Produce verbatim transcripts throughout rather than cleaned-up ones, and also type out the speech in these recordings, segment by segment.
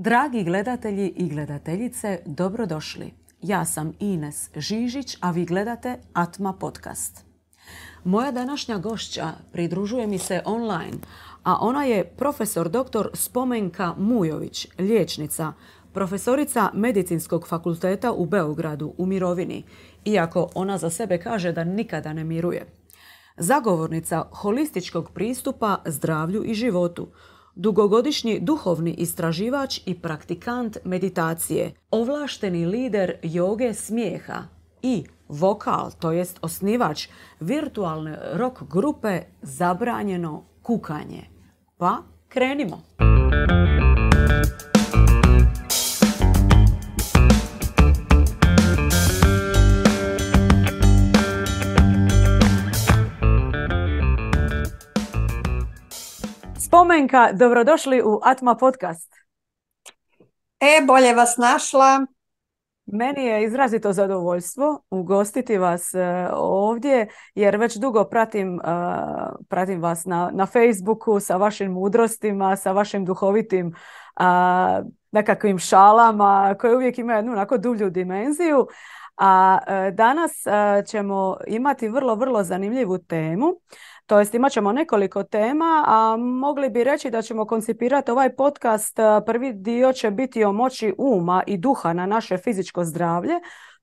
Dragi gledatelji i gledateljice, dobrodošli. Ja sam Ines Žižić, a vi gledate Atma podcast. Moja današnja gošća pridružuje mi se online, a ona je profesor doktor Spomenka Mujović, liječnica, profesorica Medicinskog fakulteta u Beogradu u mirovini, iako ona za sebe kaže da nikada ne miruje. Zagovornica holističkog pristupa zdravlju i životu, dugogodišnji duhovni istraživač i praktikant meditacije, ovlašteni lider joge smijeha i vokal, to jest osnivač virtualne rock grupe Zabranjeno kukanje. Pa krenimo! Spomenka, dobrodošli u Atma podcast. E, bolje vas našla. Meni je izrazito zadovoljstvo ugostiti vas ovdje, jer već dugo pratim, pratim vas na, na Facebooku sa vašim mudrostima, sa vašim duhovitim nekakvim šalama koje uvijek imaju jednu onako dulju dimenziju. A danas ćemo imati vrlo, vrlo zanimljivu temu. To jest imat ćemo nekoliko tema, a mogli bi reći da ćemo koncipirati ovaj podcast. Prvi dio će biti o moći uma i duha na naše fizičko zdravlje,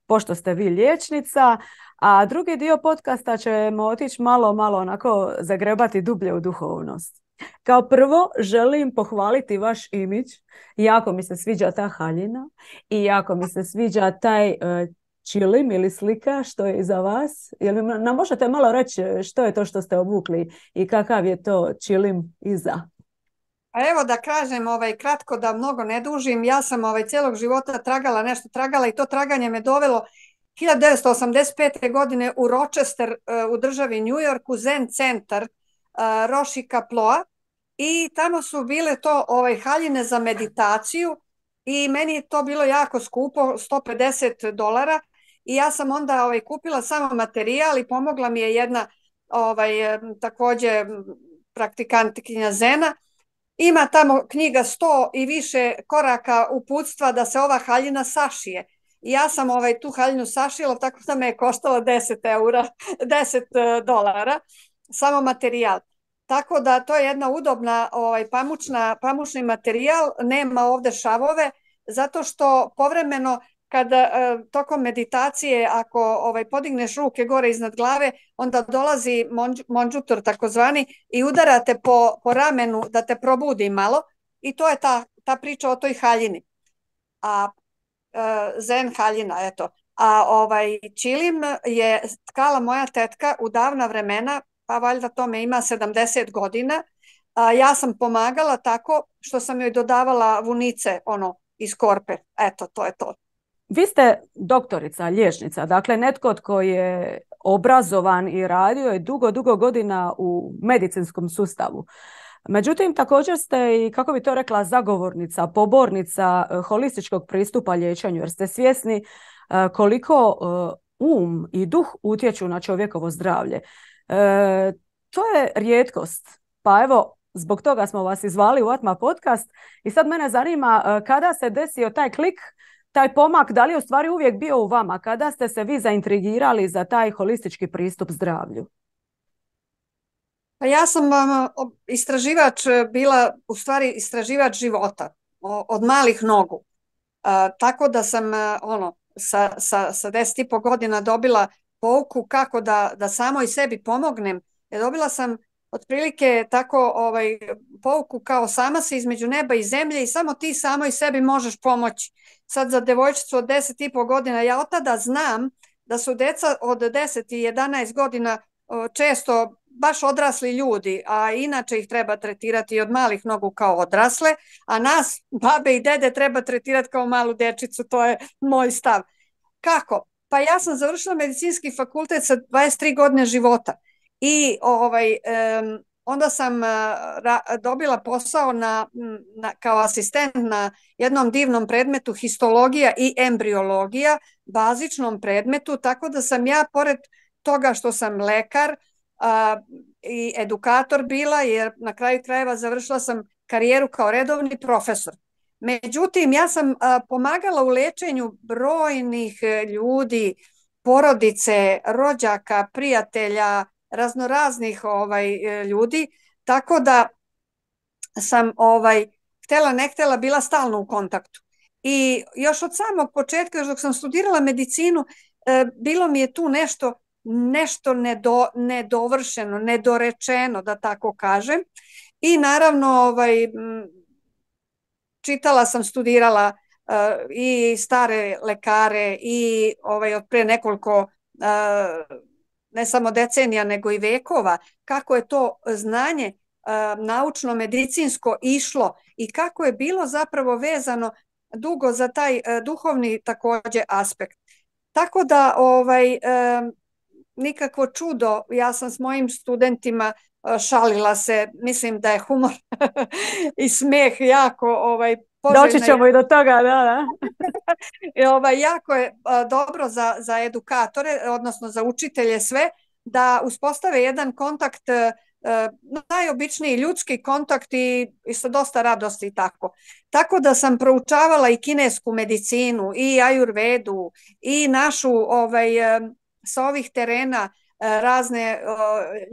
pošto ste vi liječnica, a drugi dio podcasta ćemo otići malo, malo onako zagrebati dublje u duhovnost. Kao prvo želim pohvaliti vaš imidž. Jako mi se sviđa ta haljina i jako mi se sviđa taj uh, čilim ili slika što je iza vas. Jel mi nam možete malo reći što je to što ste obukli i kakav je to čilim iza? A evo da kažem ovaj, kratko, da mnogo ne dužim. Ja sam ovaj, cijelog života tragala nešto tragala i to traganje me dovelo hiljadu devetsto osamdeset pete. godine u Rochester u državi New York, u Zen centar Roshi Kaploa, i tamo su bile to ovaj, haljine za meditaciju i meni je to bilo jako skupo, sto pedeset dolara. I ja sam onda ovaj, kupila samo materijal i pomogla mi je jedna ovaj, također praktikantkinja Zena. Ima tamo knjiga sto i više koraka uputstva da se ova haljina sašije. I ja sam ovaj, tu haljinu sašila, tako da me je koštalo deset eura, deset dolara, samo materijal. Tako da to je jedna udobna ovaj, pamučna, pamučni materijal, nema ovdje šavove, zato što povremeno kada e, tokom meditacije, ako ovaj, podigneš ruke gore iznad glave, onda dolazi monđ, monđutor takozvani i udarate po, po ramenu da te probudi malo, i to je ta, ta priča o toj haljini. A e, zen haljina, eto. A ovaj čilim je tkala moja tetka u davna vremena, pa valjda tome ima sedamdeset godina. A ja sam pomagala tako što sam joj dodavala vunice ono iz korpe. Eto, to je to. Vi ste doktorica, liječnica, dakle netko tko je obrazovan i radio je dugo, dugo godina u medicinskom sustavu. Međutim, također ste i, kako bi to rekla, zagovornica, pobornica holističkog pristupa liječenju, jer ste svjesni koliko um i duh utječu na čovjekovo zdravlje. E, to je rijetkost. Pa evo, zbog toga smo vas izvali u Atma podcast i sad mene zanima kada se desio taj klik, taj pomak, da li je u stvari uvijek bio u vama? Kada ste se vi zaintrigirali za taj holistički pristup zdravlju? Pa ja sam um, istraživač bila, u stvari istraživač života od malih nogu. Uh, tako da sam uh, ono, sa, sa, sa deset i po godina dobila pouku kako da, da samoj sebi pomognem. Ja dobila sam otprilike tako ovaj, pouku kao sama si između neba i zemlje i samo ti samoj sebi možeš pomoći. Sad za devojčicu od deset i po godina, ja od tada znam da su deca od deset i jedanaest godina često baš odrasli ljudi, a inače ih treba tretirati od malih nogu kao odrasle, a nas, babe i dede, treba tretirati kao malu dječicu, to je moj stav. Kako? Pa ja sam završila medicinski fakultet sa dvadeset tri godine života i ovaj, um, onda sam ra, dobila posao na, na, kao asistent na jednom divnom predmetu histologija i embriologija, bazičnom predmetu, tako da sam ja, pored toga što sam lekar a, i edukator bila, jer na kraju krajeva završila sam karijeru kao redovni profesor. Međutim, ja sam a, pomagala u lečenju brojnih e, ljudi, porodice, rođaka, prijatelja, raznoraznih ovaj, e, ljudi, tako da sam ovaj, htjela ne htjela bila stalno u kontaktu. I još od samog početka, još dok sam studirala medicinu, e, bilo mi je tu nešto, nešto nedo, nedovršeno, nedorečeno, da tako kažem. I naravno, ovaj, čitala sam, studirala uh, i stare lekare i ovaj, od pre nekoliko uh, ne samo decenija nego i vekova, kako je to znanje uh, naučno-medicinsko išlo i kako je bilo zapravo vezano dugo za taj uh, duhovni takođe aspekt. Tako da ovaj, uh, nikakvo čudo, ja sam s mojim studentima šalila se, mislim da je humor i smeh jako ovaj, poželjna. Doći ćemo i do toga, da, da. I, ovaj, jako je a, dobro za, za edukatore, odnosno za učitelje sve, da uspostave jedan kontakt, a, najobičniji ljudski kontakt i, i sa dosta radosti i tako. Tako da sam proučavala i kinesku medicinu, i ajurvedu, i našu ovaj, a, sa ovih terena razne o,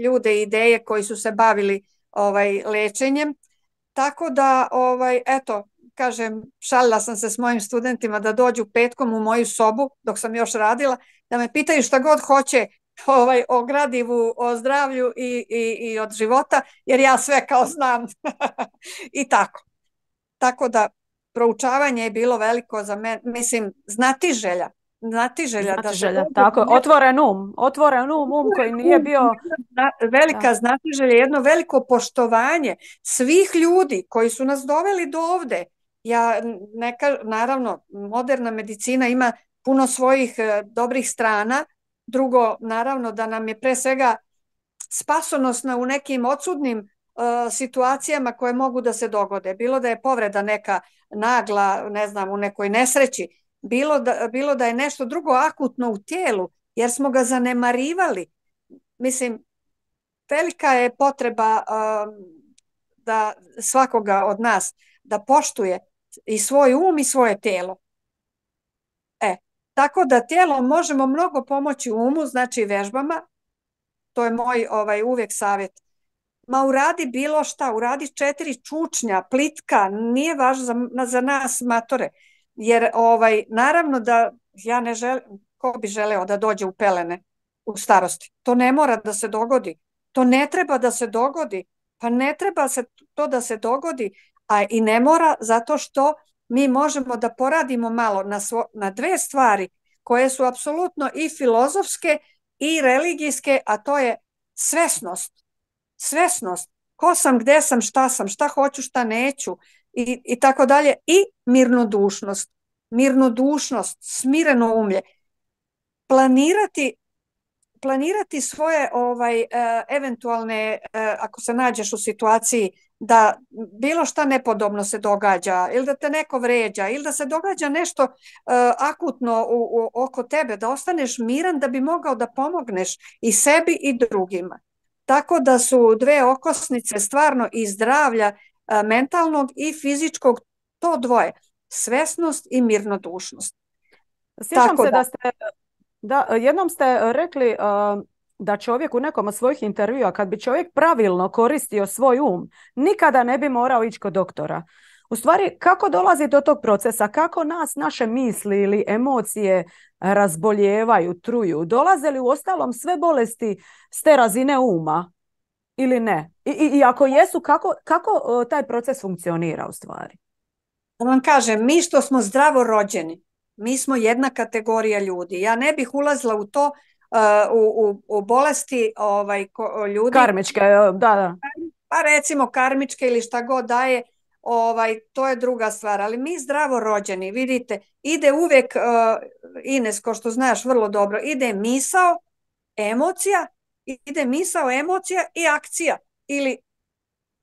ljude i ideje koji su se bavili ovaj lečenjem. Tako da, ovaj, eto, kažem, šalila sam se s mojim studentima da dođu petkom u moju sobu dok sam još radila, da me pitaju šta god hoće ovaj, o gradivu, o zdravlju i, i, i od života, jer ja sve kao znam. I tako. Tako da, proučavanje je bilo veliko za mene, mislim, znatiželja. Znatiželja, znatiželja, da se dođe, tako, otvoren um, otvoren um, um koji nije bio... Velika da. Znatiželja, jedno veliko poštovanje svih ljudi koji su nas doveli do ovde. Ja, neka, naravno, moderna medicina ima puno svojih e, dobrih strana. Drugo, naravno, da nam je pre svega spasonosna u nekim odsudnim e, situacijama koje mogu da se dogode. Bilo da je povreda neka nagla, ne znam, u nekoj nesreći, Bilo da, bilo da je nešto drugo akutno u tijelu, jer smo ga zanemarivali. Mislim, velika je potreba um, da svakoga od nas da poštuje i svoj um i svoje tijelo. E, tako da tijelo možemo mnogo pomoći umu, znači vežbama, to je moj ovaj, uvijek savjet. Ma uradi bilo šta, uradi četiri čučnja, plitka, nije važno za, za nas matore. Jer ovaj, naravno da ja ne želim, ko bi želeo da dođe u pelene u starosti. To ne mora da se dogodi. To ne treba da se dogodi. Pa ne treba se to da se dogodi, a i ne mora zato što mi možemo da poradimo malo na, svo, na dve stvari koje su apsolutno i filozofske i religijske, a to je svesnost. Svesnost. Ko sam, gde sam, šta sam, šta hoću, šta neću. I, i tako dalje, i mirnodušnost, mirnodušnost, smireno umlje, planirati, planirati svoje ovaj, uh, eventualne, uh, ako se nađeš u situaciji da bilo šta nepodobno se događa, ili da te neko vređa, ili da se događa nešto uh, akutno u, u, oko tebe, da ostaneš miran da bi mogao da pomogneš i sebi i drugima. Tako da su dve okosnice stvarno i zdravlja mentalnog i fizičkog, to dvoje, svesnost i mirnodušnost. Sjećam Tako se da, da ste, da, jednom ste rekli uh, da čovjek u nekom od svojih intervjua, kad bi čovjek pravilno koristio svoj um, nikada ne bi morao ići kod doktora. U stvari, kako dolazi do tog procesa, kako nas naše misli ili emocije razboljevaju, truju, dolaze li u ostalom sve bolesti s te razine uma ili ne? I, i, i ako jesu, kako, kako uh, taj proces funkcionira u stvari? Da vam kažem, mi što smo zdravo rođeni, mi smo jedna kategorija ljudi. Ja ne bih ulazila u to, uh, u, u, u bolesti ovaj, ko, ljudi. Karmičke, da, da. Pa recimo karmičke ili šta god daje, ovaj, to je druga stvar. Ali mi zdravo rođeni, vidite, ide uvijek, uh, Ines, ko što znaš vrlo dobro, ide misao, emocija, ide misao, emocija i akcija. Ili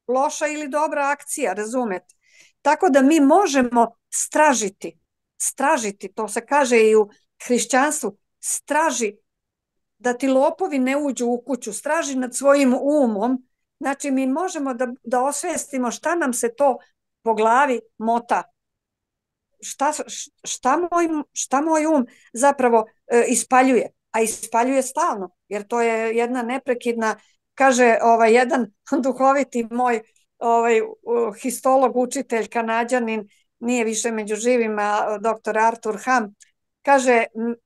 loša ili dobra akcija, razumete? Tako da mi možemo stražiti, stražiti, to se kaže i u hrišćanstvu, straži da ti lopovi ne uđu u kuću, straži nad svojim umom. Znači mi možemo da, da osvestimo šta nam se to po glavi mota. šta, šta, moj, šta moj um zapravo e, ispaljuje, a ispaljuje stalno, jer to je jedna neprekidna, kaže ovaj, jedan duhoviti moj ovaj, histolog, učitelj, Kanađanin, nije više među živima, doktor Artur Ham, kaže,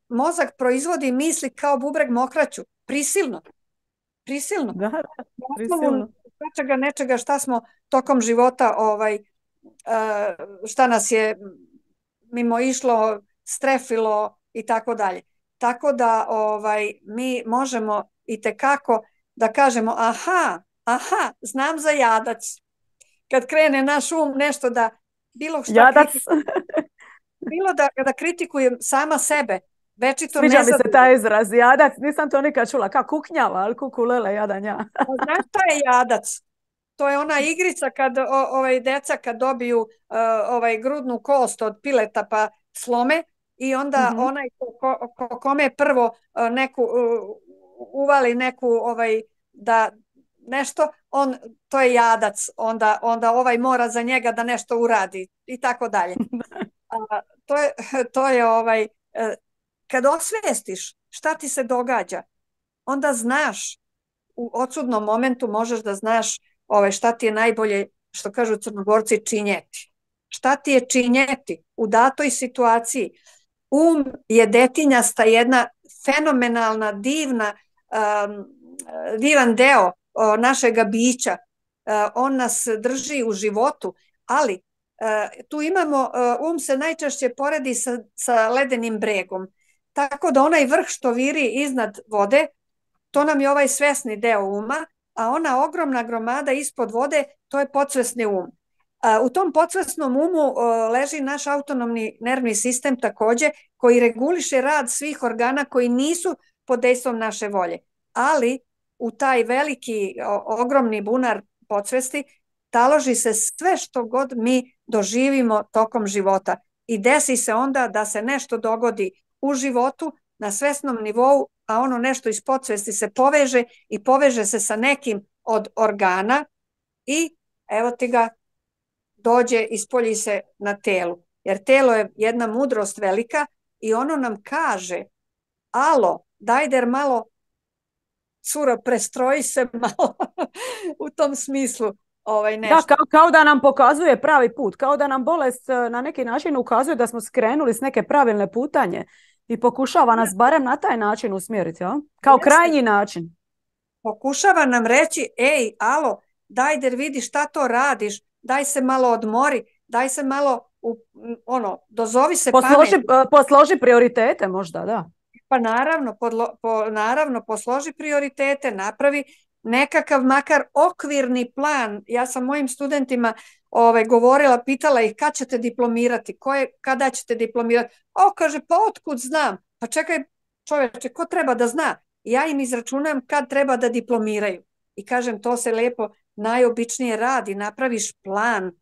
mozak proizvodi misli kao bubreg mokraću, prisilno, prisilno. Da, prisilno. Nečega, nečega šta smo tokom života, ovaj, šta nas je mimo išlo, strefilo i tako dalje. Tako da ovaj, mi možemo i tekako da kažemo, aha, aha, znam za jadac. Kad krene naš um nešto da bilo šta jadac. bilo da, da kritikujem sama sebe, večito Sviđa nezadobno. mi se taj izraz, jadac, nisam to nikad čula, kao kuknjava, ali kukulele, jadanja. Znaš šta je jadac? To je ona igrica kad o, ovaj deca kad dobiju uh, ovaj grudnu kost od pileta pa slome i onda mm-hmm. onaj ko, ko, kome prvo uh, neku uh, uvali neku ovaj da nešto, on to je jadac, onda onda ovaj mora za njega da nešto uradi i tako dalje. A, to je to je ovaj uh, kad osvestiš šta ti se događa, onda znaš u odsudnom momentu možeš da znaš Ove, šta ti je najbolje, što kažu Crnogorci, činjeti. Šta ti je činjeti u datoj situaciji? Um je detinjasta, jedna fenomenalna, divna, um, divan deo uh, našega bića. Uh, on nas drži u životu, ali uh, tu imamo, uh, um se najčešće poredi sa, sa ledenim bregom. Tako da onaj vrh što viri iznad vode, to nam je ovaj svesni deo uma, a ona ogromna gromada ispod vode, to je podsvesni um. U tom podsvesnom umu leži naš autonomni nervni sistem takođe, koji reguliše rad svih organa koji nisu pod dejstvom naše volje. Ali u taj veliki, ogromni bunar podsvesti taloži se sve što god mi doživimo tokom života. I desi se onda da se nešto dogodi u životu na svesnom nivou, a ono nešto iz podsvesti se poveže i poveže se sa nekim od organa i evo ti ga dođe, ispolji se na telu. Jer telo je jedna mudrost velika i ono nam kaže, alo, daj der malo, curo, prestroji se malo u tom smislu. Ovaj nešto. Da, kao, kao da nam pokazuje pravi put, kao da nam bolest na neki način ukazuje da smo skrenuli s neke pravilne putanje. I pokušava nas barem na taj način usmjeriti, ja? Kao Jeste. krajnji način. Pokušava nam reći, ej, alo, daj der vidi šta to radiš, daj se malo odmori, daj se malo, u, ono, dozovi se posloži, pamet. Posloži prioritete možda, da. Pa naravno, podlo, po, naravno, posloži prioritete, napravi nekakav makar okvirni plan. Ja sam mojim studentima ovaj, govorila, pitala ih kad ćete diplomirati, koje, kada ćete diplomirati. O, kaže, pa otkud znam? Pa čekaj, čoveče, ko treba da zna? Ja im izračunam kad treba da diplomiraju. I kažem, to se lepo najobičnije radi, napraviš plan.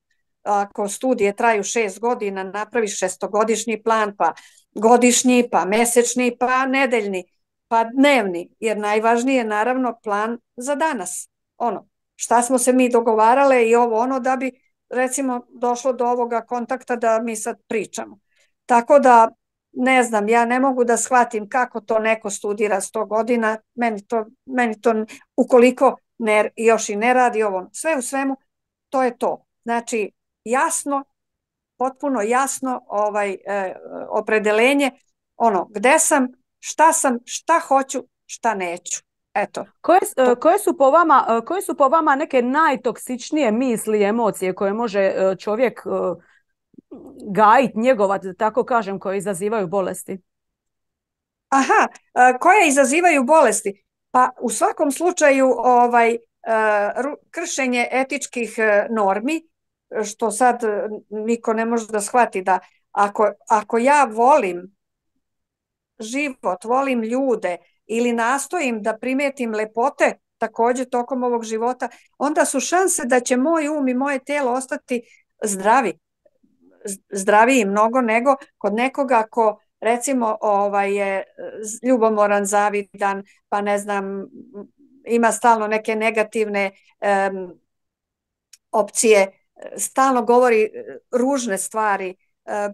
Ako studije traju šest godina, napraviš šestogodišnji plan, pa godišnji, pa mesečni, pa nedeljni, pa dnevni. Jer najvažnije je naravno plan za danas. Ono, šta smo se mi dogovarale i ovo ono da bi recimo došlo do ovoga kontakta da mi sad pričamo. Tako da, ne znam, ja ne mogu da shvatim kako to neko studira sto godina, meni to, meni to ukoliko ne, još i ne radi ovo, sve u svemu, to je to. Znači, jasno, potpuno jasno ovaj, e, opredelenje, ono, gde sam, šta sam, šta hoću, šta neću. Eto. Koje, koje, su po vama, koje su po vama neke najtoksičnije misli i emocije koje može čovjek gajiti, njegovati, da tako kažem, koje izazivaju bolesti? Aha, koje izazivaju bolesti? Pa u svakom slučaju ovaj, kršenje etičkih normi, što sad niko ne može da shvati da ako, ako ja volim život, volim ljude, ili nastojim da primetim lepote također tokom ovog života, onda su šanse da će moj um i moje telo ostati zdravi. Zdraviji mnogo nego kod nekoga ko recimo ovaj, je ljubomoran, zavidan, pa ne znam, ima stalno neke negativne um, opcije, stalno govori ružne stvari,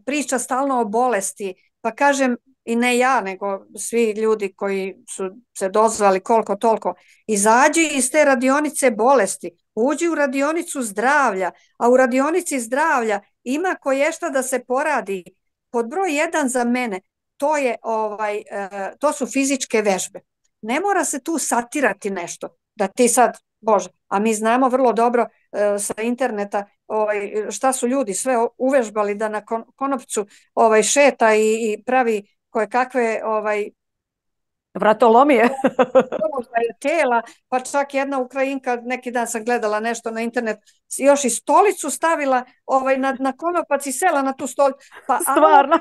priča stalno o bolesti, pa kažem, i ne ja, nego svi ljudi koji su se dozvali koliko toliko, izađi iz te radionice bolesti, uđi u radionicu zdravlja, a u radionici zdravlja ima koješta da se poradi. Pod broj jedan za mene, to, je, ovaj, to su fizičke vežbe. Ne mora se tu satirati nešto, da ti sad, Bože, a mi znamo vrlo dobro sa interneta ovaj, šta su ljudi sve uvežbali da na konopcu ovaj, šeta i, i pravi koje kakve ovaj, vratolomije tela, pa čak jedna Ukrajinka, neki dan sam gledala nešto na internet, još i stolicu stavila ovaj, na, na konopac i sela na tu stolicu. Pa, stvarno?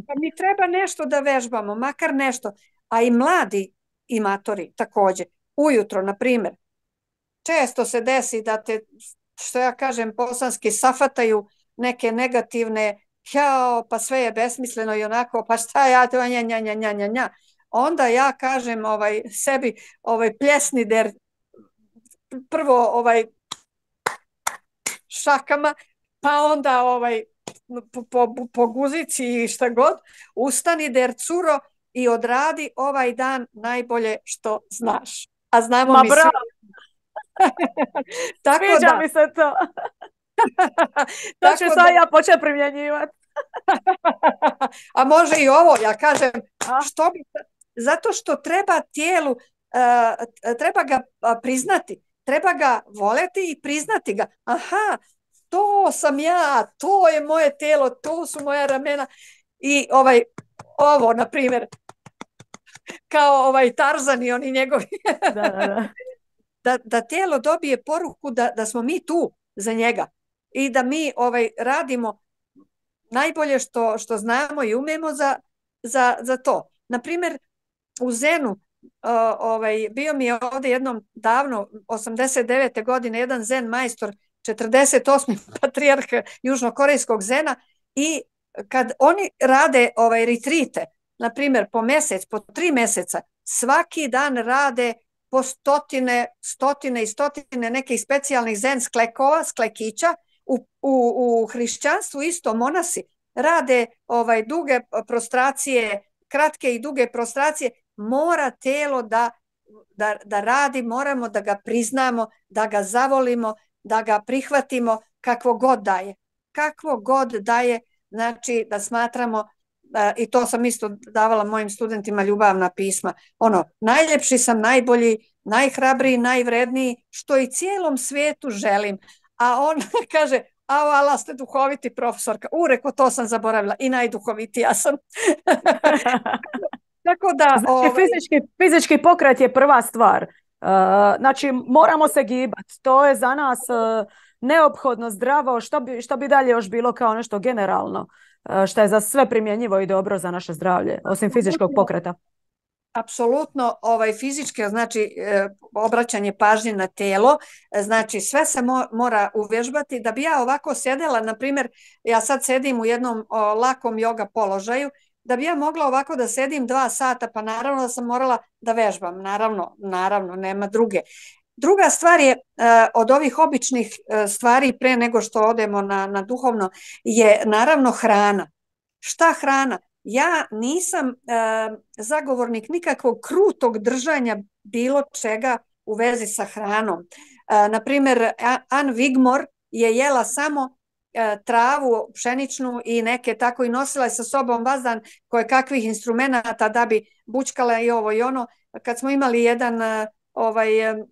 Pa mi treba nešto da vežbamo, makar nešto. A i mladi imatori također. Ujutro, na primjer, često se desi da te, što ja kažem, bosanski safataju neke negativne, jao, pa sve je besmisleno i onako, pa šta ja to, nja, nja, nja, nja, nja, nja. Onda ja kažem ovaj, sebi, ovaj, pljesni der, prvo ovaj, šakama, pa onda ovaj, po, po, po guzici i šta god, ustani der curo i odradi ovaj dan najbolje što znaš. A znamo Ma mi bravo. Tako Sviđa da. mi se to. To ću sad da... ja početi primjenjivati. A može i ovo, ja kažem, A? što bi, zato što treba tijelu, uh, treba ga priznati, treba ga voleti i priznati ga. Aha, to sam ja, to je moje tijelo, to su moja ramena i ovaj, ovo, na primjer, kao ovaj Tarzan i oni njegovi. Da, da, da. Da, da tijelo dobije poruku da, da smo mi tu za njega i da mi ovaj, radimo najbolje što, što znamo i umemo za, za, za to. Naprimjer, u Zenu uh, ovaj, bio mi je ovdje jednom davno, osamdeset devete godine, jedan Zen majstor, četrdeset osmi patrijarh južnokorejskog Zena i kad oni rade ovaj, retrite, naprimjer po mjesec, po tri mjeseca, svaki dan rade po stotine, stotine i stotine nekih specijalnih zen sklekova, sklekića. U, u, u hrišćanstvu isto monasi rade ovaj, duge prostracije, kratke i duge prostracije. Mora telo da, da, da radi, moramo da ga priznamo, da ga zavolimo, da ga prihvatimo kakvo god daje. Kakvo god daje, znači da smatramo, i to sam isto davala mojim studentima ljubavna pisma, ono, najljepši sam, najbolji, najhrabriji, najvredniji, što i cijelom svijetu želim. A on kaže, a ala ste duhoviti profesorka. U, reko, to sam zaboravila i najduhovitija sam. Tako da, znači, ovaj... fizički, fizički pokret je prva stvar. Uh, znači, moramo se gibati. To je za nas uh, neophodno, zdravo. Što bi, što bi dalje još bilo kao nešto generalno? Što je za sve primjenjivo i dobro za naše zdravlje, osim fizičkog pokreta. Apsolutno, ovaj, fizički, znači e, obraćanje pažnje na telo, znači sve se mo, mora uvježbati. Da bi ja ovako sjedela, na primjer, ja sad sedim u jednom o, lakom joga položaju, da bi ja mogla ovako da sedim dva sata, pa naravno da sam morala da vežbam, naravno, naravno, nema druge. Druga stvar je, od ovih običnih stvari pre nego što odemo na, na duhovno, je naravno hrana. Šta hrana? Ja nisam uh, zagovornik nikakvog krutog držanja bilo čega u vezi sa hranom. Uh, naprimjer, Ann Wigmore je jela samo uh, travu pšeničnu i neke tako i nosila je sa sobom vazdan koje kakvih instrumenata da bi bučkala i ovo i ono. Kad smo imali jedan uh, ovaj... Um,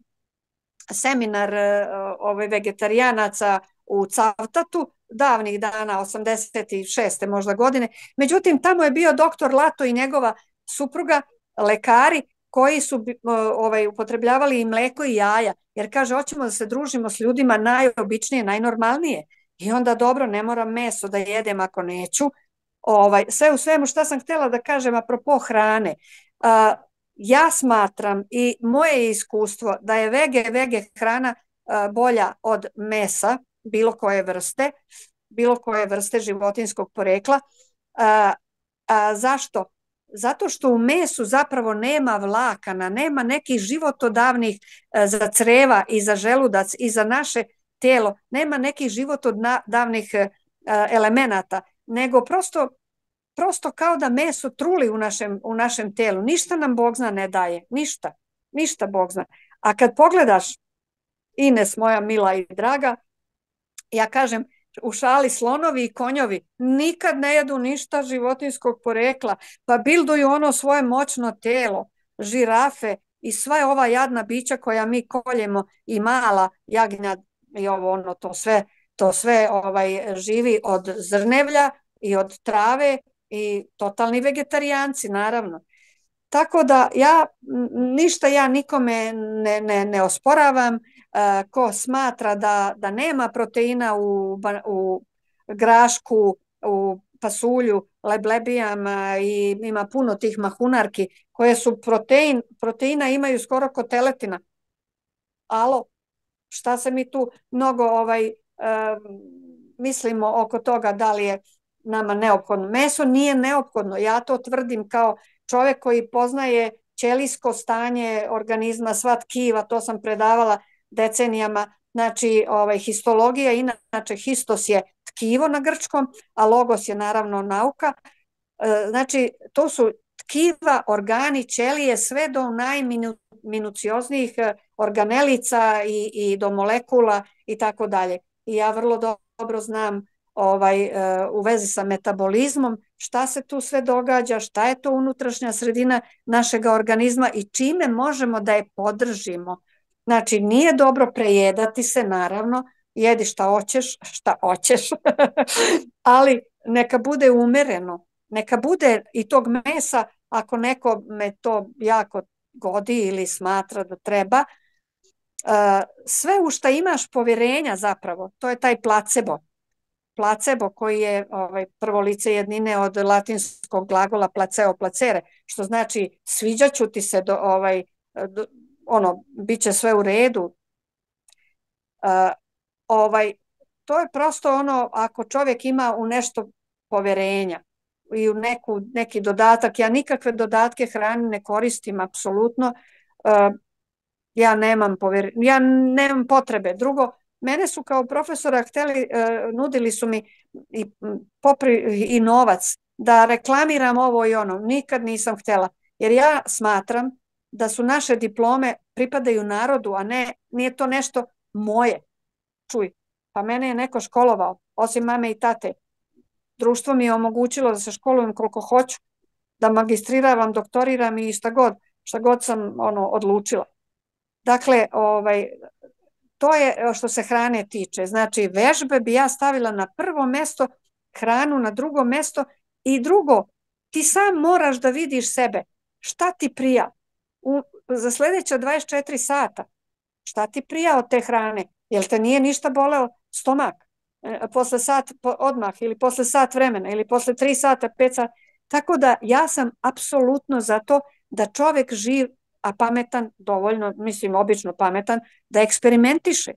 seminar ove vegetarijanaca u Cavtatu davnih dana, osamdeset šeste možda godine. Međutim, tamo je bio doktor Lato i njegova supruga, lekari koji su ovaj, upotrebljavali i mleko i jaja, jer kaže, hoćemo da se družimo s ljudima najobičnije, najnormalnije. I onda dobro, ne moram meso da jedem ako neću. Ovaj, sve u svemu šta sam htjela da kažem apropo hrane. Uh, Ja smatram i moje iskustvo da je vege, vege hrana uh, bolja od mesa, bilo koje vrste, bilo koje vrste životinskog porekla. Uh, uh, zašto? Zato što u mesu zapravo nema vlakana, nema nekih životodavnih uh, za creva i za želudac i za naše tijelo, nema nekih životodavnih uh, elemenata. nego prosto, prosto kao da meso truli u našem, u našem telu. Ništa nam Bog zna ne daje, ništa, ništa Bog zna. A kad pogledaš, Ines moja mila i draga, ja kažem, u šali slonovi i konjovi nikad ne jedu ništa životinjskog porekla, pa bilduju ono svoje moćno telo, žirafe i sva ova jadna bića koja mi koljemo i mala jagnja i ovo ono, to sve, to sve ovaj, živi od zrnevlja i od trave i totalni vegetarijanci, naravno. Tako da ja, ništa ja nikome ne, ne, ne osporavam. Uh, ko smatra da, da nema proteina u, u grašku, u pasulju, leblebijama i ima puno tih mahunarki koje su protein, proteina imaju skoro ko teletina. Alo, šta se mi tu mnogo ovaj, uh, mislimo oko toga da li je nama neophodno. Meso nije neophodno, ja to tvrdim kao čovjek koji poznaje ćelijsko stanje organizma, sva tkiva, to sam predavala decenijama, znači ovaj, histologija, inače histos je tkivo na grčkom, a logos je naravno nauka, e, znači to su tkiva, organi, ćelije, sve do najminucioznijih organelica i, i do molekula i tako dalje. I ja vrlo dobro znam ovaj, u vezi sa metabolizmom šta se tu sve događa, šta je to unutrašnja sredina našega organizma i čime možemo da je podržimo. Znači, nije dobro prejedati se, naravno, jedi šta hoćeš, šta hoćeš, ali neka bude umereno, neka bude i tog mesa, ako neko me to jako godi ili smatra da treba, sve u šta imaš povjerenja zapravo, to je taj placebo. Placebo koji je ovaj, prvo lice jednine od latinskog glagola placeo placere, što znači sviđaću ti se, do, ovaj, do, ono, bit će sve u redu. Uh, ovaj, to je prosto ono, ako čovjek ima u nešto povjerenja i u neku, neki dodatak, ja nikakve dodatke hrani ne koristim, apsolutno, uh, ja nemam povjerenja, ja nemam potrebe. Drugo, mene su kao profesora hteli, uh, nudili su mi i, popri, i novac da reklamiram ovo i ono. Nikad nisam htjela, jer ja smatram da su naše diplome pripadaju narodu, a ne, nije to nešto moje. Čuj, pa mene je neko školovao, osim mame i tate. Društvo mi je omogućilo da se školujem koliko hoću, da magistriravam, doktoriram i šta god, šta god sam ono, odlučila. Dakle, ovaj, to je što se hrane tiče. Znači, vežbe bi ja stavila na prvo mesto, hranu na drugo mesto i drugo, ti sam moraš da vidiš sebe. Šta ti prija? U, za sljedeća dvadeset četiri sata. Šta ti prija od te hrane? Jel te nije ništa boleo stomak? E, posle sat odmah ili posle sat vremena ili posle tri sata, pet sata. Tako da ja sam apsolutno za to da čovjek živ, a pametan, dovoljno, mislim obično pametan, da eksperimentiše.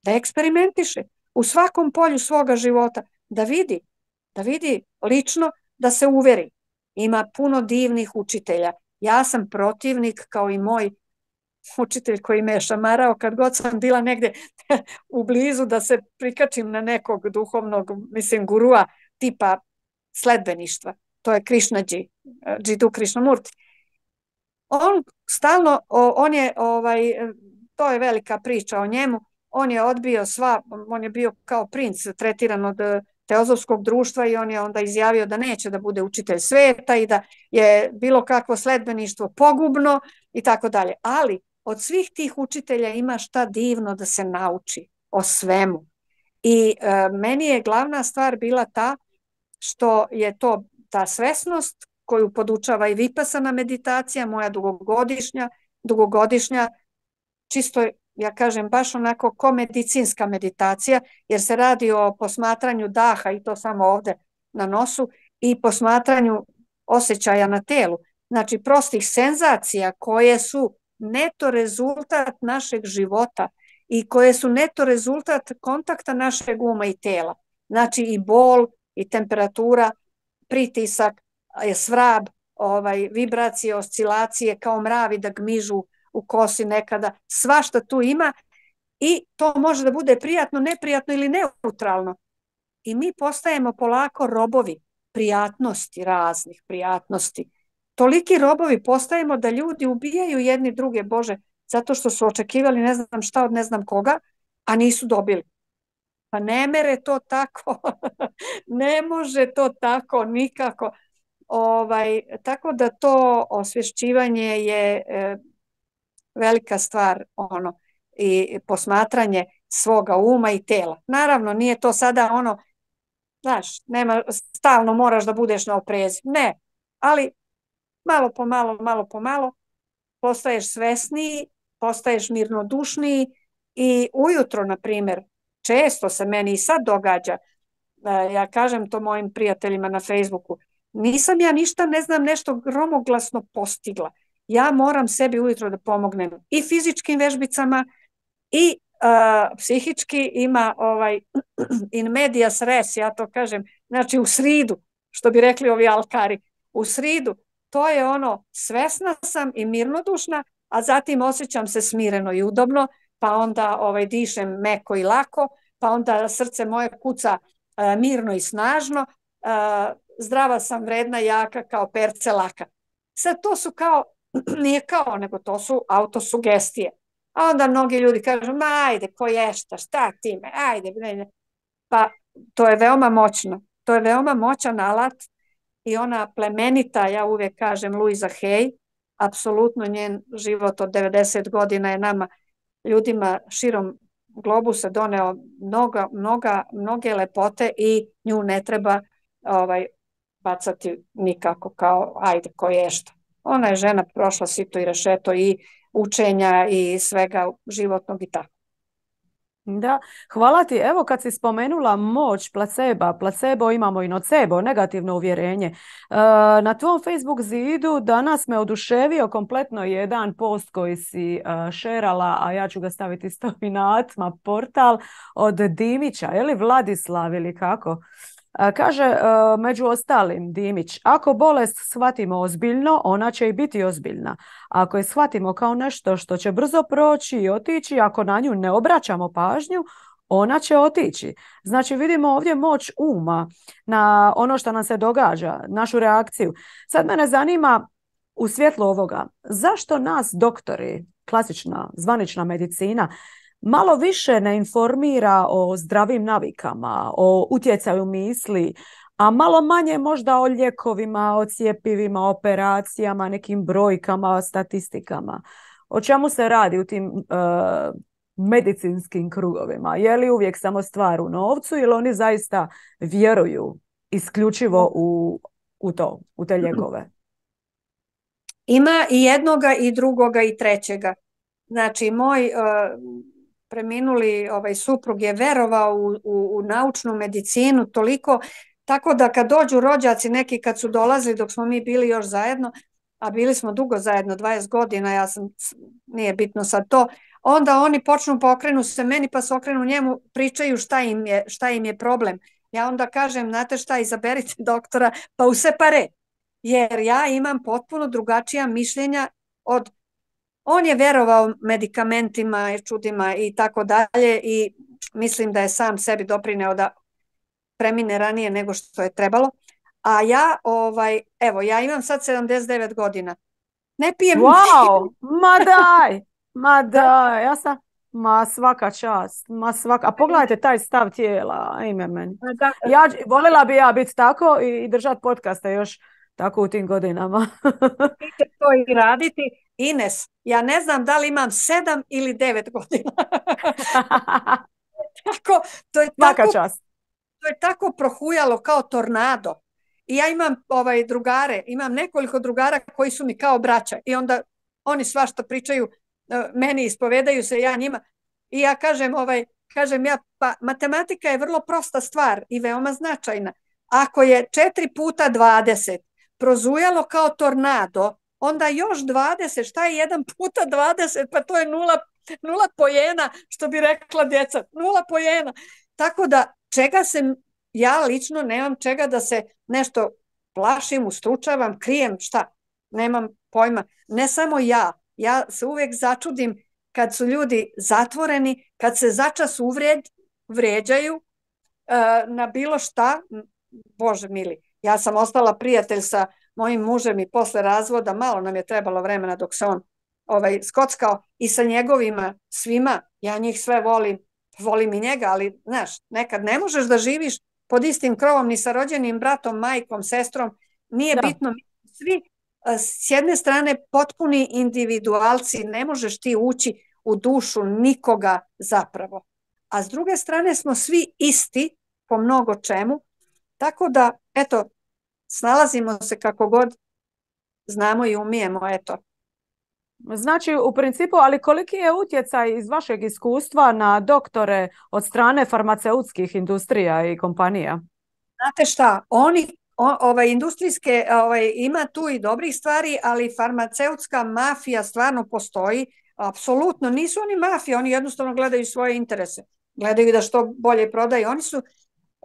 Da eksperimentiše u svakom polju svoga života. Da vidi, da vidi lično, da se uveri. Ima puno divnih učitelja. Ja sam protivnik kao i moj učitelj koji me je šamarao kad god sam bila negdje u blizu da se prikačim na nekog duhovnog, mislim, gurua tipa sledbeništva. To je Krišnađi, Džidu Krišnamurti. On stalno, on je, ovaj, to je velika priča o njemu, on je odbio sva, on je bio kao princ tretiran od teozofskog društva i on je onda izjavio da neće da bude učitelj sveta i da je bilo kakvo sledbeništvo pogubno i tako dalje. Ali od svih tih učitelja ima šta divno da se nauči o svemu. I e, meni je glavna stvar bila ta što je to ta svesnost koju podučava i vipasana meditacija, moja dugogodišnja, dugogodišnja, čisto, ja kažem, baš onako ko medicinska meditacija, jer se radi o posmatranju daha i to samo ovdje na nosu i posmatranju osjećaja na telu. Znači, prostih senzacija koje su neto rezultat našeg života i koje su neto rezultat kontakta našeg uma i tela. Znači, i bol, i temperatura, pritisak, svrab, ovaj, vibracije, oscilacije, kao mravi da gmižu u kosi nekada, svašta tu ima i to može da bude prijatno, neprijatno ili neutralno. i mi postajemo polako robovi prijatnosti, raznih prijatnosti. Toliki robovi postajemo da ljudi ubijaju jedni druge, Bože, zato što su očekivali ne znam šta od ne znam koga, a nisu dobili. Pa ne mere to tako, ne može to tako nikako. Ovaj, tako da to osvješćivanje je e, velika stvar, ono, i posmatranje svoga uma i tela. Naravno, nije to sada ono, znaš, nema, stalno moraš da budeš na oprezi. Ne, ali malo po malo, malo po malo postaješ svesniji, postaješ mirnodušniji i ujutro, na primjer, često se meni i sad događa, ja kažem to mojim prijateljima na Facebooku, nisam ja ništa, ne znam, nešto gromoglasno postigla. Ja moram sebi ujutro da pomognem i fizičkim vežbicama i uh, psihički ima ovaj in medias res, ja to kažem, znači u sridu, što bi rekli ovi alkari, u sridu, to je ono, svesna sam i mirnodušna, a zatim osjećam se smireno i udobno, pa onda ovaj, dišem meko i lako, pa onda srce moje kuca uh, mirno i snažno, uh, zdrava sam, vredna, jaka, kao perce laka. Sad to su kao, nije kao, nego to su autosugestije. A onda mnogi ljudi kažu, ma ajde, ko ješta, šta time, ajde. Pa to je veoma moćno. To je veoma moćan alat i ona plemenita, ja uvijek kažem, Louisa Hay, apsolutno njen život od devedeset godina je nama, ljudima širom globusa doneo mnoga, mnoga, mnoge lepote i nju ne treba ovaj, bacati nikako kao ajde ko ješta. Ona je žena prošla sito i rešeto i učenja i svega životnog i tako. Da, hvala ti. Evo kad si spomenula moć placeba, placebo imamo i nocebo, negativno uvjerenje. E, na tvom Facebook zidu danas me oduševio kompletno jedan post koji si uh, šerala, a ja ću ga staviti isto i na Atma portal od Dimića, je li Vladislav ili kako? Kaže, među ostalim, Dimić, ako bolest shvatimo ozbiljno, ona će i biti ozbiljna. Ako je shvatimo kao nešto što će brzo proći i otići, ako na nju ne obraćamo pažnju, ona će otići. Znači vidimo ovdje moć uma na ono što nam se događa, našu reakciju. Sad mene zanima u svjetlu ovoga, zašto nas doktori, klasična, zvanična medicina, malo više ne informira o zdravim navikama, o utjecaju misli, a malo manje možda o lijekovima, o cjepivima, operacijama, nekim brojkama, statistikama. O čemu se radi u tim uh, medicinskim krugovima? Je li uvijek samo stvar u novcu ili oni zaista vjeruju isključivo u, u to, u te lijekove? Ima i jednoga i drugoga i trećega. Znači, moj... Uh... preminuli ovaj suprug je verovao u, u, u naučnu medicinu toliko, tako da kad dođu rođaci neki kad su dolazili dok smo mi bili još zajedno, a bili smo dugo zajedno, dvadeset godina, ja sam, nije bitno sad to, onda oni počnu pokrenu se meni pa se okrenu njemu, pričaju šta im je, šta im je problem. Ja onda kažem, znate šta, izaberite doktora pa u separe, jer ja imam potpuno drugačija mišljenja od on je verovao medikamentima i čudima i tako dalje i mislim da je sam sebi doprineo da premine ranije nego što je trebalo. A ja, ovaj, evo, ja imam sad sedamdeset devet godina. Ne pijem... Wow, ma daj, ma daj, ja sam... Ma svaka čast, ma svaka... A pogledajte taj stav tijela, ime meni. Ja, voljela bi ja biti tako i držati podcaste još tako u tim godinama. Idite to i raditi. Ines, ja ne znam da li imam sedam ili devet godina. tako, to, je tako, to je tako prohujalo kao tornado. I ja imam ovaj, drugare, imam nekoliko drugara koji su mi kao braća. I onda oni svašta pričaju, meni ispovedaju se, ja njima. I ja kažem, ovaj, kažem ja, pa matematika je vrlo prosta stvar i veoma značajna. Ako je četiri puta dvadeset prozujalo kao tornado, onda još dvadeset, šta je jedan puta dvadeset, pa to je nula, nula pojena, što bi rekla djeca, nula pojena. Tako da, čega se, ja lično nemam čega da se nešto plašim, ustručavam, krijem, šta, nemam pojma. Ne samo ja, ja se uvijek začudim kad su ljudi zatvoreni, kad se začas uvred, vređaju, na bilo šta, Bože mili, ja sam ostala prijatelj sa mojim mužem i posle razvoda, malo nam je trebalo vremena dok se on ovaj, skockao i sa njegovima svima, ja njih sve volim, volim i njega, ali znaš, nekad ne možeš da živiš pod istim krovom ni sa rođenim bratom, majkom, sestrom, nije Da. bitno, svi s jedne strane potpuni individualci, ne možeš ti ući u dušu nikoga zapravo. A s druge strane smo svi isti po mnogo čemu, tako da, eto, snalazimo se kako god znamo i umijemo, eto. Znači, u principu, ali koliki je utjecaj iz vašeg iskustva na doktore od strane farmaceutskih industrija i kompanija? Znate šta, oni, o, ovaj, industrijske, ovaj, ima tu i dobrih stvari, ali farmaceutska mafija stvarno postoji, apsolutno, nisu oni mafija, oni jednostavno gledaju svoje interese, gledaju da što bolje prodaju, oni su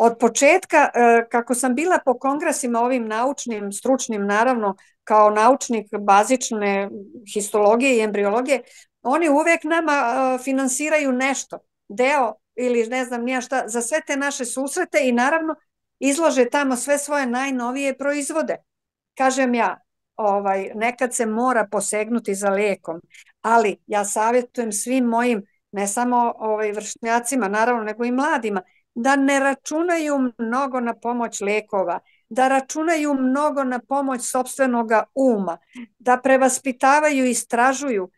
od početka, kako sam bila po kongresima ovim naučnim, stručnim, naravno, kao naučnik bazične histologije i embriologije, oni uvek nama finansiraju nešto, deo ili ne znam nija šta, za sve te naše susrete i naravno izlože tamo sve svoje najnovije proizvode. Kažem ja, ovaj, nekad se mora posegnuti za lijekom, ali ja savjetujem svim mojim, ne samo ovaj, vršnjacima, naravno, nego i mladima, da ne računaju mnogo na pomoć lijekova, da računaju mnogo na pomoć sopstvenog uma, da prevaspitavaju i istražuju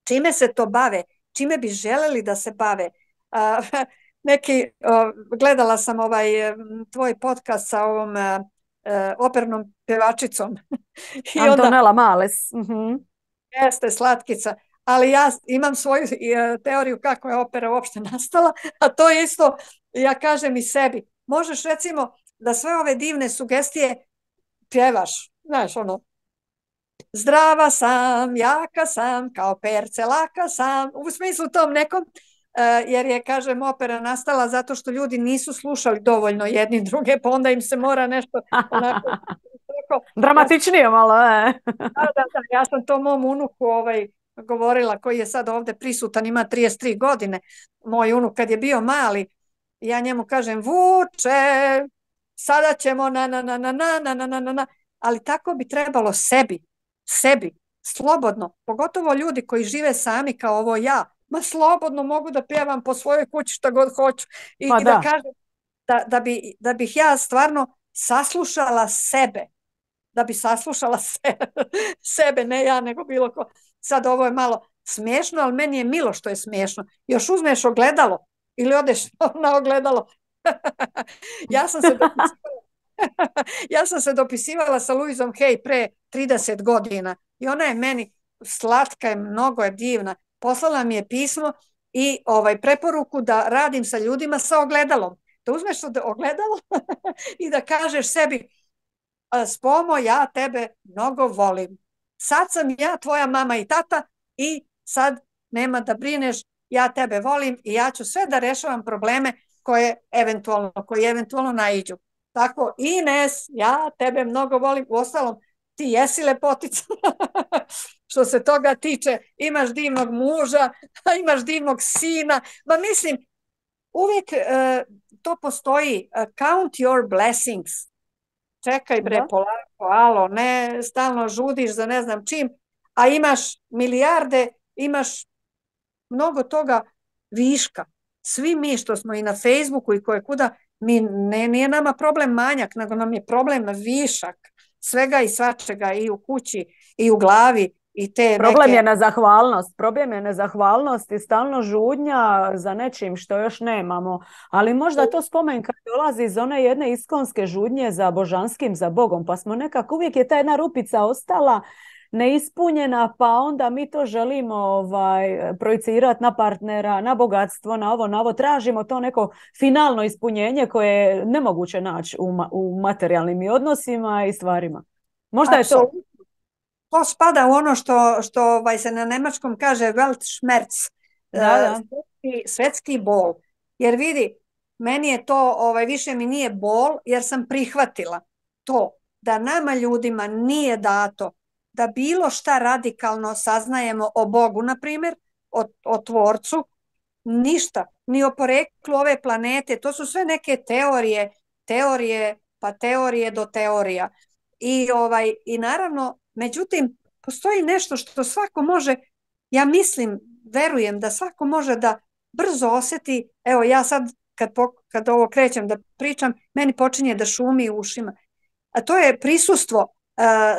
čime se to bave, čime bi želeli da se bave. Uh, neki, uh, gledala sam ovaj tvoj podcast sa ovom uh, opernom pevačicom. I Antonella onda, Males. Uh-huh. Jeste, slatkica. Ali ja imam svoju teoriju kako je opera uopšte nastala, a to je isto, ja kažem i sebi, možeš recimo da sve ove divne sugestije pjevaš, znaš ono, zdrava sam, jaka sam, kao perce laka sam, u smislu tom nekom, jer je, kažem, opera nastala zato što ljudi nisu slušali dovoljno jedni druge, pa onda im se mora nešto onako... Dramatičnije malo, e. Da, da, da, ja sam to mom unuku ovaj, govorila, koji je sad ovde prisutan, ima trideset tri godine, moj unuk kad je bio mali, ja njemu kažem, Vuče, sada ćemo na na na na na na na na na, ali tako bi trebalo sebi, sebi, slobodno, pogotovo ljudi koji žive sami kao ovo ja, ma slobodno mogu da pjevam po svojoj kući šta god hoću i, pa i da, da kažem da, da, bi, da bih ja stvarno saslušala sebe, da bi saslušala sebe, sebe, ne ja, nego bilo ko. Sad ovo je malo smiješno, ali meni je milo što je smiješno. Još uzmeš ogledalo ili odeš na ogledalo. ja sam se dopisivala, ja sam se dopisivala sa Louisom Hay pre trideset godina i ona je meni slatka, je, mnogo je divna. Poslala mi je pismo i ovaj preporuku da radim sa ljudima sa ogledalom. Da uzmeš ogledalo i da kažeš sebi, Spomo, ja tebe mnogo volim. Sad sam ja tvoja mama i tata i sad nema da brineš, ja tebe volim i ja ću sve da rešavam probleme koje eventualno, koji eventualno naiđu. Tako, Ines, ja tebe mnogo volim. Uostalom, ti jesi lepotica. Što se toga tiče, imaš divnog muža, imaš divnog sina. Ma mislim, uvijek uh, to postoji. Uh, count your blessings. Čekaj bre, da. polako, alo, ne, stalno žudiš za ne znam čim, a imaš milijarde, imaš mnogo toga viška. Svi mi što smo i na Facebooku i koje kuda, mi, ne, nije nama problem manjak, nego nam je problem višak. Svega i svačega i u kući i u glavi. I te problem neke... je nezahvalnost, problem je nezahvalnost i stalno žudnja za nečim što još nemamo, ali možda to spomen kad dolazi iz one jedne iskonske žudnje za božanskim, za Bogom, pa smo nekako, uvijek je ta jedna rupica ostala neispunjena, pa onda mi to želimo ovaj, projicirati na partnera, na bogatstvo, na ovo, na ovo, tražimo to neko finalno ispunjenje koje je nemoguće naći u, ma- u materijalnim odnosima i stvarima. Možda Absolutno. je to. To spada u ono što, što ovaj, se na nemačkom kaže Weltschmerz, Da, da. svetski, svetski bol. Jer vidi, meni je to, ovaj, više mi nije bol, jer sam prihvatila to da nama ljudima nije dato da bilo šta radikalno saznajemo o Bogu, na primjer, o, o Tvorcu, ništa, ni o poreklu ove planete, to su sve neke teorije, teorije, pa teorije do teorija. I, ovaj, i naravno, međutim, postoji nešto što svako može, ja mislim, verujem da svako može da brzo osjeti, evo ja sad kad, kad ovo krećem da pričam, meni počinje da šumi u ušima, a to je prisustvo,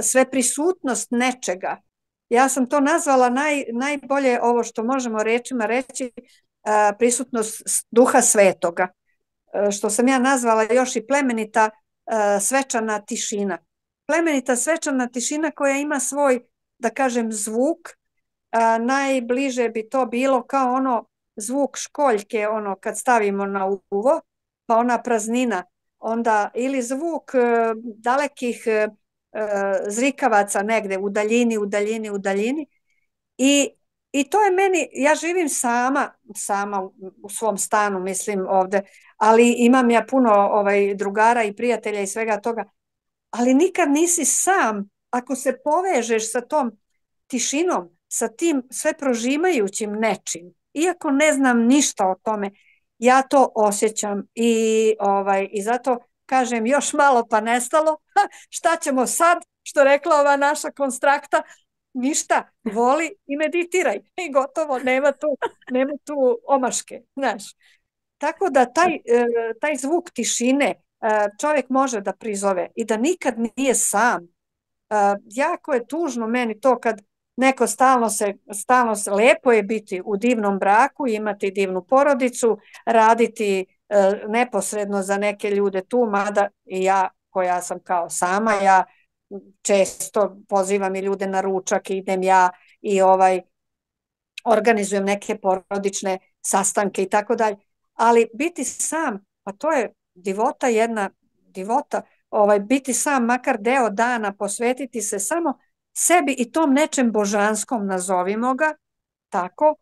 sve prisutnost nečega. Ja sam to nazvala naj, najbolje ovo što možemo rečima reći, prisutnost duha svetoga, što sam ja nazvala još i plemenita svečana tišina. Plemenita svečana tišina koja ima svoj, da kažem, zvuk, najbliže bi to bilo kao ono zvuk školjke, ono kad stavimo na uvo, pa ona praznina, onda ili zvuk dalekih zrikavaca negde u daljini, u daljini, u daljini. I, i to je meni, ja živim sama, sama u, u svom stanu, mislim ovde, ali imam ja puno ovaj, drugara i prijatelja i svega toga, ali nikad nisi sam ako se povežeš sa tom tišinom, sa tim sve prožimajućim nečim, iako ne znam ništa o tome, ja to osjećam i, ovaj, i zato kažem još malo pa nestalo, ha, šta ćemo sad, što rekla ova naša konstrakta, ništa, voli i meditiraj i gotovo, nema tu, nema tu omaške, znaš. Tako da taj, taj zvuk tišine čovjek može da prizove i da nikad nije sam. Jako je tužno meni to kad neko stalno se, stalno se, lepo je biti u divnom braku, imati divnu porodicu, raditi e, neposredno za neke ljude tu, mada i ja koja sam kao sama, ja često pozivam i ljude na ručak, idem ja i ovaj organizujem neke porodične sastanke i tako dalje, ali biti sam, pa to je divota jedna, divota, ovaj, biti sam makar deo dana, posvetiti se samo sebi i tom nečem božanskom, nazovimo ga tako,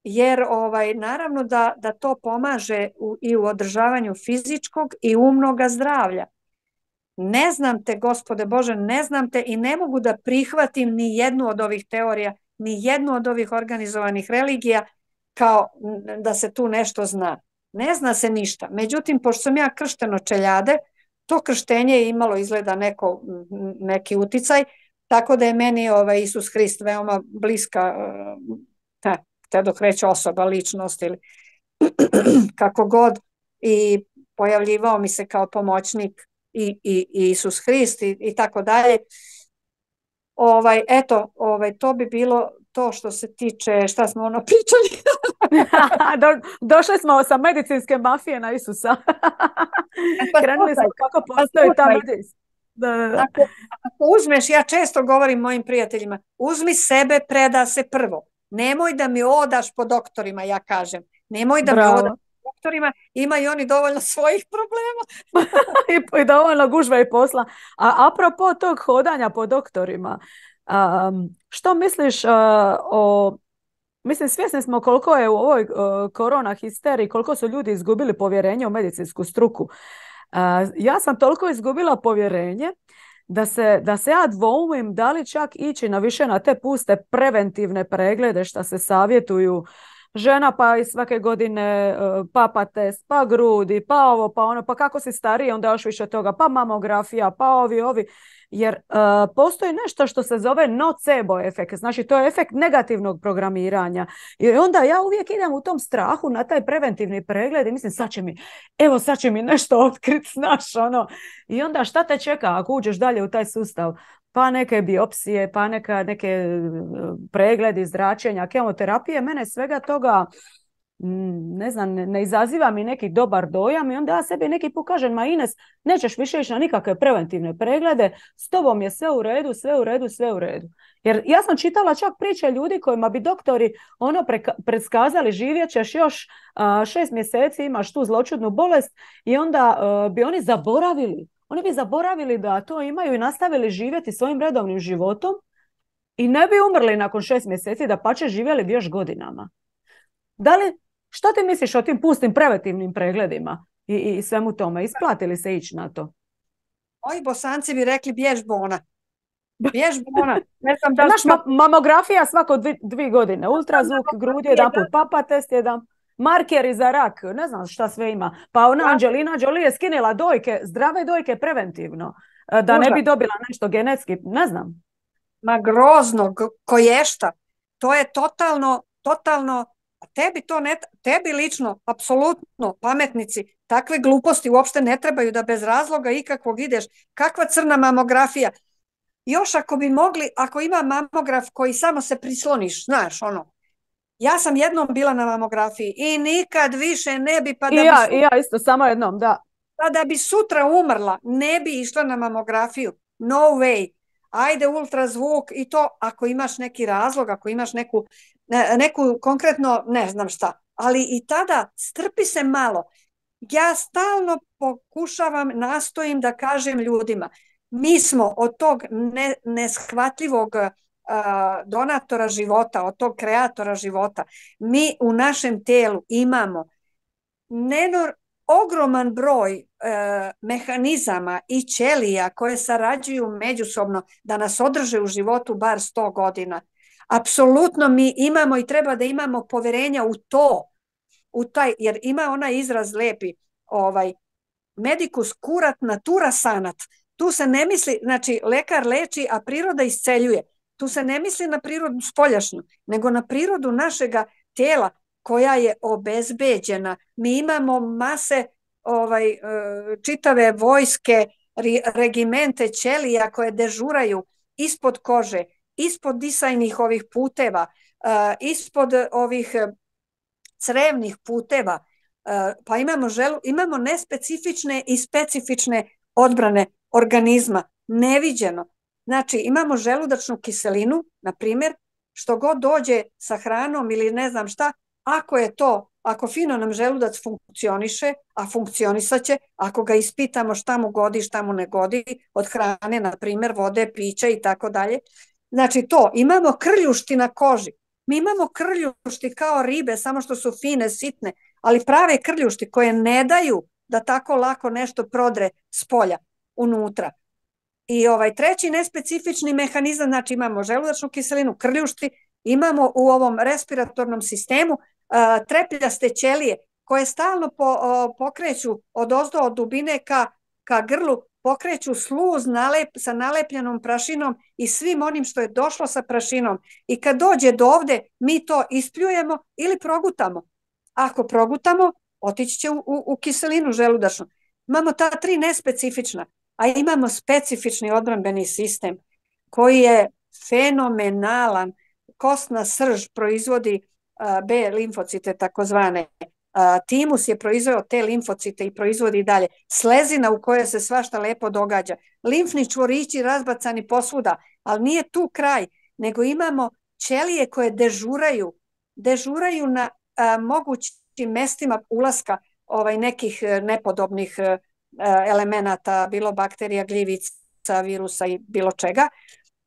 jer ovaj, naravno da, da to pomaže u, i u održavanju fizičkog i umnoga zdravlja. Ne znam te, Gospode Bože, ne znam te i ne mogu da prihvatim ni jednu od ovih teorija, ni jednu od ovih organizovanih religija kao da se tu nešto zna. Ne zna se ništa. Međutim, pošto sam ja kršteno čeljade, to krštenje je imalo izgleda neko, neki uticaj, tako da je meni ovaj, Isus Hrist veoma bliska, te, te dok reći osoba, ličnost ili kako god, i pojavljivao mi se kao pomoćnik i, i, i Isus Hrist i, i tako dalje. Ovaj, eto, ovaj, to bi bilo to što se tiče, šta smo ono pričali. Do, došli smo sa medicinske mafije na Isusa. Pa krenuli smo kako postoji ta medicinska. Da, da, da. Ako, ako uzmeš, ja često govorim mojim prijateljima, uzmi sebe, preda se prvo. Nemoj da mi odaš po doktorima, ja kažem. Nemoj da Bravo. mi odaš po doktorima, imaju oni dovoljno svojih problema. I, I dovoljno gužve i posla. A apropo tog hodanja po doktorima, um, što misliš uh, o... Mislim, svjesni smo koliko je u ovoj uh, korona histeriji, koliko su ljudi izgubili povjerenje u medicinsku struku. Uh, ja sam toliko izgubila povjerenje da se, da se ja dvoumim da li čak ići na više na te puste preventivne preglede što se savjetuju žena pa i svake godine uh, papa test, pa grudi, pa ovo, pa ono, pa kako si stariji, onda još više toga, pa mamografija, pa ovi, ovi. Jer uh, postoji nešto što se zove nocebo efekt, znači to je efekt negativnog programiranja. I onda ja uvijek idem u tom strahu na taj preventivni pregled i mislim sad će mi, evo sad će mi nešto otkriti, znaš, ono. I onda šta te čeka ako uđeš dalje u taj sustav? Pa neke biopsije, pa neka, neke pregledi, zračenja, kemoterapije, mene svega toga, ne znam, ne, ne izaziva mi neki dobar dojam i onda ja sebi neki put kažem, ma Ines, nećeš više ići na nikakve preventivne preglede, s tobom je sve u redu, sve u redu, sve u redu. Jer ja sam čitala čak priče ljudi kojima bi doktori ono preka- predskazali živjet ćeš još a, šest mjeseci, imaš tu zloćudnu bolest i onda a, bi oni zaboravili. Oni bi zaboravili da to imaju i nastavili živjeti svojim redovnim životom i ne bi umrli nakon šest mjeseci, da pače živjeli bi još godinama. Da li, što ti misliš o tim pustim preventivnim pregledima i, i svemu tome? Isplatili se ići na to? Ovi Bosanci bi rekli bjež bona. Bjež bona. Ne znam da Naš ma- mamografija svako dvi, dvi godine. Ultrazvuk, grudi jedan put, papa test jedan. markeri za rak, ne znam šta sve ima. Pa ona Ja, Angelina Jolie je skinila dojke, zdrave dojke preventivno, e, da ne užas. bi dobila nešto genetski, ne znam. Ma grozno, g- koješta. To je totalno, totalno, a tebi to ne, tebi lično, apsolutno, pametnici, takve gluposti uopšte ne trebaju da bez razloga ikakvog ideš. Kakva crna mamografija? Još ako bi mogli, ako ima mamograf koji samo se prisloniš, znaš, ono. Ja sam jednom bila na mamografiji i nikad više ne bi, pa I da bi ja, i sutra, ja isto, samo jednom, da. pa da bi sutra umrla, ne bi išla na mamografiju. No way. Ajde ultrazvuk i to ako imaš neki razlog, ako imaš neku, ne- neku konkretno, ne znam šta. Ali i tada strpi se malo. Ja stalno pokušavam, nastojim da kažem ljudima, mi smo od tog ne, neshvatljivog a, donatora života, od tog kreatora života, mi u našem telu imamo nenor, ogroman broj e, mehanizama i ćelija koje sarađuju međusobno da nas održe u životu bar sto godina. Apsolutno mi imamo i treba da imamo poverenja u to, u taj, jer ima onaj izraz lepi, ovaj, medicus curat natura sanat. Tu se ne misli, znači lekar leči, a priroda isceljuje. Tu se ne misli na prirodu spoljašnju, nego na prirodu našega tela koja je obezbeđena. Mi imamo mase ovaj, čitave vojske, regimente ćelija koje dežuraju ispod kože, ispod disajnih ovih puteva, ispod ovih crevnih puteva, pa imamo želu, imamo nespecifične i specifične odbrane organizma, neviđeno. Znači imamo želudačnu kiselinu, na primjer, što god dođe sa hranom ili ne znam šta, ako je to, ako fino nam želudac funkcioniše, a funkcionisaće, ako ga ispitamo šta mu godi, šta mu ne godi, od hrane, na primjer, vode, pića i tako dalje. Znači to, imamo krljušti na koži. Mi imamo krljušti kao ribe, samo što su fine, sitne, ali prave krljušti koje ne daju da tako lako nešto prodre s polja unutra. I ovaj treći nespecifični mehanizam, znači imamo želudačnu kiselinu, krljušti, imamo u ovom respiratornom sistemu uh, trepljaste ćelije koje stalno po, uh, pokreću od ozdo od dubine ka, ka grlu, pokreću sluz nalep, sa nalepljenom prašinom i svim onim što je došlo sa prašinom. I kad dođe do ovde, mi to ispljujemo ili progutamo. Ako progutamo, otići će u, u, u kiselinu želudačnu. Imamo ta tri nespecifična, a imamo specifični odbrambeni sistem koji je fenomenalan. Kostna srž proizvodi a, B limfocite takozvane. A, timus je proizveo te limfocite i proizvodi dalje. Slezina u kojoj se svašta lepo događa. Limfni čvorići razbacani posvuda, ali nije tu kraj, nego imamo ćelije koje dežuraju. Dežuraju na a, mogućim mestima ulaska ovaj, nekih nepodobnih a, elemenata, bilo bakterija, gljivica, virusa i bilo čega.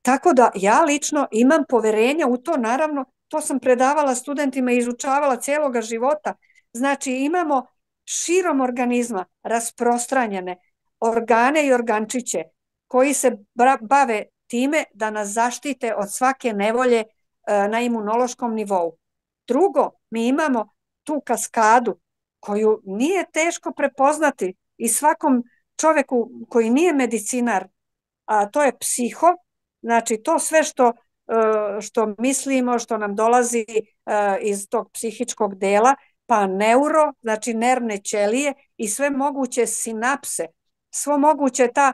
Tako da ja lično imam poverenja u to, naravno, to sam predavala studentima i izučavala cijeloga života. Znači imamo širom organizma rasprostranjene organe i organčiće koji se bave time da nas zaštite od svake nevolje na imunološkom nivou. Drugo, mi imamo tu kaskadu koju nije teško prepoznati i svakom čoveku koji nije medicinar, a to je psiho, znači to sve što, što mislimo, što nam dolazi iz tog psihičkog dela, pa neuro, znači nervne ćelije i sve moguće sinapse, svo moguće ta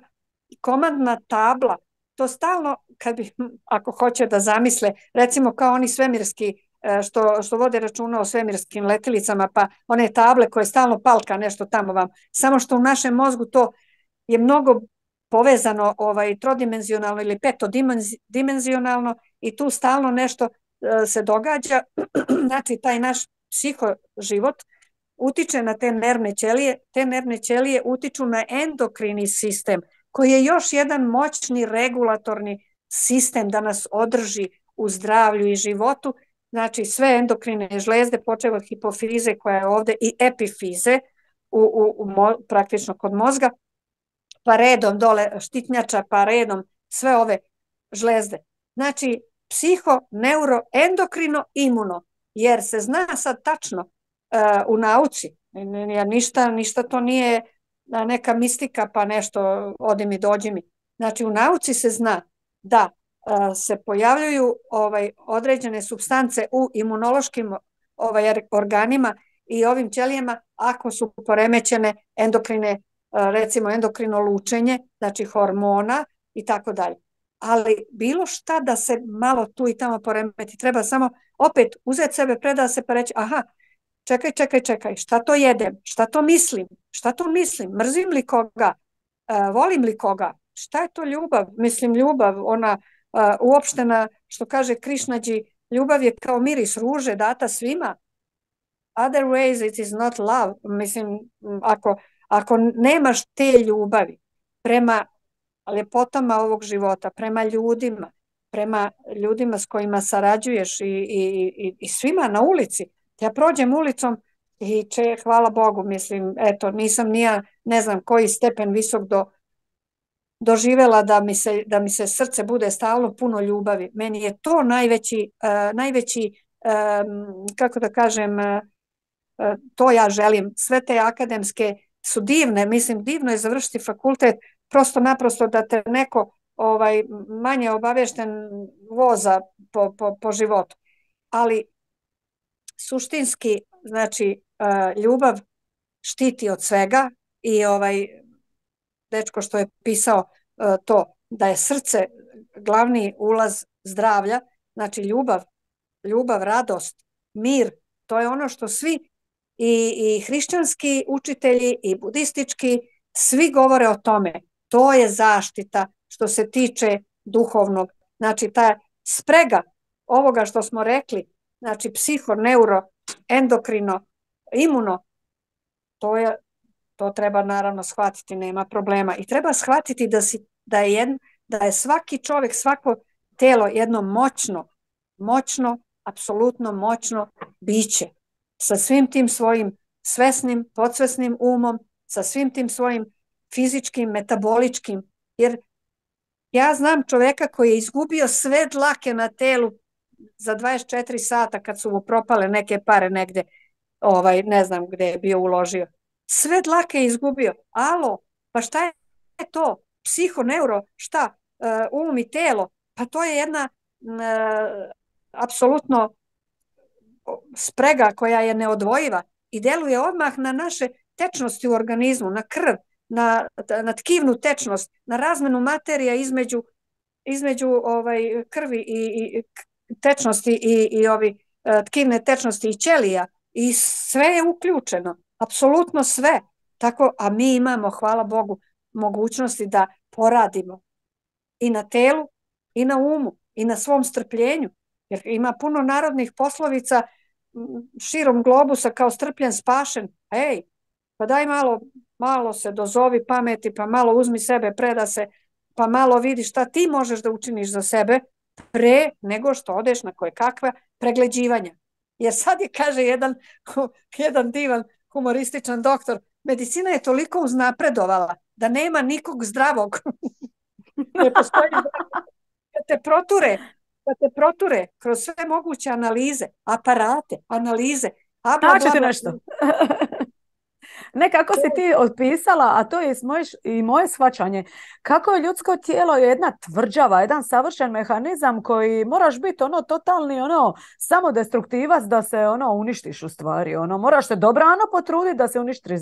komandna tabla, to stalno, kad bi, ako hoće da zamisle, recimo kao oni svemirski, što, što vode računa o svemirskim letilicama, pa one table koje stalno palka nešto tamo vam, samo što u našem mozgu to je mnogo povezano ovaj, trodimenzionalno ili petodimenzionalno i tu stalno nešto se događa, znači taj naš psihoživot utiče na te nervne ćelije, te nervne ćelije utiču na endokrini sistem, koji je još jedan moćni regulatorni sistem da nas održi u zdravlju i životu, znači sve endokrine žlezde, počev od hipofize koja je ovde i epifize, u, u, u, praktično kod mozga, pa redom dole štitnjača, pa redom sve ove žlezde. Znači psiho, neuro, endokrino, imuno, jer se zna sad tačno u nauci. Ništa, ništa to nije neka mistika pa nešto odi mi dođi mi. Znači u nauci se zna da se pojavljuju ovaj, određene supstance u imunološkim ovaj, organima i ovim ćelijama ako su poremećene endokrine, recimo endokrino lučenje, znači hormona i tako dalje. Ali bilo šta da se malo tu i tamo poremeti, treba samo opet uzeti sebe, preda se pa reći aha, čekaj, čekaj, čekaj, šta to jedem, šta to mislim, šta to mislim, mrzim li koga, uh, volim li koga, šta je to ljubav, mislim ljubav, ona uh, uopštena, što kaže Krišnađi, ljubav je kao miris ruže data svima, other ways it is not love, mislim, ako, ako nemaš te ljubavi prema ljepotama ovog života, prema ljudima, prema ljudima s kojima sarađuješ i, i, i, i svima na ulici. Ja prođem ulicom i če, hvala Bogu, mislim, eto, nisam nija, ne znam koji stepen visok do, doživela da mi, se, da mi se srce bude stalno puno ljubavi. Meni je to najveći, uh, najveći um, kako da kažem, uh, to ja želim. Sve te akademske su divne, mislim, divno je završiti fakultet, prosto naprosto da te neko ovaj, manje obavešten voza po, po, po životu. Ali suštinski, znači, uh, ljubav štiti od svega i ovaj dečko što je pisao uh, to, da je srce glavni ulaz zdravlja, znači ljubav, ljubav, radost, mir, to je ono što svi i, i hrišćanski učitelji i budistički svi govore o tome. To je zaštita što se tiče duhovnog. Znači ta sprega ovoga što smo rekli, znači psiho, neuro, endokrino, imuno, to je, to treba naravno shvatiti, nema problema. I treba shvatiti da, si, da, je, jed, da je svaki čovjek, svako telo jedno moćno, moćno, apsolutno moćno biće. Sa svim tim svojim svesnim, podsvesnim umom, sa svim tim svojim fizičkim, metaboličkim, jer ja znam čovjeka koji je izgubio sve dlake na telu za dvadeset četiri sata kad su mu propale neke pare negde, ovaj, ne znam gde je bio uložio. Sve dlake je izgubio. Alo, pa šta je to? Psiho, neuro, šta? Uh, um i telo. Pa to je jedna uh, apsolutno sprega koja je neodvojiva i deluje odmah na naše tečnosti u organizmu, na krv, na, na tkivnu tečnost, na razmenu materija između, između ovaj, krvi i, i tečnosti i, i ovi tkivne tečnosti i ćelija i sve je uključeno, apsolutno sve. Tako, a mi imamo, hvala Bogu, mogućnosti da poradimo i na telu, i na umu, i na svom strpljenju, jer ima puno narodnih poslovica širom globusa kao strpljen spašen. Ej, pa daj malo, malo se dozovi pameti, pa malo uzmi sebe, preda se, pa malo vidi šta ti možeš da učiniš za sebe pre nego što odeš na koje kakva pregleđivanja. Jer sad je, kaže jedan, jedan divan humorističan doktor, medicina je toliko uznapredovala da nema nikog zdravog. Ne postoji da te proture, da te proture kroz sve moguće analize, aparate, analize. A bla, bla, bla, nešto. Ne, kako si ti otpisala, a to je i moje shvaćanje, kako je ljudsko tijelo jedna tvrđava, jedan savršen mehanizam koji moraš biti ono totalni ono samodestruktivac da se ono uništiš u stvari, ono moraš se dobrano potruditi da se uništiš,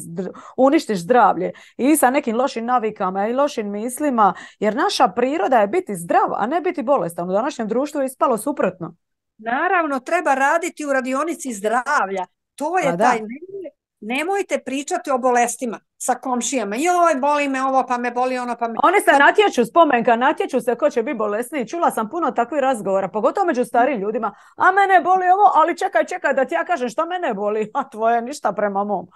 uništiš zdravlje i sa nekim lošim navikama i lošim mislima, jer naša priroda je biti zdrav, a ne biti bolestan. U današnjem društvu je ispalo suprotno. Naravno, treba raditi u radionici zdravlja. To je taj... Nemojte pričati o bolestima sa komšijama. Joj, boli me ovo, pa me boli ono, pa me... Oni se natječu, spomenka, natječu se ko će biti bolesniji. Čula sam puno takvih razgovora, pogotovo među starijim ljudima. A mene boli ovo, ali čekaj, čekaj da ti ja kažem što mene boli, a tvoje ništa prema mom.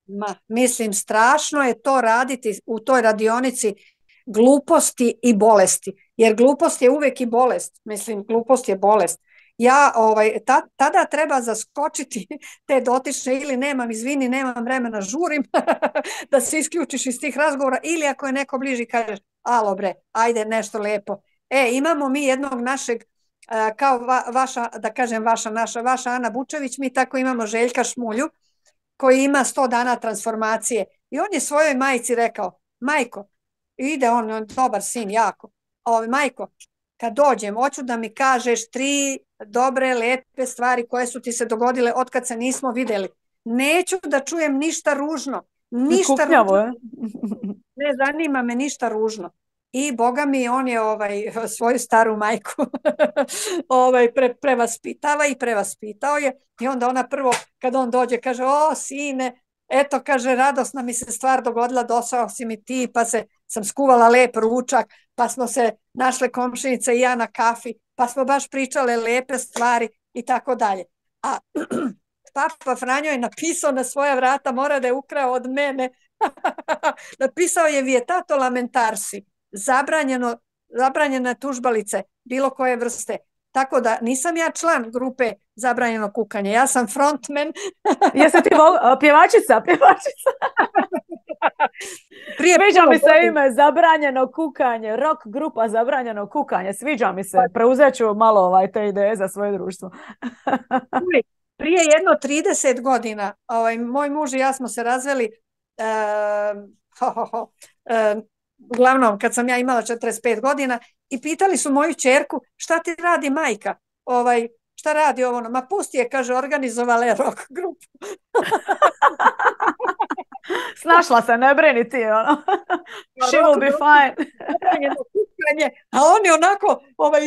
Ma, mislim, strašno je to raditi u toj radionici gluposti i bolesti. Jer glupost je uvek i bolest. Mislim, glupost je bolest. Ja, ovaj, ta, tada treba zaskočiti te dotične ili nemam, izvini, nemam vremena, žurim da se isključiš iz tih razgovora ili ako je neko bliži kažeš, alo bre, ajde nešto lepo. E, imamo mi jednog našeg kao va, vaša, da kažem vaša, naša, vaša Ana Bučević, mi tako imamo Željka Šmulju, koji ima sto dana transformacije. I on je svojoj majci rekao, majko, ide on, on dobar sin, jako, ovo, majko, kad dođem, hoću da mi kažeš tri dobre, lepe stvari koje su ti se dogodile od kad se nismo videli. Neću da čujem ništa ružno. Ništa Kuknjavo, ružno. Ne zanima me ništa ružno. I boga mi, on je ovaj, svoju staru majku ovaj, pre, prevaspitava i prevaspitao je. I onda ona prvo, kad on dođe, kaže, o sine, eto, kaže, radosna mi se stvar dogodila, došao si mi ti, pa se, sam skuvala lep ručak, pa smo se našle komšinice i ja na kafi, pa smo baš pričale lepe stvari i tako dalje. A Papa Franjo je napisao na svoja vrata, mora da je ukrao od mene, napisao je vietato lamentarsi, zabranjeno, zabranjene tužbalice, bilo koje vrste. Tako da nisam ja član grupe Zabranjeno kukanje, ja sam frontman. Jesi ti vol... pjevačica, pjevačica. Prije sviđa mi se godin. Ime Zabranjeno kukanje, rock grupa Zabranjeno kukanje, sviđa mi se, preuzet ću malo ovaj, te ideje za svoje društvo. Prije jedno trideset godina, ovaj, moj muž i ja smo se razveli, uh, ho, ho, ho, uh, uglavnom kad sam ja imala četrdeset pet godina i pitali su moju ćerku šta ti radi majka, ovaj, šta radi ovo, ma pusti je, kaže, organizovala je rock grupu. Snašla se, ne brini ti, ono. She will be fine. A oni onako, ovaj,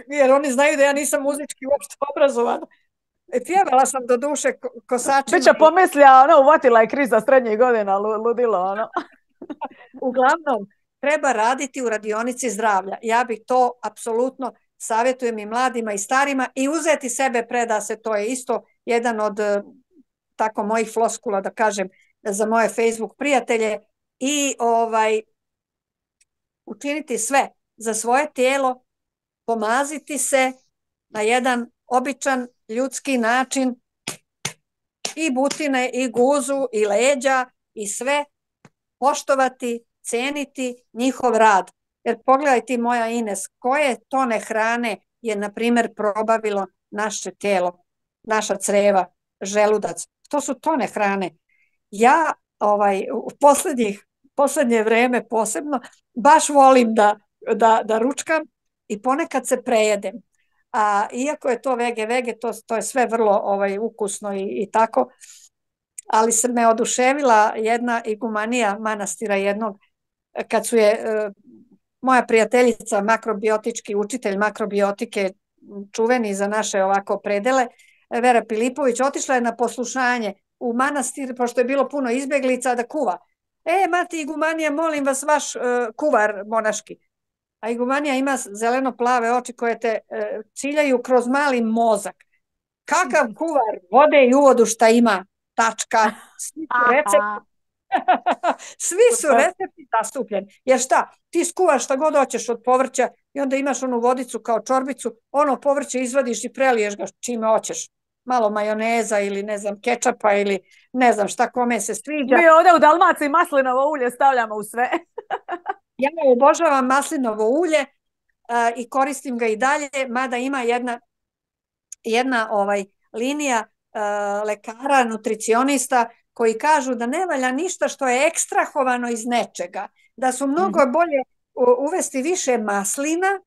jer oni znaju da ja nisam muzički uopšte obrazovana. Pjevala sam do duše kosačima. Biće pomislija, ono, uvatila je kriza srednjih godina, ludilo, ono. Uglavnom, treba raditi u radionici zdravlja. Ja bih to apsolutno savjetujem i mladima i starima i uzeti sebe preda se, to je isto jedan od tako mojih floskula, da kažem, za moje Facebook prijatelje i ovaj učiniti sve za svoje tijelo, pomaziti se na jedan običan ljudski način i butine i guzu i leđa i sve poštovati, ceniti njihov rad. Jer pogledaj ti moja Ines, koje tone hrane je na primjer probavilo naše tijelo, naša creva, želudac. To su tone hrane. Ja ovaj, u posljednjih, posljednje vreme posebno baš volim da, da, da ručkam i ponekad se prejedem. A iako je to vege, vege, to, to je sve vrlo ovaj, ukusno i, i tako, ali se me oduševila jedna igumanija manastira jednog, kad su je e, moja prijateljica, makrobiotički učitelj makrobiotike, čuveni za naše ovako predele, Vera Pilipović, otišla je na poslušanje u manastir, pošto je bilo puno izbjeglica, da kuva. E, mati igumanija, molim vas, vaš uh, kuvar monaški. A igumanija ima zeleno-plave oči koje te uh, ciljaju kroz mali mozak. Kakav kuvar, vode i uvodu šta ima, tačka, svi su recepti. Svi su recepti zastupljeni. Jer šta, ti skuvaš šta god hoćeš od povrća i onda imaš onu vodicu kao čorbicu, ono povrće izvadiš i preliješ ga čime hoćeš. Malo majoneza ili ne znam kečapa ili ne znam šta kome se sviđa. Mi ovdje u Dalmaciji maslinovo ulje stavljamo u sve. Ja obožavam maslinovo ulje uh, i koristim ga i dalje, mada ima jedna, jedna ovaj, linija uh, lekara, nutricionista koji kažu da ne valja ništa što je ekstrahovano iz nečega, da su mnogo mm-hmm. bolje uvesti više maslina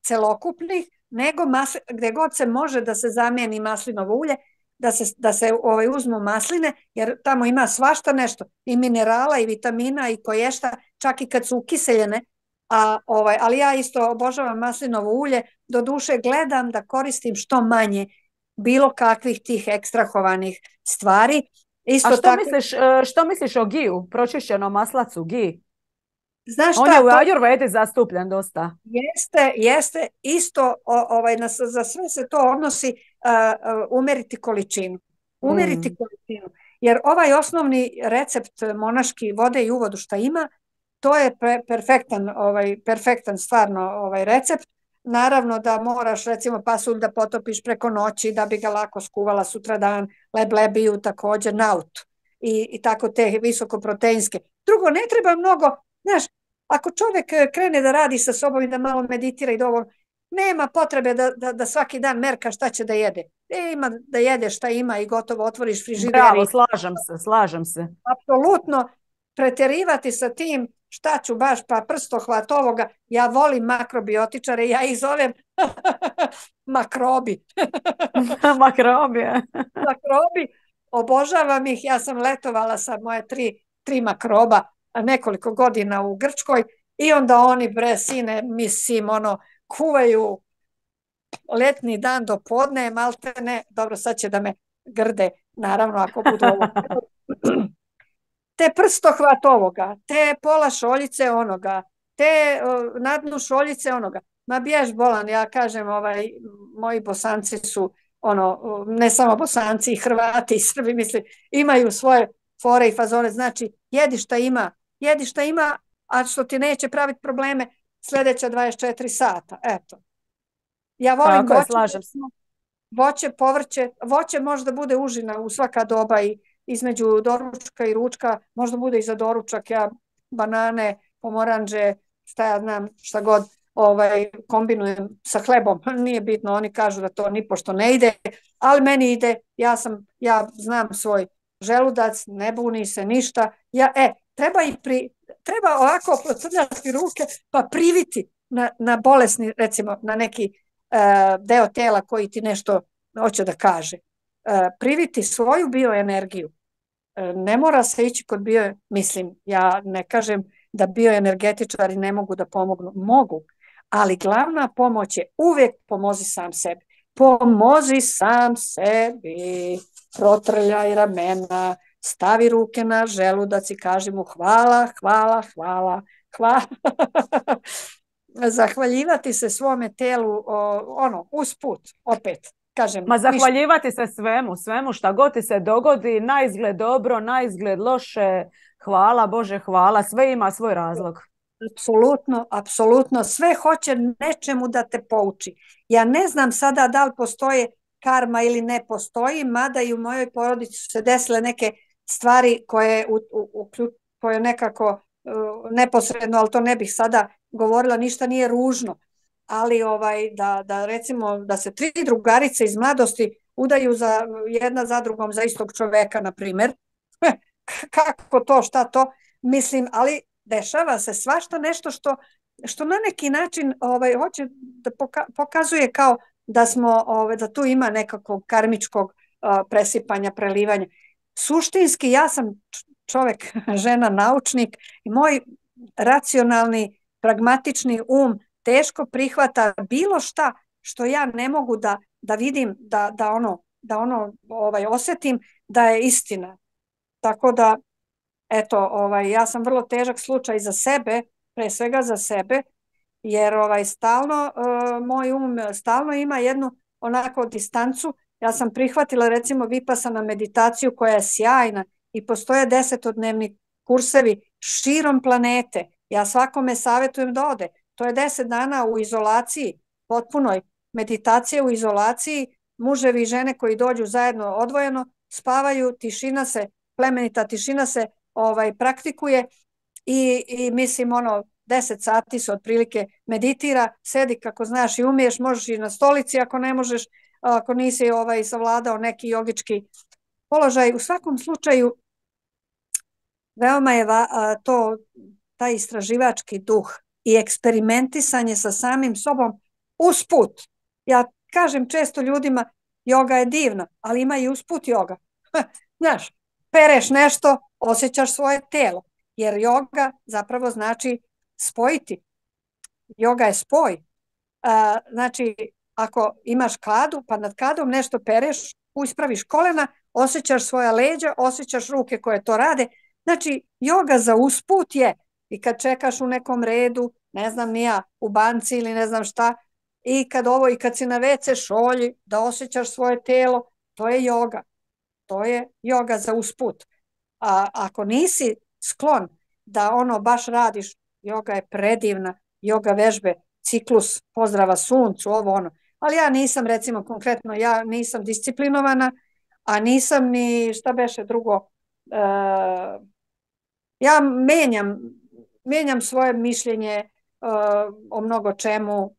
celokupnih, nego masli, gdje god se može da se zamijeni maslinovo ulje, da se, da se ovaj, uzmu masline, jer tamo ima svašta nešto, i minerala, i vitamina, i koješta, čak i kad su ukiseljene, a, ovaj, ali ja isto obožavam maslinovo ulje, do duše gledam da koristim što manje bilo kakvih tih ekstrahovanih stvari. Isto a što, tako, misliš, što misliš o giju, pročišćenom maslacu, gi? Znaš On šta, je u Ajurvedi zastupljen dosta. Jeste, jeste, isto o, ovaj, na, za sve se to odnosi uh, uh, umeriti količinu. Umeriti mm. količinu. Jer ovaj osnovni recept monaški vode i uvodu šta ima, to je pre, perfektan, ovaj, perfektan stvarno ovaj recept. Naravno da moraš recimo pasulj da potopiš preko noći da bi ga lako skuvala sutradan, leblebiju također, naut i, i tako te visokoproteinske. Drugo, ne treba mnogo, znaš, ako čovjek krene da radi sa sobom i da malo meditira i dovoljno, Nema potrebe da, da, da svaki dan merka šta će da jede. E, ima da jede šta ima i gotovo otvoriš frižider Bravo, i slažem se, slažem se. apsolutno preterivati sa tim šta ću baš pa prstohvat ovoga. Ja volim makrobiotičare, ja ih zovem makrobi. Makrobija. Makrobi, obožavam ih. Ja sam letovala sa moje tri, tri makroba nekoliko godina u Grčkoj i onda oni, bre, sine, mislim, ono, kuvaju letni dan do podne, malte ne, dobro, sad će da me grde, naravno, ako budu ovo. Te prstohvat ovoga, te pola šoljice onoga, te uh, na dnu šoljice onoga. Ma bjež bolan, ja kažem, ovaj, moji Bosanci su, ono, ne samo Bosanci, i Hrvati i Srbi, misli, imaju svoje fore i fazone, znači, jedi šta ima, jedi šta ima, a što ti neće praviti probleme sljedeća dvadeset četiri sata, eto. Ja volim Tako je, voće, slažem se. voće, povrće, voće možda bude užina u svaka doba i između doručka i ručka, možda bude i za doručak, ja banane, pomoranđe, šta ja znam, šta god ovaj, kombinujem sa hlebom, nije bitno, oni kažu da to ni pošto ne ide, ali meni ide, ja sam, ja znam svoj želudac, ne buni se ništa, ja, e, treba i pri, treba ovako procrljati ruke, pa priviti na, na bolesni, recimo, na neki uh, deo tela koji ti nešto hoće da kaže. Uh, priviti svoju bioenergiju. Uh, ne mora se ići kod bio, mislim, ja ne kažem da bioenergetičari ne mogu da pomognu. Mogu, ali glavna pomoć je uvijek pomozi sam sebi. Pomozi sam sebi, protrljaj ramena, stavi ruke na želudac i kaži mu hvala, hvala, hvala, hvala. Zahvaljivati se svome telu, ono, usput, opet. Kažem, Ma zahvaljivati ništa. Se svemu, svemu šta god ti se dogodi, na izgled dobro, na izgled loše, hvala Bože, hvala, sve ima svoj razlog. Apsolutno, apsolutno, sve hoće nečemu da te pouči. Ja ne znam sada da li postoje karma ili ne postoji, mada i u mojoj porodici su se desile neke stvari koje, u, u, koje nekako uh, neposredno, ali to ne bih sada govorila, ništa nije ružno. Ali ovaj, da, da recimo da se tri drugarice iz mladosti udaju za, jedna za drugom za istog čoveka, na primjer. Kako to, šta to? Mislim, ali dešava se svašta nešto što, što na neki način ovaj, hoće da poka pokazuje kao da smo, ovaj, da tu ima nekakvog karmičkog uh, presipanja, prelivanja. Suštinski ja sam čovjek, žena, naučnik i moj racionalni, pragmatični um teško prihvata bilo šta što ja ne mogu da, da vidim, da, da ono, da ono ovaj, osjetim da je istina. Tako da, eto, ovaj, ja sam vrlo težak slučaj za sebe, pre svega za sebe, jer ovaj, stalno, uh, moj um stalno ima jednu onako distancu. Ja sam prihvatila recimo vipassana meditaciju koja je sjajna i postoje desetodnevni kursevi širom planete. Ja svakome savjetujem da ode. To je deset dana u izolaciji, potpunoj meditacije u izolaciji, muževi i žene koji dođu zajedno odvojeno, spavaju, tišina se, plemenita tišina se ovaj, praktikuje i, i mislim ono, deset sati se otprilike meditira, sedi kako znaš i umiješ, možeš i na stolici ako ne možeš, ako nisi ovaj, savladao neki jogički položaj. U svakom slučaju, veoma je va, a, to, taj istraživački duh i eksperimentisanje sa samim sobom usput. Ja kažem često ljudima, joga je divna, ali ima i usput joga. Znaš, pereš nešto, osjećaš svoje telo, jer joga zapravo znači spojiti. Joga je spoj. A, znači, ako imaš kadu, pa nad kadom nešto pereš, uspraviš kolena, osjećaš svoja leđa, osjećaš ruke koje to rade. Znači, joga za usput je i kad čekaš u nekom redu, ne znam ni ja, u banci ili ne znam šta, i kad ovo, i kad si na ve ce šolji, da osjećaš svoje telo, to je joga. To je joga za usput. A ako nisi sklon da ono baš radiš, joga je predivna, joga vežbe, ciklus pozdrava suncu, ovo ono. Ali ja nisam, recimo konkretno, ja nisam disciplinovana, a nisam ni, šta beše drugo, uh, ja menjam, menjam svoje mišljenje uh, o mnogo čemu,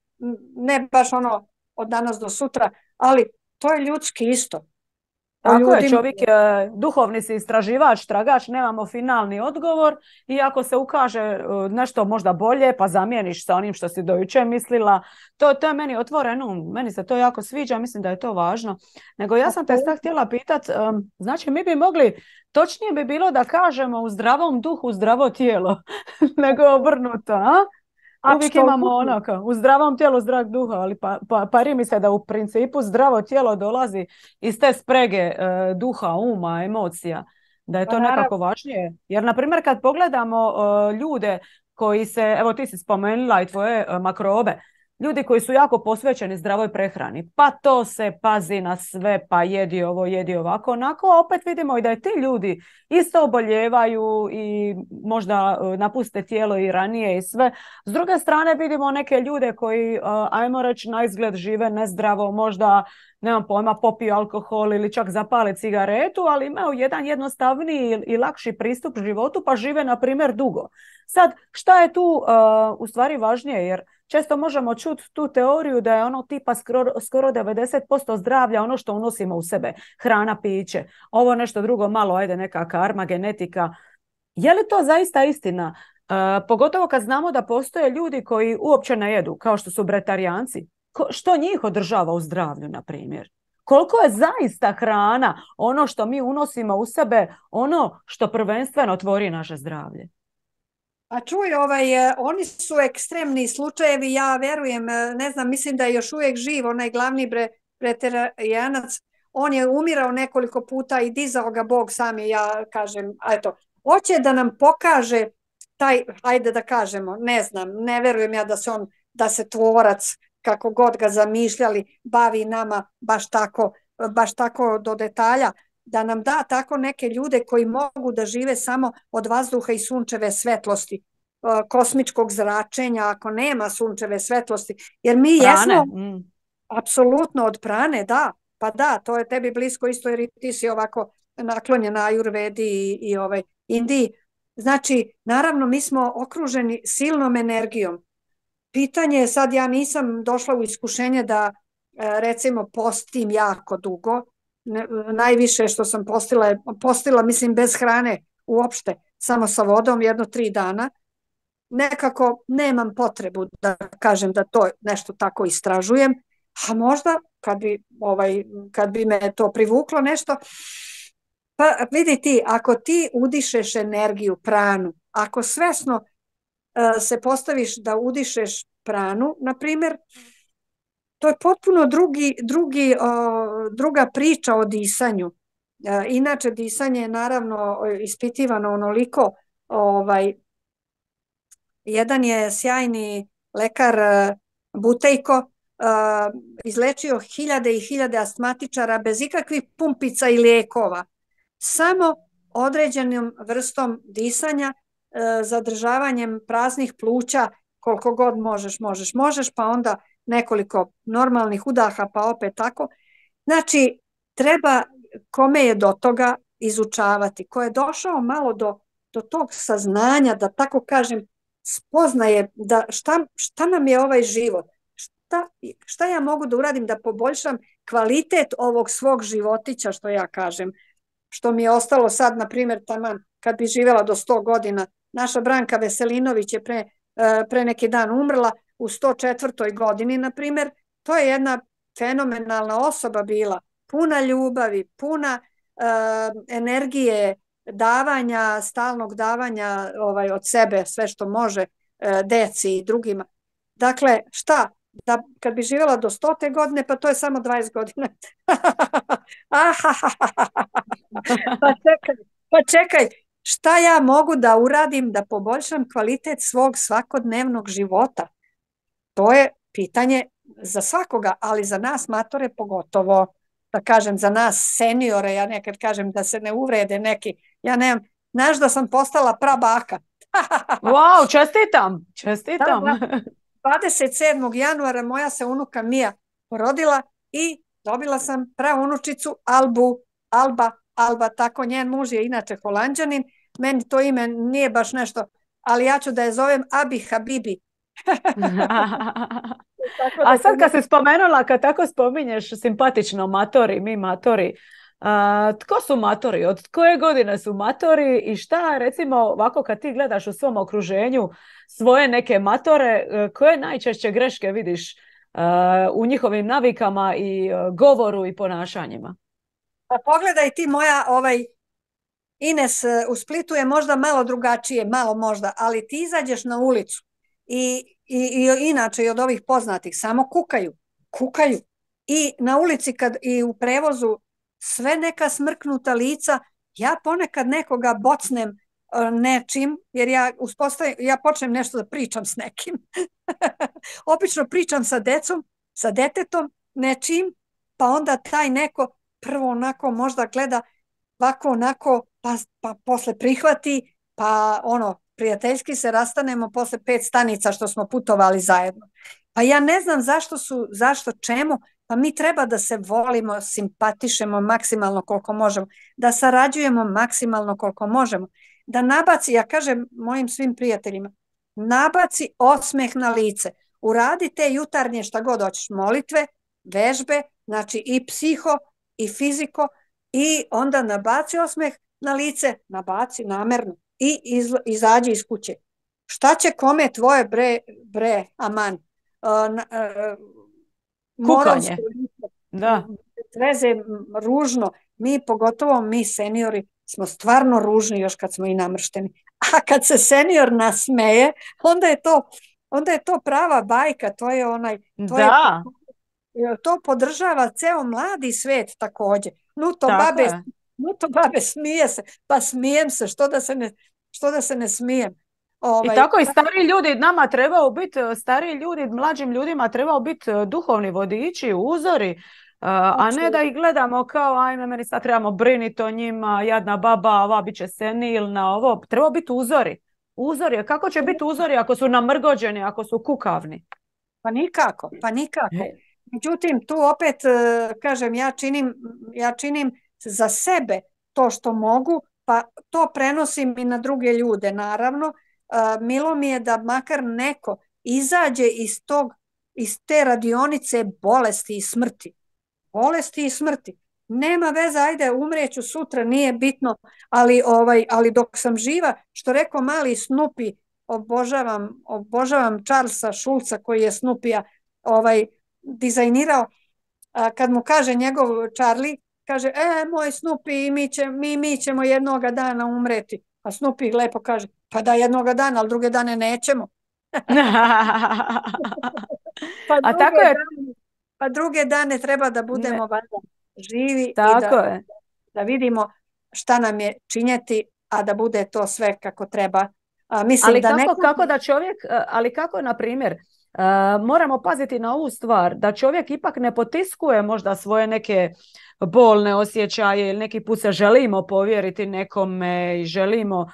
ne baš ono od danas do sutra, ali to je ljudski isto. O Tako je, ljudima. čovjek je duhovni si istraživač, tragač, nemamo finalni odgovor i ako se ukaže e, nešto možda bolje, pa zamijeniš sa onim što si do jučer mislila, to, to je meni otvoreno, meni se to jako sviđa, mislim da je to važno. Nego ja sam te sad htjela pitat, um, znači mi bi mogli, točnije bi bilo da kažemo u zdravom duhu, zdravo tijelo, nego obrnuto, a? Uvijek imamo ono kao, u zdravom tijelu zdrav duh, ali pa, pa, pari mi se da u principu zdravo tijelo dolazi iz te sprege e, duha, uma, emocija, da je to nekako važnije. Jer, na primjer, kad pogledamo e, ljude koji se, evo ti si spomenula i tvoje e, makrobe, ljudi koji su jako posvećeni zdravoj prehrani, pa to se pazi na sve, pa jedi ovo, jedi ovako, onako, a opet vidimo i da je ti ljudi isto oboljevaju i možda napuste tijelo i ranije i sve. S druge strane vidimo neke ljude koji, ajmo reći, na izgled žive nezdravo, možda, nemam pojma, popiju alkohol ili čak zapale cigaretu, ali imaju jedan jednostavniji i lakši pristup životu, pa žive, na primjer, dugo. Sad, šta je tu uh, u stvari važnije? Jer često možemo čuti tu teoriju da je ono tipa skoro, skoro devedeset posto zdravlja ono što unosimo u sebe. Hrana, piće. Ovo nešto drugo malo, ajde, neka karma, genetika. Je li to zaista istina? Uh, pogotovo kad znamo da postoje ljudi koji uopće ne jedu, kao što su bretarijanci. Ko, što njih održava u zdravlju, na primjer? Koliko je zaista hrana ono što mi unosimo u sebe, ono što prvenstveno tvori naše zdravlje? A čuj, ovaj, oni su ekstremni slučajevi, ja verujem, ne znam, mislim da je još uvijek živ onaj glavni bre, preterijanac, on je umirao nekoliko puta i dizao ga Bog sam je, ja kažem, eto, hoće da nam pokaže taj, ajde da kažemo, ne znam, ne verujem ja da se on, da se tvorac, kako god ga zamišljali, bavi nama baš tako, baš tako do detalja, da nam da tako neke ljude koji mogu da žive samo od vazduha i sunčeve svetlosti, kosmičkog zračenja, ako nema sunčeve svetlosti. Jer mi prane. jesmo mm. apsolutno od prane, da, pa da, to je tebi blisko isto jer ti si ovako naklonjena Ajurvedi i, i ovaj Indiji. Znači, naravno, mi smo okruženi silnom energijom. Pitanje je sad, ja nisam došla u iskušenje da recimo postim jako dugo, Ne, najviše što sam postila je postila, mislim, bez hrane uopšte, samo sa vodom jedno tri dana. Nekako nemam potrebu da kažem da to nešto tako istražujem, a možda kad bi, ovaj, kad bi me to privuklo nešto, pa vidi ti, ako ti udišeš energiju, pranu, ako svesno uh, se postaviš da udišeš pranu, na primjer, to je potpuno drugi, drugi, uh, druga priča o disanju. Uh, inače, disanje je naravno ispitivano onoliko. Ovaj, jedan je sjajni lekar uh, Butejko uh, izlečio hiljade i hiljade astmatičara bez ikakvih pumpica i lijekova. Samo određenom vrstom disanja, uh, zadržavanjem praznih pluća, koliko god možeš, možeš, možeš, pa onda nekoliko normalnih udaha, pa opet tako. Znači, treba kome je do toga izučavati, ko je došao malo do, do tog saznanja, da tako kažem, spoznaje da šta, šta nam je ovaj život, šta, šta ja mogu da uradim da poboljšam kvalitet ovog svog životića, što ja kažem, što mi je ostalo sad, na primjer, taman, kad bi živjela do sto godina. Naša Branka Veselinović je pre, pre neki dan umrla, u sto četvrtoj godini, na primjer. To je jedna fenomenalna osoba bila, puna ljubavi, puna uh, energije, davanja, stalnog davanja ovaj, od sebe, sve što može, uh, deci i drugima. Dakle, šta? Da, kad bi živjela do stote godine, pa to je samo dvadeset godina. pa čekaj, pa čekaj, šta ja mogu da uradim da poboljšam kvalitet svog svakodnevnog života? To je pitanje za svakoga, ali za nas matore pogotovo, da kažem, za nas seniore, ja nekad kažem da se ne uvrede neki, ja nemam, znaš da sam postala prabaka. Wow, čestitam, čestitam. Da, da. dvadeset sedmog januara moja se unuka Mija porodila i dobila sam praunučicu Albu, Alba, Alba, tako njen muž je inače Holanđanin, meni to ime nije baš nešto, ali ja ću da je zovem Abi Habibi. Tako A da sad to kad ne... se spomenula, kad tako spominješ simpatično matori, mi matori, a, tko su matori? Od koje godine su matori i šta, recimo, ovako kad ti gledaš u svom okruženju svoje neke matore, e, koje najčešće greške vidiš a, u njihovim navikama i a, govoru i ponašanjima? Pa pogledaj ti moja, ovaj, Ines e, u Splitu je možda malo drugačije, malo možda, ali ti izađeš na ulicu i, i, i inače i od ovih poznatih samo kukaju, kukaju. I na ulici kad i u prevozu sve neka smrknuta lica, ja ponekad nekoga bocnem e, nečim, jer ja, uspostavim, ja počnem nešto da pričam s nekim. Obično pričam sa decom, sa detetom, nečim, pa onda taj neko prvo onako možda gleda ovako onako, pa, pa posle prihvati, pa ono, prijateljski se rastanemo posle pet stanica što smo putovali zajedno. Pa ja ne znam zašto su, zašto, čemu, pa mi treba da se volimo, simpatišemo maksimalno koliko možemo, da sarađujemo maksimalno koliko možemo, da nabaci, ja kažem mojim svim prijateljima, nabaci osmeh na lice, uradi te jutarnje šta god hoćeš, molitve, vežbe, znači i psiho i fiziko, i onda nabaci osmeh na lice, nabaci namerno i izla, izađi iz kuće. Šta će kome tvoje bre, bre, aman, uh, uh, moronsko lice, Da. veze ružno, mi pogotovo mi seniori smo stvarno ružni još kad smo i namršteni. A kad se senior nasmeje, onda je to, onda je to prava bajka, to je onaj, to Da. je, to podržava ceo mladi svet takođe. Nuto Tako babe, je. nuto babe smije se, pa smijem se, što da se ne, što da se ne smijem. I Ovaj, tako i stari ljudi, nama trebao biti, stari ljudi, mlađim ljudima trebao biti duhovni vodiči, uzori, a ne da ih gledamo kao ajme, meni sad trebamo briniti o njima, jadna baba, ova bit će senilna, ovo. Trebao biti uzori. Uzori, kako će biti uzori ako su namrgođeni, ako su kukavni? Pa nikako, pa nikako. Međutim, tu opet, kažem, ja činim, ja činim za sebe to što mogu, pa to prenosim i na druge ljude, naravno. Milo mi je da makar neko izađe iz tog, iz te radionice bolesti i smrti. Bolesti i smrti. Nema veze, ajde, umreću sutra, nije bitno, ali, ovaj, ali dok sam živa, što rekao mali Snoopy, obožavam, obožavam Charlesa Schulza koji je Snoopija ovaj, dizajnirao, a, kad mu kaže njegov Charlie, kaže, e, moj Snoopy, mi, će, mi, mi ćemo jednoga dana umreti. A Snoopy lepo kaže, pa da jednoga dana, ali druge dane nećemo. pa, A druge tako je. dane, pa druge dane treba da budemo valjda živi tako i da, je. da vidimo šta nam je činjeti, a da bude to sve kako treba. A, mislim ali da kako, nekako... kako da čovjek, ali kako na primjer, uh, moramo paziti na ovu stvar, da čovjek ipak ne potiskuje možda svoje neke bolne osjećaje ili neki put se želimo povjeriti nekome i želimo uh,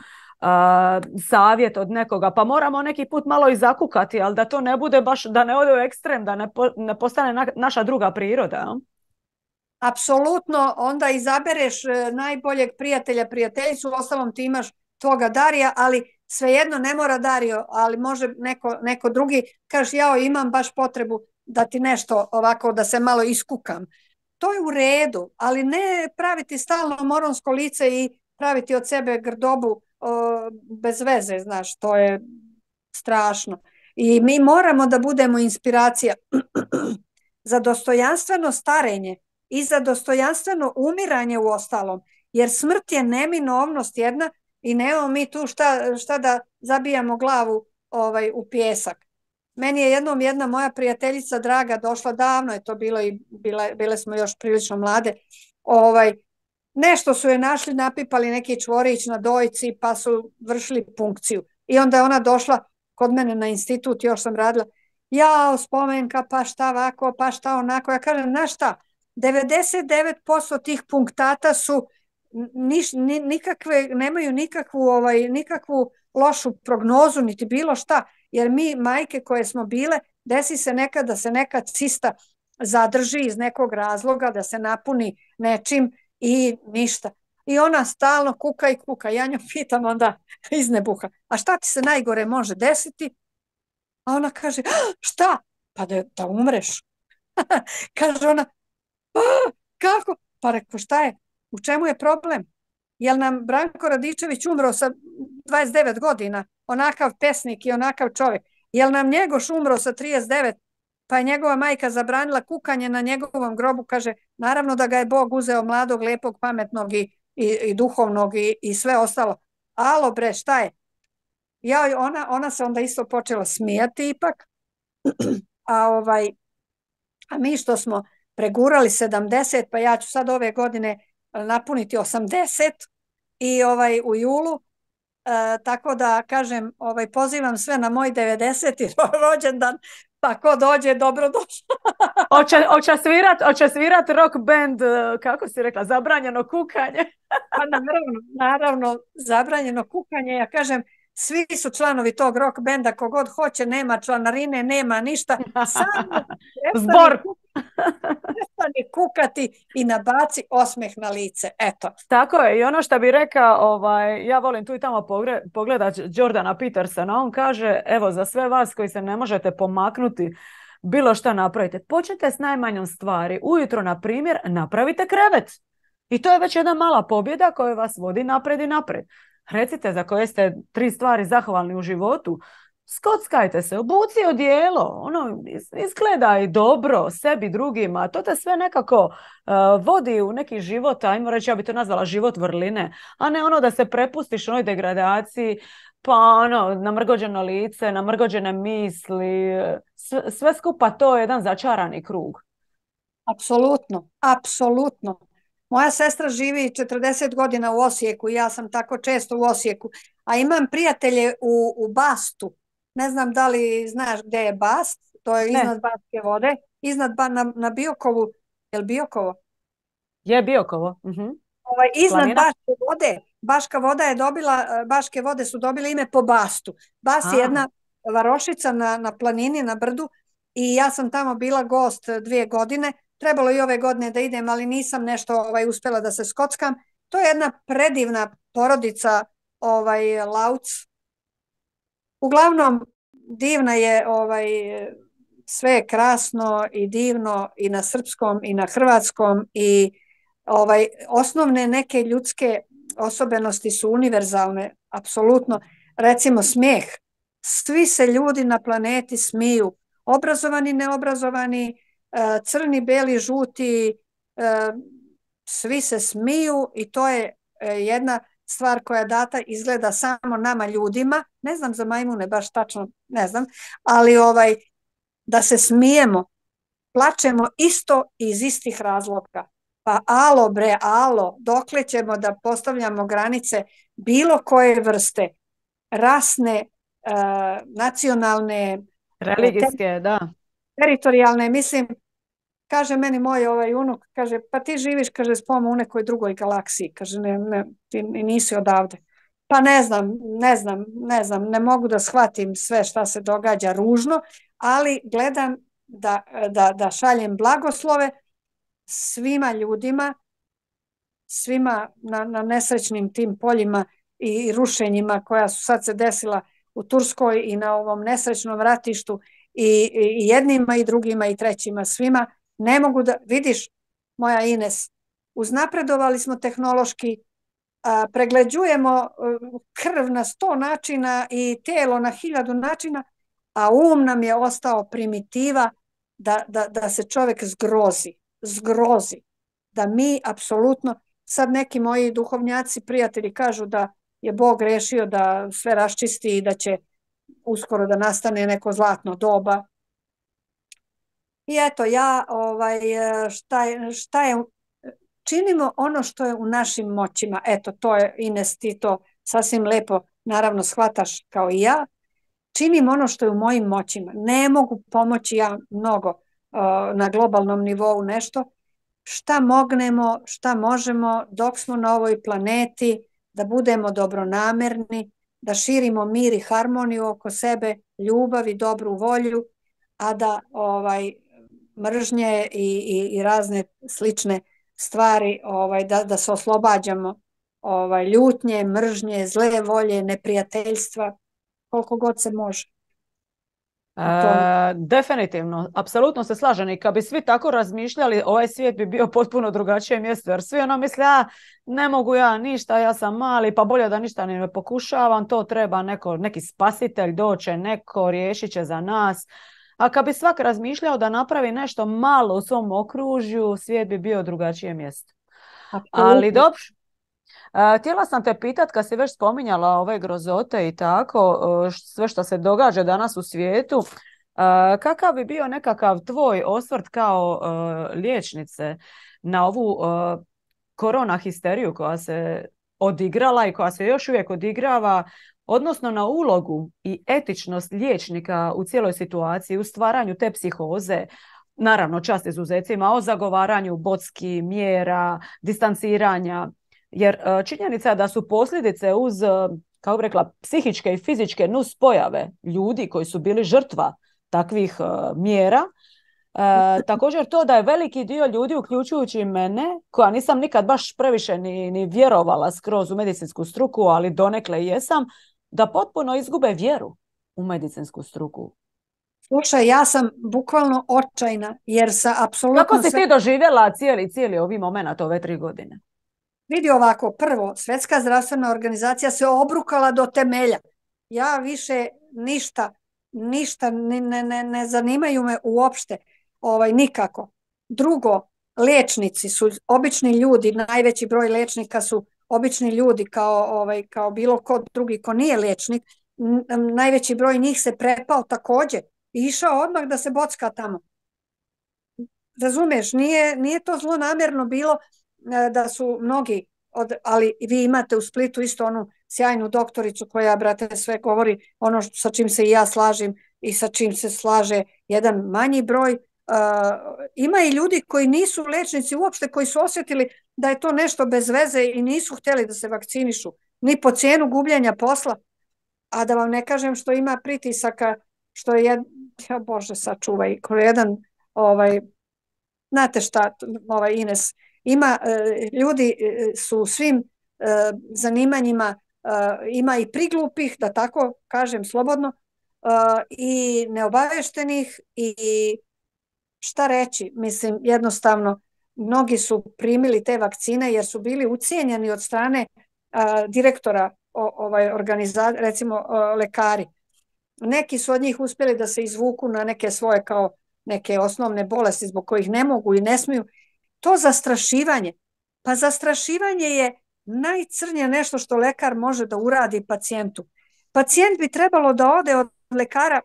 savjet od nekoga, pa moramo neki put malo i zakukati, ali da to ne bude baš, da ne ode u ekstrem, da ne, po, ne postane na, naša druga priroda. No? Apsolutno, onda izabereš najboljeg prijatelja, prijateljicu, ostalom ti imaš tvoga Darija, ali svejedno ne mora Dario, ali može neko, neko drugi, kaže jao imam baš potrebu da ti nešto ovako, da se malo iskukam. To je u redu, ali ne praviti stalno moronsko lice i praviti od sebe grdobu o, bez veze, znaš, to je strašno. I mi moramo da budemo inspiracija za dostojanstveno starenje i za dostojanstveno umiranje u ostalom, jer smrt je neminovnost jedna i nemamo mi tu šta, šta da zabijamo glavu ovaj, u pjesak. Meni je jednom jedna moja prijateljica draga došla, davno je to bilo i bile, bile smo još prilično mlade, ovaj, nešto su je našli, napipali neki čvorić na dojci pa su vršili punkciju i onda je ona došla kod mene na institut, još sam radila, jao spomenka, pa šta ovako, pa šta onako, ja kažem, znaš šta, devedeset devet posto tih punktata su niš, ni, nikakve, nemaju nikakvu, ovaj, nikakvu lošu prognozu, niti bilo šta, jer mi majke koje smo bile, desi se nekad da se neka cista zadrži iz nekog razloga, da se napuni nečim i ništa. I ona stalno kuka i kuka. Ja nju pitam onda iz nebuha, a šta ti se najgore može desiti? A ona kaže, šta? Pa da, da umreš. Kaže ona, pa kako? Pa reko, šta je? U čemu je problem? Jel nam Branko Radičević umro sa dvadeset devet godina? Onakav pesnik i onakav čovjek. Jel nam Njegoš umro sa trideset devet? Pa je njegova majka zabranila kukanje na njegovom grobu. Kaže, naravno da ga je Bog uzeo mladog, lepog, pametnog i, i, i duhovnog i, i sve ostalo. Alo bre, šta je? Ja, ona, ona se onda isto počela smijati ipak. A, ovaj, a mi što smo pregurali sedamdeset, pa ja ću sad ove godine napuniti osamdeset i ovaj u julu, e, tako da kažem, ovaj pozivam sve na moj devedeseti rođendan, pa ko dođe, dobro došlo. Oće, oće svirat, oće svirat rock band, kako si rekla, zabranjeno kukanje. Pa naravno, naravno, zabranjeno kukanje, ja kažem, svi su članovi tog rock benda, kogod hoće, nema članarine, nema ništa, samo Zbor. prestani kukati i nabaci osmeh na lice, eto. Tako je, i ono što bi rekao, ovaj, ja volim tu i tamo pogledati Jordana Petersona, on kaže, evo, za sve vas koji se ne možete pomaknuti, bilo šta napravite, počnite s najmanjom stvari. Ujutro, na primjer, napravite krevet. I to je već jedna mala pobjeda koja vas vodi napred i napred. Recite za koje ste tri stvari zahvalni u životu. Skockajte se, obuci odijelo, ono, izgledaj dobro sebi, drugima. To te sve nekako uh, vodi u neki život, ajmo reći, ja bi to nazvala život vrline, a ne ono da se prepustiš onoj degradaciji, pa ono, namrgođeno lice, namrgođene misli, sve, sve skupa to je jedan začarani krug. Apsolutno, apsolutno. Moja sestra živi četrdeset godina u Osijeku i ja sam tako često u Osijeku, a imam prijatelje u, u Bastu. Ne znam da li znaš gdje je Bast, to je iznad ne. Baške vode, iznad ba, na, na Biokovu, je li Biokovo? Je Biokovo. Uh-huh. Ovaj, iznad Planina? Baške vode, Baška voda je dobila, Baške vode su dobile ime po Bastu. Bast je jedna varošica na, na planini, na brdu i ja sam tamo bila gost dvije godine. Trebalo i ove godine da idem, ali nisam nešto ovaj, uspjela da se skockam. To je jedna predivna porodica ovaj, Lauc. Uglavnom, divna je, ovaj, sve je krasno i divno i na srpskom i na hrvatskom i ovaj, osnovne neke ljudske osobenosti su univerzalne, apsolutno. Recimo smijeh. Svi se ljudi na planeti smiju, obrazovani, neobrazovani, crni, beli, žuti, svi se smiju i to je jedna stvar koja data izgleda samo nama ljudima, ne znam za majmune baš tačno, ne znam, ali ovaj, da se smijemo, plačemo isto iz istih razloga. Pa alo bre, alo, dokle ćemo da postavljamo granice bilo koje vrste, rasne, uh, nacionalne, religijske, ter da. teritorijalne, mislim, kaže meni moj ovaj unuk, kaže, pa ti živiš, kaže, spomo u nekoj drugoj galaksiji, kaže, ne, ne, ti nisi odavde. Pa ne znam, ne znam, ne znam, ne mogu da shvatim sve šta se događa ružno, ali gledam da, da, da šaljem blagoslove svima ljudima, svima na, na nesrećnim tim poljima i rušenjima koja su sad se desila u Turskoj i na ovom nesrećnom ratištu i, i jednima i drugima i trećima, svima. Ne mogu da, vidiš, moja Ines, uznapredovali smo tehnološki, a, pregleđujemo krv na sto načina i telo na hiljadu načina, a um nam je ostao primitiva da, da, da se čovjek zgrozi, zgrozi. Da mi apsolutno, sad neki moji duhovnjaci, prijatelji kažu da je Bog rešio da sve raščisti i da će uskoro da nastane neko zlatno doba. I eto, ja, ovaj, šta je, šta je, činimo ono što je u našim moćima. Eto, to je, Ines, ti to sasvim lepo, naravno, shvataš kao i ja. Činim ono što je u mojim moćima. Ne mogu pomoći ja mnogo uh, na globalnom nivou nešto. Šta mognemo, šta možemo dok smo na ovoj planeti, da budemo dobronamerni, da širimo mir i harmoniju oko sebe, ljubav i dobru volju, a da ovaj, mržnje i, i, i razne slične stvari, ovaj, da, da se oslobađamo ovaj, ljutnje, mržnje, zle volje, neprijateljstva, koliko god se može. E, definitivno, apsolutno se slažem i kad bi svi tako razmišljali, ovaj svijet bi bio potpuno drugačije mjesto, jer svi ono misle, a ne mogu ja ništa, ja sam mali, pa bolje da ništa ne pokušavam, to treba neko, neki spasitelj doće, neko riješit će za nas. A kad bi svak razmišljao da napravi nešto malo u svom okružju, svijet bi bio drugačije mjesto. Ali dobro. Uh, htjela sam te pitat, kad si već spominjala ove grozote i tako, uh, sve što se događa danas u svijetu, uh, kakav bi bio nekakav tvoj osvrt kao uh, liječnice na ovu uh, korona histeriju koja se odigrala i koja se još uvijek odigrava, odnosno na ulogu i etičnost liječnika u cijeloj situaciji, u stvaranju te psihoze, naravno čast izuzecima, o zagovaranju botski mjera, distanciranja. Jer činjenica je da su posljedice uz, kako bih rekla, psihičke i fizičke nuspojave ljudi koji su bili žrtva takvih uh, mjera. Uh, također to da je veliki dio ljudi, uključujući i mene, koja nisam nikad baš previše ni, ni vjerovala skroz u medicinsku struku, ali donekle jesam, da potpuno izgube vjeru u medicinsku struku. Slušaj, ja sam bukvalno očajna, jer sa apsolutno... Kako si sve... ti doživjela cijeli, cijeli ovi moment ove tri godine? Vidi ovako, prvo, Svjetska zdravstvena organizacija se obrukala do temelja. Ja više ništa, ništa ne, ne, ne zanimaju me uopšte, ovaj, nikako. Drugo, liječnici su obični ljudi, najveći broj liječnika su obični ljudi kao, ovaj, kao bilo ko drugi ko nije liječnik. Najveći broj njih se prepao također i išao odmah da se bocka tamo. Razumiješ, nije, nije to zlonamjerno bilo da su mnogi, od, ali vi imate u Splitu isto onu sjajnu doktoricu koja, brate, sve govori ono sa čim se i ja slažem i sa čim se slaže jedan manji broj. Uh, ima i ljudi koji nisu liječnici uopšte, koji su osjetili da je to nešto bez veze i nisu htjeli da se vakcinišu, ni po cijenu gubljenja posla. A da vam ne kažem što ima pritisaka, što je, jed... ja Bože, sačuvaj, ko je jedan, ovaj, znate šta, ovaj Ines, ima, ljudi su u svim zanimanjima, ima i priglupih, da tako kažem slobodno, i neobaveštenih i šta reći, mislim jednostavno mnogi su primili te vakcine jer su bili ucijenjeni od strane direktora ovaj organizacije, recimo lekari. Neki su od njih uspjeli da se izvuku na neke svoje kao neke osnovne bolesti zbog kojih ne mogu i ne smiju. To zastrašivanje, pa zastrašivanje je najcrnje nešto što lekar može da uradi pacijentu. Pacijent bi trebalo da ode od lekara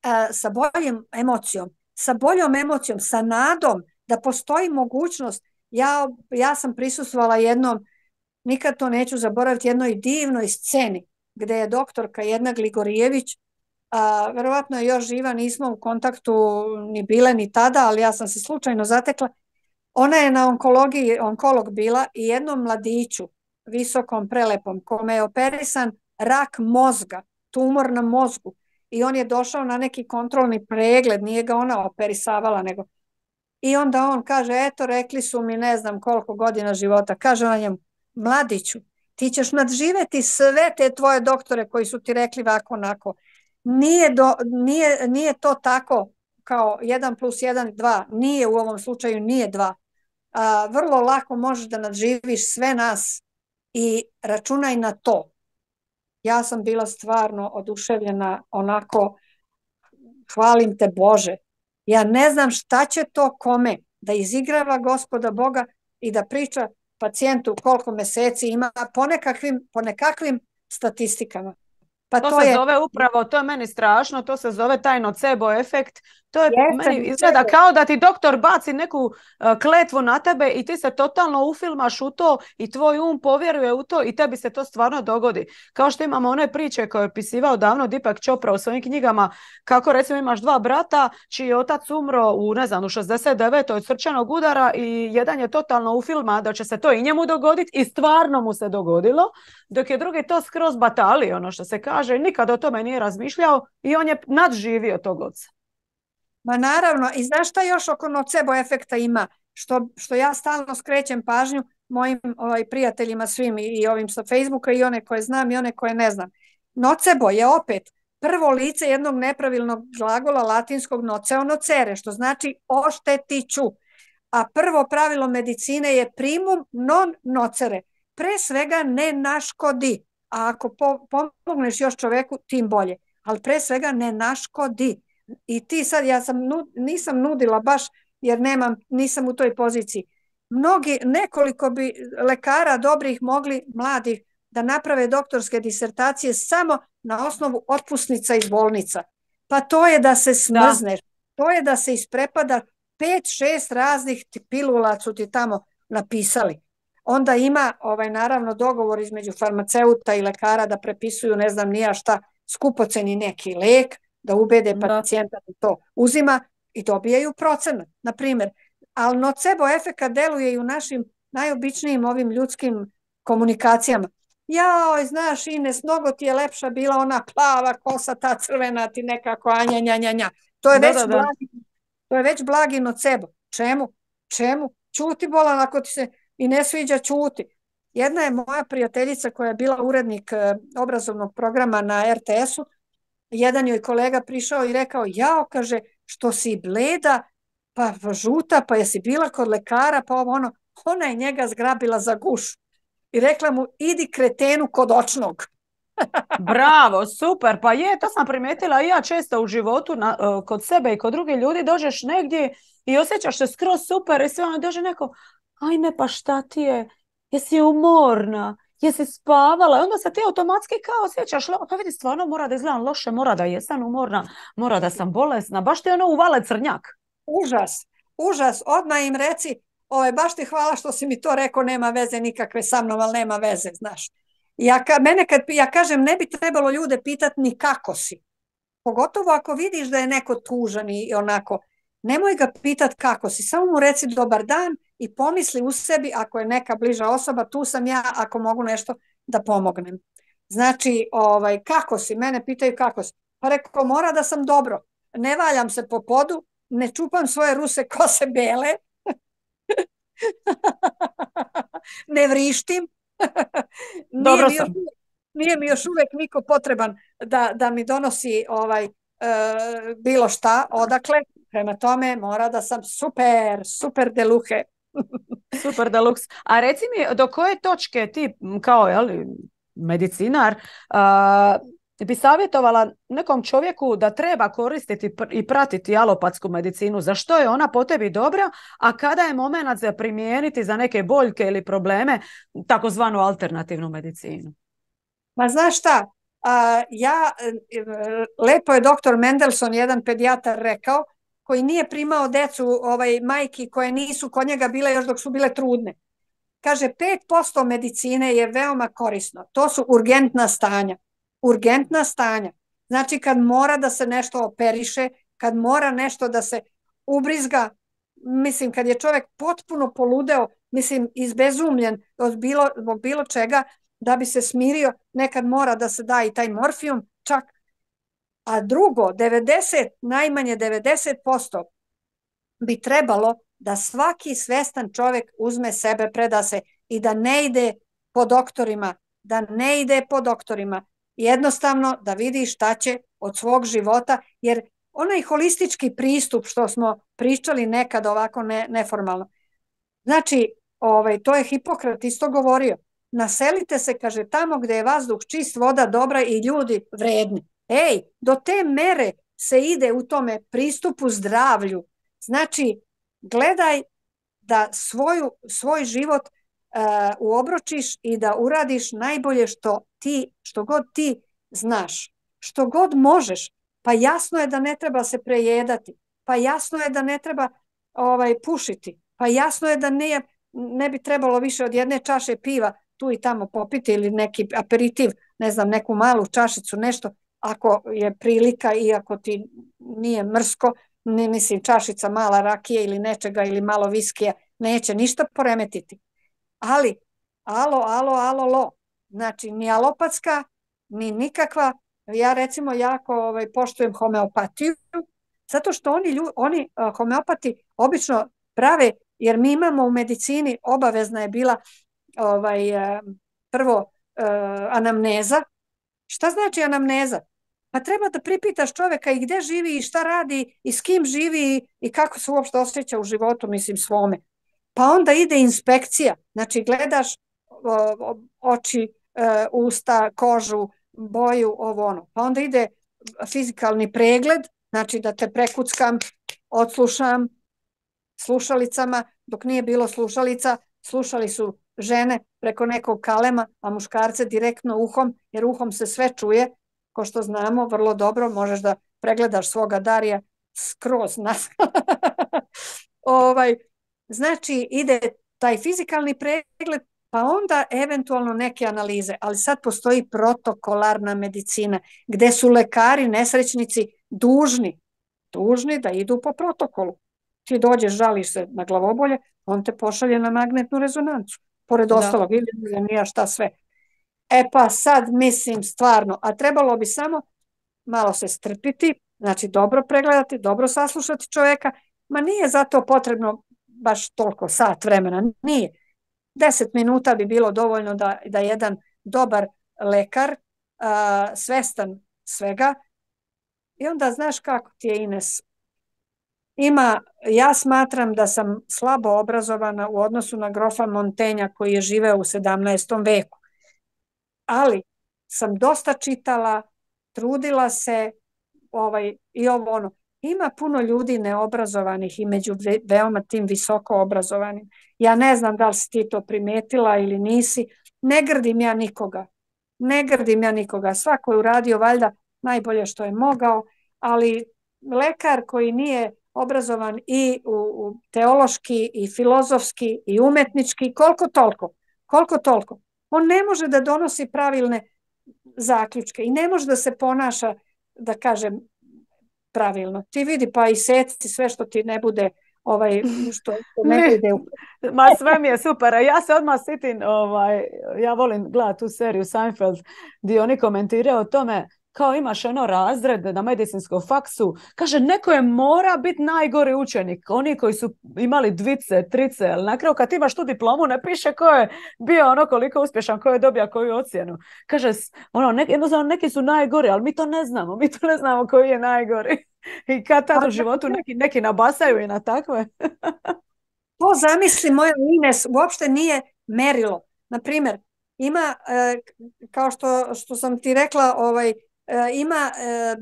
a, sa boljom emocijom, sa boljom emocijom, sa nadom da postoji mogućnost. Ja, ja sam prisustvovala jednom, nikad to neću zaboraviti, jednoj divnoj sceni gdje je doktorka jedna Gligorijević, a, verovatno je još živa, nismo u kontaktu ni bile ni tada, ali ja sam se slučajno zatekla. Ona je na onkologiji, onkolog bila i jednom mladiću, visokom, prelepom, kome je operisan rak mozga, tumor na mozgu. I on je došao na neki kontrolni pregled, nije ga ona operisavala, nego... I onda on kaže, eto, rekli su mi ne znam koliko godina života. Kaže on njemu, mladiću, ti ćeš nadživjeti sve te tvoje doktore koji su ti rekli ovako onako. Nije, do, nije, nije to tako kao jedan plus jedan, dva. Nije u ovom slučaju, nije dva. A, vrlo lako možeš da nadživiš sve nas i računaj na to. Ja sam bila stvarno oduševljena, onako, hvalim te Bože. Ja ne znam šta će to kome da izigrava Gospoda Boga i da priča pacijentu koliko mjeseci ima po nekakvim, po nekakvim statistikama. Pa to, to se je... zove upravo, to je meni strašno, to se zove taj nocebo efekt. To je Jeste, meni izgleda kao da ti doktor baci neku uh, kletvu na tebe i ti se totalno ufilmaš u to i tvoj um povjeruje u to i tebi se to stvarno dogodi. Kao što imamo one priče koje je opisivao davno Deepak Chopra u svojim knjigama, kako recimo imaš dva brata čiji je otac umro u, ne znam, u šezdeset devetoj od srčanog udara i jedan je totalno ufilma da će se to i njemu dogoditi i stvarno mu se dogodilo, dok je drugi to skroz batali, ono što se kaže, nikad o tome nije razmišljao i on je nadživio tog oca. Ma naravno, i znaš šta još oko nocebo efekta ima, što, što ja stalno skrećem pažnju mojim ovaj, prijateljima svim i, i ovim sa Facebooka i one koje znam i one koje ne znam. Nocebo je opet prvo lice jednog nepravilnog glagola latinskog noceo nocere, što znači oštetiću. A prvo pravilo medicine je primum non nocere. Pre svega ne naškodi. A ako pomogneš još čoveku, tim bolje. Ali pre svega ne naškodi. I ti sad, ja sam, nisam nudila baš, jer nemam, nisam u toj poziciji. Mnogi, nekoliko bi lekara dobrih mogli, mladih, da naprave doktorske disertacije samo na osnovu otpusnica iz bolnica. Pa to je da se smrzneš. Da. To je da se isprepada pet, šest raznih pilula su ti tamo napisali. Onda ima, ovaj, naravno, dogovor između farmaceuta i lekara da prepisuju, ne znam nija šta, skupoceni neki lek, da ubede pacijenta da to uzima i dobijaju procenat, na primjer. Ali nocebo efekat deluje i u našim najobičnijim ovim ljudskim komunikacijama. Jao, znaš, Ines, mnogo ti je lepša bila ona plava kosa, ta crvena ti nekako, anja, nja, nja, nja. To je da, već da, da. blagi, to je već blagi nocebo. Čemu? Čemu? Ćuti bolan, ako ti se i ne sviđa, ćuti. Jedna je moja prijateljica koja je bila urednik obrazovnog programa na er te esu. Jedan joj kolega prišao i rekao, jao, kaže, što si bleda, pa žuta, pa jesi bila kod lekara, pa ovo ono. Ona je njega zgrabila za gušu i rekla mu, idi kretenu kod očnog. Bravo, super, pa je, to sam primijetila i ja često u životu na, uh, kod sebe i kod drugih ljudi, dođeš negdje i osjećaš se skroz super i sve ono dođe neko, ajme pa šta ti je, jesi umorna, jesi spavala i onda se ti automatski kao osjećaš, pa vidi stvarno mora da izgledam loše, mora da jesam umorna, mora da sam bolesna, baš ti ono uvale crnjak. Užas, užas, odmah im reci, ove, baš ti hvala što si mi to rekao, nema veze nikakve sa mnom, ali nema veze, znaš. Ja, ka, mene kad ja kažem, ne bi trebalo ljude pitati ni kako si. Pogotovo ako vidiš da je neko tužan i onako, nemoj ga pitati kako si, samo mu reci dobar dan i pomisli u sebi ako je neka bliža osoba, tu sam ja ako mogu nešto da pomognem. Znači, ovaj, kako si, mene pitaju kako si. Pa rekao, mora da sam dobro, ne valjam se po podu, ne čupam svoje ruse kose bele, ne vrištim, Dobro nije, mi još, nije mi još uvijek niko potreban da, da mi donosi ovaj, e, bilo šta odakle, prema tome mora da sam super, super deluxe. Super deluxe. A reci mi, do koje točke ti kao jeli, medicinar uh, bi savjetovala nekom čovjeku da treba koristiti i pratiti alopatsku medicinu? Zašto je ona po tebi dobra, a kada je moment za primijeniti za neke boljke ili probleme takozvanu alternativnu medicinu? Ma znaš šta, uh, ja, lepo je doktor Mendelson, jedan pedijatar, rekao, koji nije primao decu ovaj, majki koje nisu kod njega bile još dok su bile trudne. Kaže, pet posto medicine je veoma korisno. To su urgentna stanja. Urgentna stanja. Znači kad mora da se nešto operiše, kad mora nešto da se ubrizga, mislim kad je čovjek potpuno poludeo, mislim izbezumljen od bilo, od bilo čega, da bi se smirio, nekad mora da se da i taj morfijum čak. A drugo, devedeset, najmanje devedeset posto bi trebalo da svaki svestan čovjek uzme sebe, preda se i da ne ide po doktorima, da ne ide po doktorima. Jednostavno da vidi šta će od svog života, jer onaj holistički pristup što smo pričali nekad ovako ne, neformalno. Znači, ovaj, to je Hipokrat isto govorio. Naselite se, kaže, tamo gdje je vazduh čist, voda dobra i ljudi vredni. Ej, do te mere se ide u tome pristupu zdravlju. Znači, gledaj da svoju, svoj život uh, uobročiš i da uradiš najbolje što ti, što god ti znaš, što god možeš. Pa jasno je da ne treba se prejedati, pa jasno je da ne treba ovaj, pušiti, pa jasno je da ne, ne bi trebalo više od jedne čaše piva tu i tamo popiti ili neki aperitiv, ne znam, neku malu čašicu, nešto, ako je prilika i ako ti nije mrsko, ne mislim čašica mala rakije ili nečega ili malo viskija, neće ništa poremetiti. Ali, alo, alo, alo, lo, znači ni alopatska, ni nikakva, ja recimo jako ovaj, poštujem homeopatiju, zato što oni, oni uh, homeopati obično prave, jer mi imamo u medicini, obavezna je bila ovaj, uh, prvo uh, anamneza. Šta znači anamneza? Pa treba da pripitaš čoveka i gde živi i šta radi i s kim živi i kako se uopšte osjeća u životu, mislim, svome. Pa onda ide inspekcija, znači gledaš o, oči, e, usta, kožu, boju, ovo ono. Pa onda ide fizikalni pregled, znači da te prekuckam, odslušam slušalicama, dok nije bilo slušalica, slušali su žene preko nekog kalema, a muškarce direktno uhom, jer uhom se sve čuje, ko što znamo vrlo dobro, možeš da pregledaš svoga Darija skroz nas. ovaj, znači ide taj fizikalni pregled, pa onda eventualno neke analize, ali sad postoji protokolarna medicina, gde su lekari, nesrećnici dužni, dužni da idu po protokolu. Ti dođeš, žališ se na glavobolje, on te pošalje na magnetnu rezonancu, pored ostalog, ili nija šta sve. E pa sad mislim stvarno, a trebalo bi samo malo se strpiti, znači dobro pregledati, dobro saslušati čoveka, ma nije zato potrebno baš toliko sat vremena, nije. Deset minuta bi bilo dovoljno da, da jedan dobar lekar, a, svestan svega, i onda znaš kako ti je, Ines, ima, ja smatram da sam slabo obrazovana u odnosu na grofa Montenja koji je živeo u sedamnaestom veku, ali sam dosta čitala, trudila se, ovaj, i ovo ono. Ima puno ljudi neobrazovanih i među veoma tim visoko obrazovanim. Ja ne znam da li si ti to primetila ili nisi. Ne grdim ja nikoga. Ne grdim ja nikoga. Svako je uradio valjda najbolje što je mogao, ali lekar koji nije obrazovan i u, u teološki i filozofski i umetnički, koliko toliko, koliko toliko, on ne može da donosi pravilne zaključke i ne može da se ponaša, da kažem, pravilno. Ti vidi pa i seci sve što ti ne bude, ovaj, što, što ne bude. Ma sve mi je super. A ja se odmah sitim, ovaj, ja volim gledati tu seriju Seinfeld, gdje oni komentiraju o tome kao imaš ono razred na medicinskom faksu, kaže neko je mora biti najgori učenik, oni koji su imali dvice, trice, ali na kraju kad imaš tu diplomu ne piše ko je bio ono koliko uspješan, ko je dobio koju ocjenu. Kaže, ono, ne, jednostavno neki su najgori, ali mi to ne znamo, mi to ne znamo koji je najgori. I kad tad u životu neki, neki nabasaju i na takve. To zamisli moja Ines, uopšte nije merilo. Naprimjer, ima, e, kao što, što sam ti rekla, ovaj, ima e,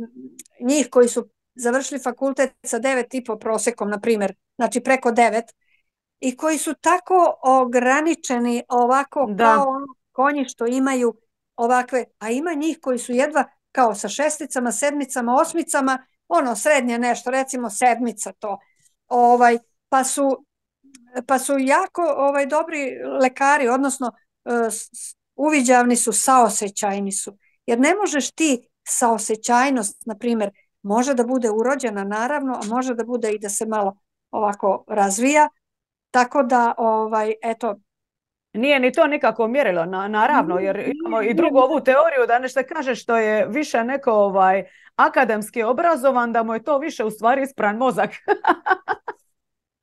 njih koji su završili fakultet sa devet i po prosekom, na primjer, znači preko devet, i koji su tako ograničeni ovako da. Kao konji što imaju ovakve, a ima njih koji su jedva kao sa šesticama, sedmicama, osmicama, ono srednje nešto, recimo sedmica to, ovaj, pa su pa su jako ovaj, dobri lekari, odnosno e, uviđavni su, saosećajni su, jer ne možeš ti saosećajnost, na primjer, može da bude urođena naravno, a može da bude i da se malo ovako razvija, tako da, ovaj, eto. Nije ni to nikako mjerilo, na, naravno, jer imamo i drugu ovu teoriju da nešto kaže što je više neko ovaj, akademski obrazovan, da mu je to više u stvari ispran mozak.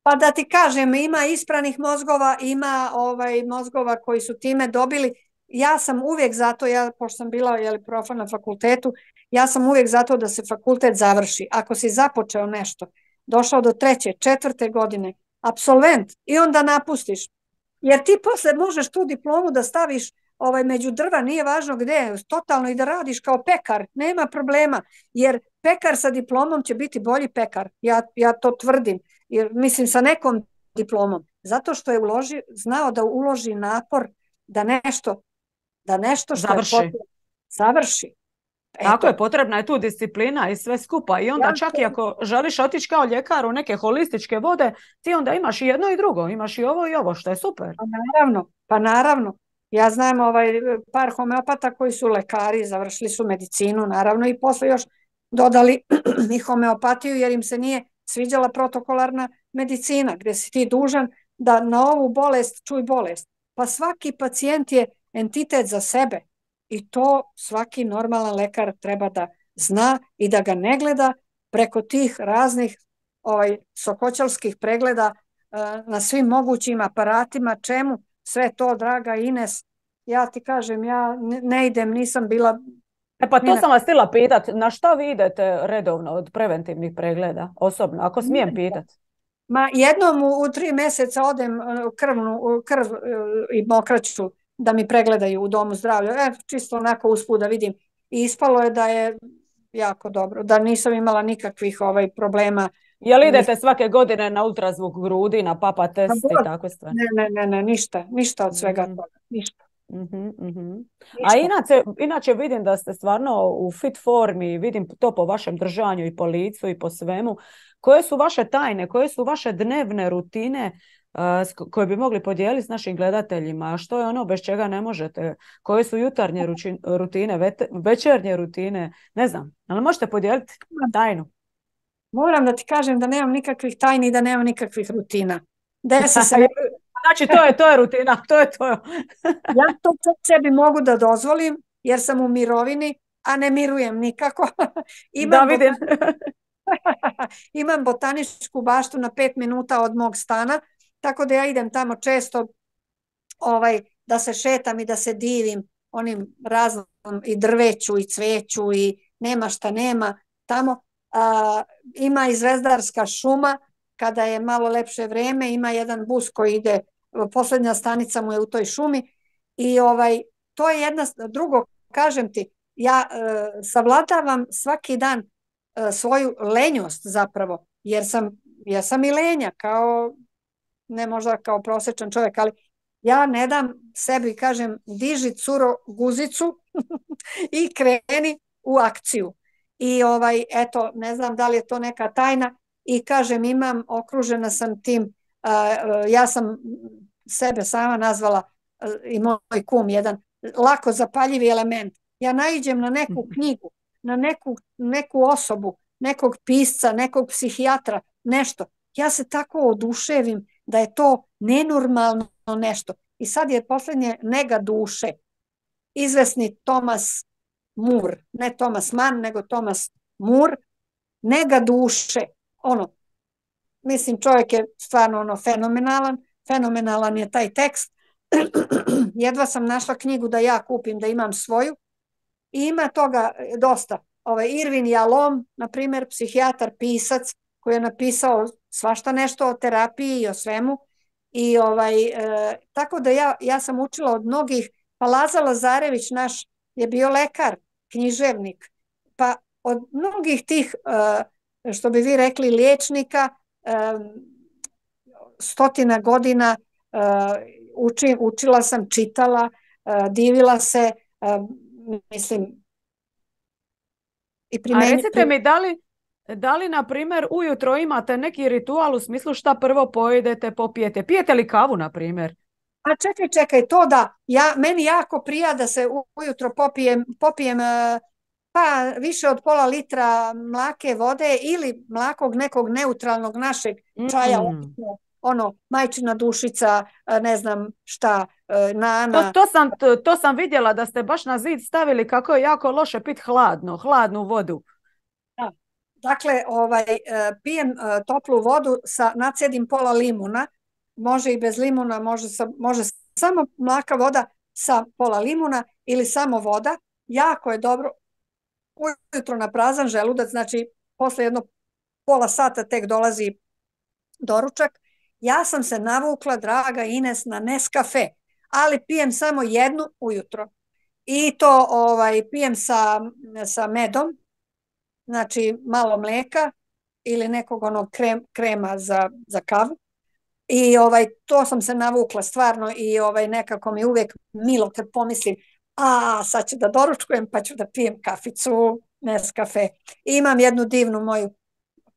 Pa da ti kažem, ima ispranih mozgova, ima ovaj, mozgova koji su time dobili. Ja sam uvijek zato, ja, pošto sam bila jeli, profa na fakultetu, ja sam uvijek zato da se fakultet završi. Ako si započeo nešto, došao do treće, četvrte godine, apsolvent, i onda napustiš. Jer ti posle možeš tu diplomu da staviš ovaj, među drva, nije važno gde, totalno, i da radiš kao pekar, nema problema, jer pekar sa diplomom će biti bolji pekar, ja, ja to tvrdim, jer mislim sa nekom diplomom, zato što je uloži, znao da uloži napor da nešto, da nešto što završi. Je potrebno, završi. Eto. Tako je, potrebna je tu disciplina i sve skupa, i onda ja, čak i ako želiš otići kao ljekar u neke holističke vode, ti onda imaš i jedno i drugo, imaš i ovo i ovo, što je super. Pa naravno, pa naravno. Ja znam ovaj par homeopata koji su lekari, završili su medicinu, naravno, i posle još dodali i homeopatiju, jer im se nije sviđala protokolarna medicina, gde si ti dužan da na ovu bolest čuj bolest. Pa svaki pacijent je entitet za sebe i to svaki normalan lekar treba da zna i da ga ne gleda preko tih raznih ovaj, sokoćalskih pregleda uh, na svim mogućim aparatima. Čemu sve to, draga Ines? Ja ti kažem, ja ne idem, nisam bila E pa to na... sam vas htjela pitat, na šta vi idete redovno od preventivnih pregleda, osobno, ako smijem pitat? Ma jednom u, u tri mjeseca odem uh, krvnu, u krv uh, i mokraću da mi pregledaju u domu zdravlja. E, čisto onako usput da vidim. I ispalo je da je jako dobro, da nisam imala nikakvih ovaj problema. Jel Nis... idete svake godine na ultrazvuk grudi, na papa test i takve stvari? Ne, ne, ne, ne, ništa, ništa od svega Mm. toga, ništa. Mhm, mhm. A Ništa. inače, inače vidim da ste stvarno u fit formi, vidim to po vašem držanju i po licu i po svemu. Koje su vaše tajne, koje su vaše dnevne rutine uh, s ko- koje bi mogli podijeliti s našim gledateljima? Što je ono bez čega ne možete? Koje su jutarnje ruči- rutine, vete- večernje rutine? Ne znam, ali možete podijeliti tajnu? Moram da ti kažem da nemam nikakvih tajni i da nemam nikakvih rutina. Desi se ne... Znači, to je, to je rutina, to je to. Ja to čak sebi mogu da dozvolim jer sam u mirovini, a ne mirujem nikako. Da Imam, vidim. botan... Imam botaničku baštu na pet minuta od mog stana, tako da ja idem tamo često ovaj, da se šetam i da se divim onim raznom i drveću i cveću i nema šta nema tamo. A, ima i zvezdarska šuma, kada je malo lepše vreme, ima jedan bus koji ide, posljednja stanica mu je u toj šumi i ovaj, to je jedna, drugo, kažem ti, ja e, savladavam svaki dan e, svoju lenjost zapravo, jer sam, ja sam i lenja, kao, ne možda kao prosječan čovjek, ali ja ne dam sebi, kažem, diži curo guzicu i kreni u akciju. I ovaj, eto, ne znam da li je to neka tajna i kažem, imam, okružena sam tim, uh, ja sam sebe sama nazvala uh, i moj kum jedan lako zapaljivi element. Ja naiđem na neku knjigu, na neku, neku osobu, nekog pisca, nekog psihijatra, nešto. Ja se tako oduševim da je to nenormalno nešto. I sad je posljednje Nega duše. Izvesni Thomas More, ne Thomas Mann, nego Thomas More, Nega duše. Ono, mislim, čovjek je stvarno ono fenomenalan, fenomenalan je taj tekst. Jedva sam našla knjigu da ja kupim, da imam svoju. I ima toga dosta. Ovaj Irvin Jalom, na primjer, psihijatar, pisac, koji je napisao svašta nešto o terapiji i o svemu. I ovaj, e, tako da ja, ja sam učila od mnogih, pa Laza Lazarević naš je bio lekar, književnik, pa od mnogih tih, e, što bi vi rekli, liječnika, e, stotina godina e, uči, učila sam, čitala, e, divila se, e, mislim, i primenju... A recite mi, da li, da li, na primjer, ujutro imate neki ritual u smislu šta prvo pojedete, popijete? Pijete li kavu, na primjer? A čekaj, čekaj, to da, ja, meni jako prija da se ujutro popijem, popijem pa više od pola litra mlake vode ili mlakog nekog neutralnog našeg čaja, Mm. ono, majčina dušica, ne znam šta, nana. To, to, sam, to, to sam vidjela da ste baš na zid stavili kako je jako loše pit hladno, hladnu vodu. Da. Dakle, ovaj, pijem toplu vodu, sa, nacedim pola limuna, može i bez limuna, može, sa, može samo mlaka voda sa pola limuna ili samo voda. Jako je dobro ujutro na prazan želudac, znači posle jedno pola sata tek dolazi doručak. Ja sam se navukla, draga Ines, na Nescafe, ali pijem samo jednu ujutro. I to ovaj, pijem sa, sa medom, znači malo mleka ili nekog onog krem, krema za, za kavu. I ovaj, to sam se navukla stvarno i ovaj, nekako mi uvijek milo kad pomislim, a sad ću da doručkujem pa ću da pijem kaficu, Nescafe. I imam jednu divnu moju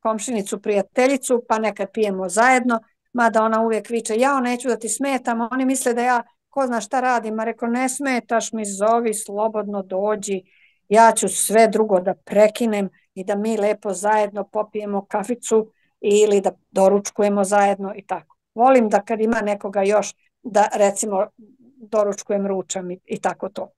komšinicu, prijateljicu, pa nekad pijemo zajedno, mada ona uvijek viče, ja neću da ti smetam, oni misle da ja ko zna šta radim, a reko ne smetaš mi, zovi, slobodno dođi, ja ću sve drugo da prekinem i da mi lepo zajedno popijemo kaficu ili da doručkujemo zajedno i tako. Volim da kad ima nekoga još da recimo doručkujem, ručam i, i tako to.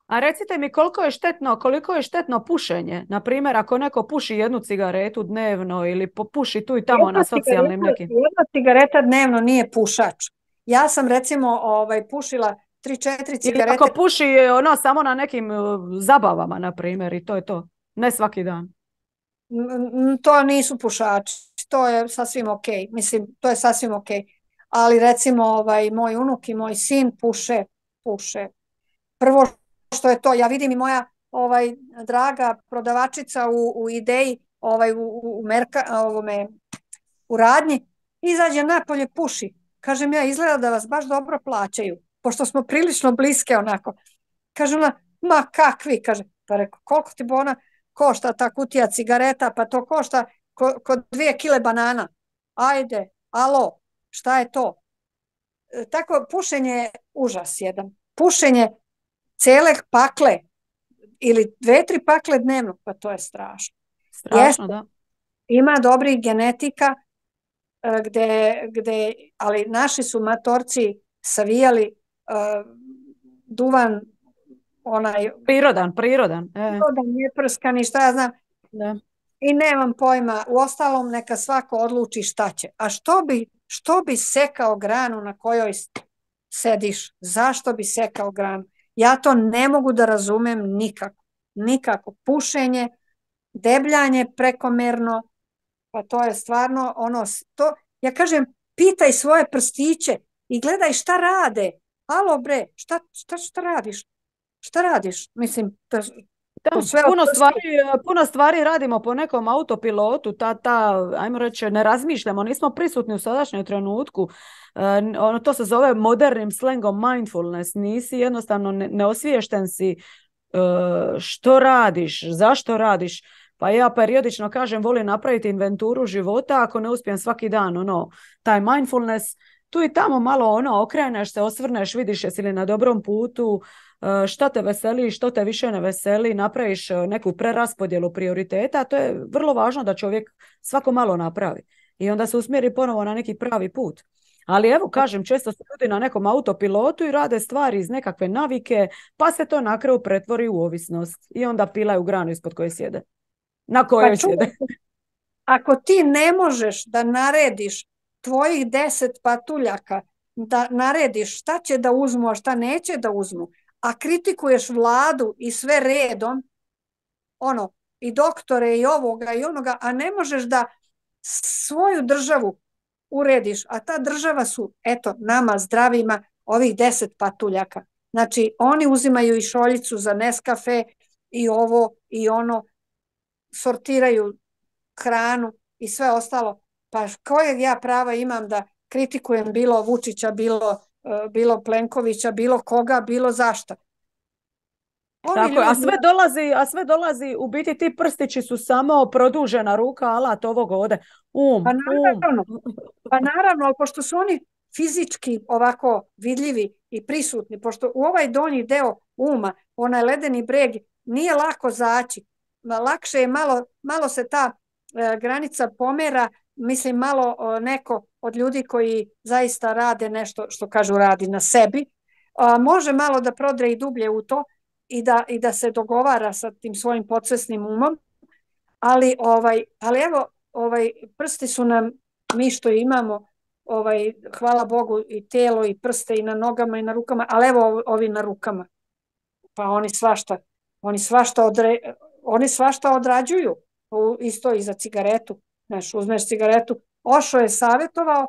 A recite mi koliko je štetno, koliko je štetno pušenje? Na primjer, ako neko puši jednu cigaretu dnevno ili puši tu i tamo jedna na socijalnim cigareta, nekim. Jedna cigareta dnevno nije pušač. Ja sam recimo ovaj, pušila tri, četiri Ili cigarete. ako puši ono samo na nekim uh, zabavama, na primjer, i to je to. Ne svaki dan. To nisu pušači. To je sasvim ok. Mislim, to je sasvim ok. Ali recimo ovaj, moj unuk i moj sin puše, puše. Prvo što je to, ja vidim i moja ovaj, draga prodavačica u, u Ideji, ovaj, u, u, merka, ovome, u radnji, izađe napolje, puši. Kažem ja, izgleda da vas baš dobro plaćaju, pošto smo prilično bliske onako. Kaže ona, ma kakvi, kaže, pa reko, koliko ti bona košta ta kutija cigareta, pa to košta ko, ko dvije kile banana. Ajde, alo, šta je to? E, tako, pušenje je užas jedan. Pušenje cele pakle ili dve, tri pakle dnevno, pa to je strašno. Strašno, Jeste, da. ima dobrih genetika, gde, gde, ali naši su matorci savijali uh, duvan onaj Prirodan, prirodan. E. prirodan, neprskani, šta ja znam. Da. I nemam pojma, u ostalom neka svako odluči šta će. A što bi, što bi sekao granu na kojoj sediš? Zašto bi sekao granu? Ja to ne mogu da razumem nikako. Nikako. Pušenje, debljanje prekomerno, pa to je stvarno ono, to, ja kažem, pitaj svoje prstiće i gledaj šta rade. Alo bre, šta, šta, šta radiš? Šta radiš? Mislim, to, Da, sve puno stvari, puno stvari radimo po nekom autopilotu, ta, ta, ajmo reći, ne razmišljamo, nismo prisutni u sadašnjem trenutku. E, ono, to se zove modernim slangom mindfulness, nisi jednostavno ne, neosviješten si e, što radiš, zašto radiš. Pa ja periodično kažem, volim napraviti inventuru života, ako ne uspijem svaki dan, ono, taj mindfulness, tu i tamo malo ono, okreneš se, osvrneš, vidiš jesi li na dobrom putu, šta te veseli, što te više ne veseli, napraviš neku preraspodjelu prioriteta, to je vrlo važno da čovjek svako malo napravi i onda se usmjeri ponovo na neki pravi put. Ali evo, kažem, često su ljudi na nekom autopilotu i rade stvari iz nekakve navike, pa se to na kraju pretvori u ovisnost i onda pilaju granu ispod koje sjede. Na kojoj pa sjede. Ako ti ne možeš da narediš tvojih deset patuljaka, da narediš šta će da uzmu, a šta neće da uzmu, a kritikuješ vladu i sve redom, ono, i doktore i ovoga i onoga, a ne možeš da svoju državu urediš, a ta država su, eto, nama zdravima ovih deset patuljaka. Znači, oni uzimaju i šoljicu za Nescafe i ovo i ono, sortiraju hranu i sve ostalo. Pa kojeg ja prava imam da kritikujem bilo Vučića, bilo bilo Plenkovića, bilo koga, bilo zašto. Oni Tako, ljudi... a, sve dolazi, a sve dolazi, u biti ti prstići su samo produžena ruka, alat ovog ovde. Um, pa naravno, um. pa naravno, ali pošto su oni fizički ovako vidljivi i prisutni, pošto u ovaj donji deo uma, onaj ledeni breg, nije lako zaći. Lakše je malo, malo se ta e, granica pomera, mislim malo o, neko od ljudi koji zaista rade nešto što kažu radi na sebi, a, može malo da prodre i dublje u to i da, i da se dogovara sa tim svojim podsvesnim umom, ali, ovaj, ali evo, ovaj, prsti su nam, mi što imamo, ovaj, hvala Bogu, i telo i prste i na nogama i na rukama, ali evo ovi na rukama, pa oni svašta, oni svašta, odre, oni svašta odrađuju, isto i za cigaretu. Znaš, uzmeš cigaretu. Ošo je savjetovao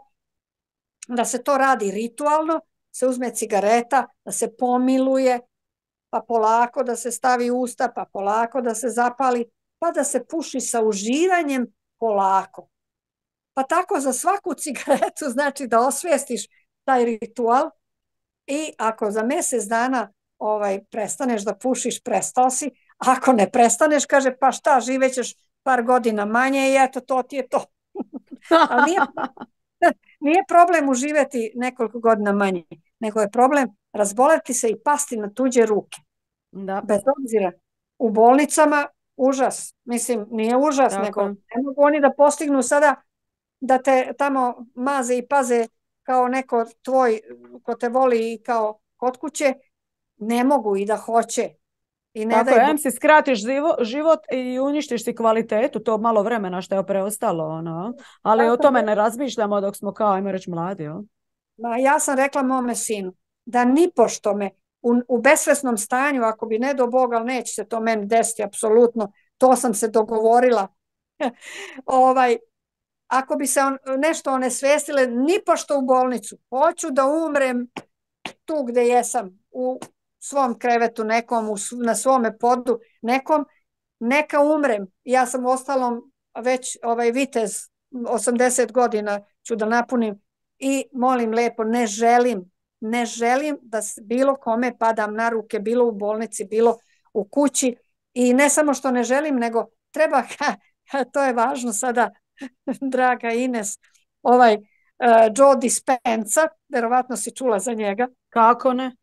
da se to radi ritualno, se uzme cigareta, da se pomiluje, pa polako da se stavi u usta, pa polako da se zapali, pa da se puši sa uživanjem polako. Pa tako za svaku cigaretu znači da osvijestiš taj ritual i ako za mjesec dana ovaj, prestaneš da pušiš, prestao si, ako ne prestaneš, kaže, pa šta, živećeš par godina manje i eto, to ti je to. Ali nije, nije problem uživjeti nekoliko godina manje, nego je problem razboleti se i pasti na tuđe ruke. Da. Bez obzira. U bolnicama užas. Mislim, nije užas, Tako. nego ne mogu oni da postignu sada da te tamo maze i paze kao neko tvoj ko te voli i kao kod kuće. Ne mogu i da hoće. I ne Tako daj je, em si skratiš život i uništiš si kvalitetu, to malo vremena što je preostalo. Ono. Ali tako o tome ne razmišljamo dok smo kao, ajmo reći, mladi. O? Ma, ja sam rekla mome sinu, da nipošto me u, u besvesnom stanju, ako bi ne do Boga, ali neće se to meni desiti, apsolutno, to sam se dogovorila. ovaj, ako bi se on, nešto onesvestile, nipošto u bolnicu. Hoću da umrem tu gde jesam, u svom krevetu nekom, u, na svome podu nekom, neka umrem. Ja sam ostalom već ovaj vitez, osamdeset godina ću da napunim i molim lepo, ne želim, ne želim da bilo kome padam na ruke, bilo u bolnici, bilo u kući i ne samo što ne želim, nego treba, to je važno sada, draga Ines, ovaj uh, Joe Dispenza, verovatno si čula za njega. Kako ne?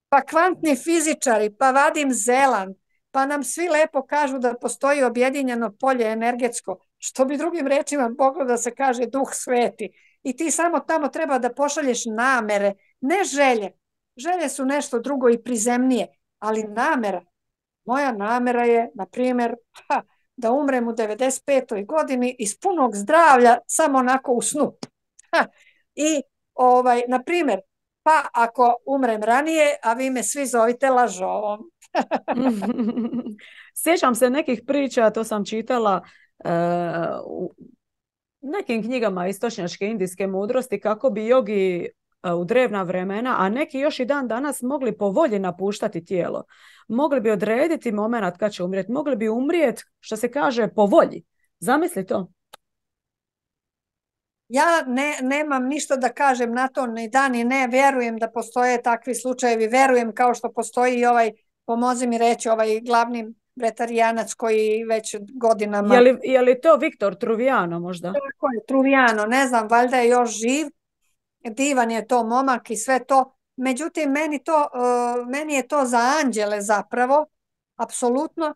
Pa kvantni fizičari, pa Vadim Zeland, pa nam svi lepo kažu da postoji objedinjeno polje energetsko, što bi drugim rečima moglo da se kaže duh sveti. I ti samo tamo treba da pošalješ namere, ne želje. Želje su nešto drugo i prizemnije, ali namera. Moja namera je, na primjer, ha, da umrem u devedeset petoj godini iz punog zdravlja, samo onako u snu. Ha, i, ovaj, na primjer, pa ako umrem ranije, a vi me svi zovite lažovom. Sjećam se nekih priča, to sam čitala uh, u nekim knjigama istočnjačke indijske mudrosti, kako bi jogi uh, u drevna vremena, a neki još i dan danas mogli po volji napuštati tijelo. Mogli bi odrediti moment kad će umrijeti, mogli bi umrijeti, što se kaže, po volji. Zamisli to. Ja ne, nemam ništa da kažem na to, ni da ni ne, verujem da postoje takvi slučajevi, verujem kao što postoji i ovaj, pomozi mi reći, ovaj glavni bretarijanac koji već godinama... Je li, je li to Viktor Truvijano možda? Tako je, Truvijano, ne znam, valjda je još živ, divan je to momak i sve to, međutim meni, to, uh, meni je to za anđele zapravo, apsolutno,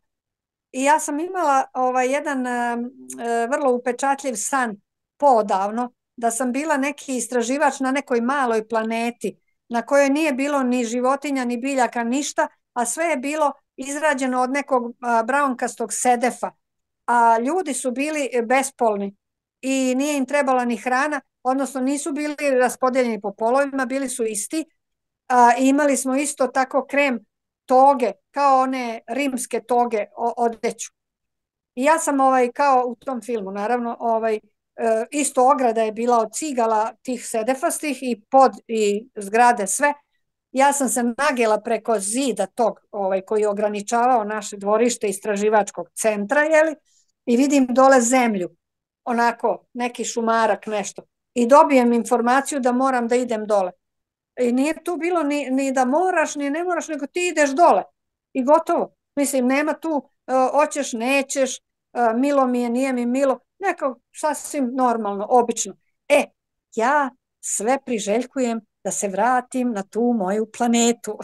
i ja sam imala ovaj, jedan uh, vrlo upečatljiv san poodavno, da sam bila neki istraživač na nekoj maloj planeti na kojoj nije bilo ni životinja, ni biljaka, ništa, a sve je bilo izrađeno od nekog a, braunkastog sedefa, a ljudi su bili bespolni i nije im trebala ni hrana, odnosno nisu bili raspodeljeni po polovima, bili su isti, a, imali smo isto tako krem toge, kao one rimske toge, odeću. I ja sam ovaj, kao u tom filmu, naravno, ovaj, isto ograda je bila od cigala tih sedefastih i pod i zgrade sve. Ja sam se nagela preko zida tog ovaj, koji je ograničavao naše dvorište istraživačkog centra, jeli, i vidim dole zemlju, onako neki šumarak, nešto. I dobijem informaciju da moram da idem dole. I nije tu bilo ni, ni da moraš, ni ne moraš, nego ti ideš dole. I gotovo. Mislim, nema tu, uh, hoćeš, nećeš, uh, milo mi je, nije mi milo. Neko sasvim normalno, obično. E, ja sve priželjkujem da se vratim na tu moju planetu.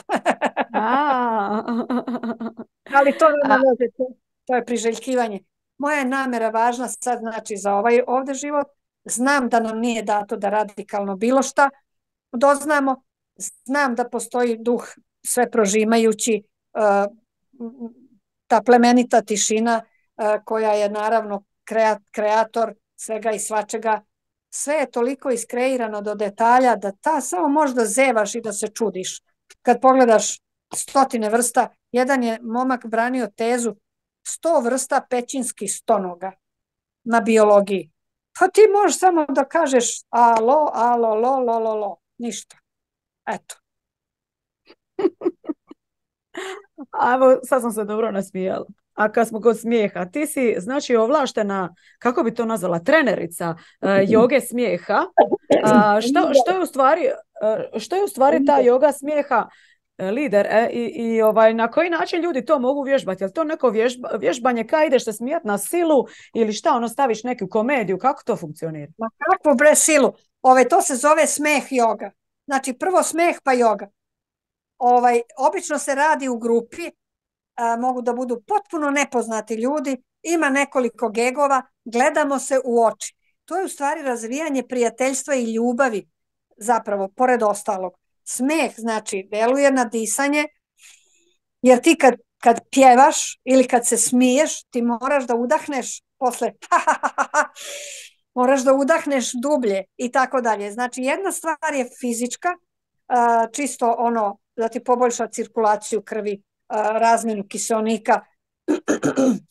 Ali to nema veze, to, to je priželjkivanje. Moja je namera važna sad, znači, za ovaj ovde život. Znam da nam nije dato da radikalno bilo šta doznamo. Znam da postoji duh sve prožimajući, uh, ta plemenita tišina uh, koja je naravno kreator svega i svačega. Sve je toliko iskreirano do detalja da ta samo možda zevaš i da se čudiš. Kad pogledaš stotine vrsta, jedan je momak branio tezu sto vrsta pećinskih stonoga na biologiji. Pa ti možeš samo da kažeš alo, alo, lo, lo, lo, lo. Ništa. Eto. Evo, sad sam se dobro nasmijala. A kad smo kod smijeha, ti si znači ovlaštena, kako bi to nazvala, trenerica uh, joge smijeha. Uh, što, što, je u stvari, uh, što je u stvari ta joga smijeha uh, lider e, i, i ovaj, na koji način ljudi to mogu vježbati? Je li to neko vježba, vježbanje kada ideš se smijati na silu ili šta, ono staviš neku komediju, kako to funkcionira? Ma kako bre silu? Ove, to se zove smeh joga. Znači prvo smeh pa joga. Ovaj, obično se radi u grupi, a, mogu da budu potpuno nepoznati ljudi, ima nekoliko gegova, gledamo se u oči. To je u stvari razvijanje prijateljstva i ljubavi, zapravo, pored ostalog. Smeh, znači, deluje na disanje, jer ti kad, kad pjevaš ili kad se smiješ, ti moraš da udahneš posle moraš da udahneš dublje i tako dalje. Znači, jedna stvar je fizička, čisto ono da ti poboljša cirkulaciju krvi, razmjenu kiseonika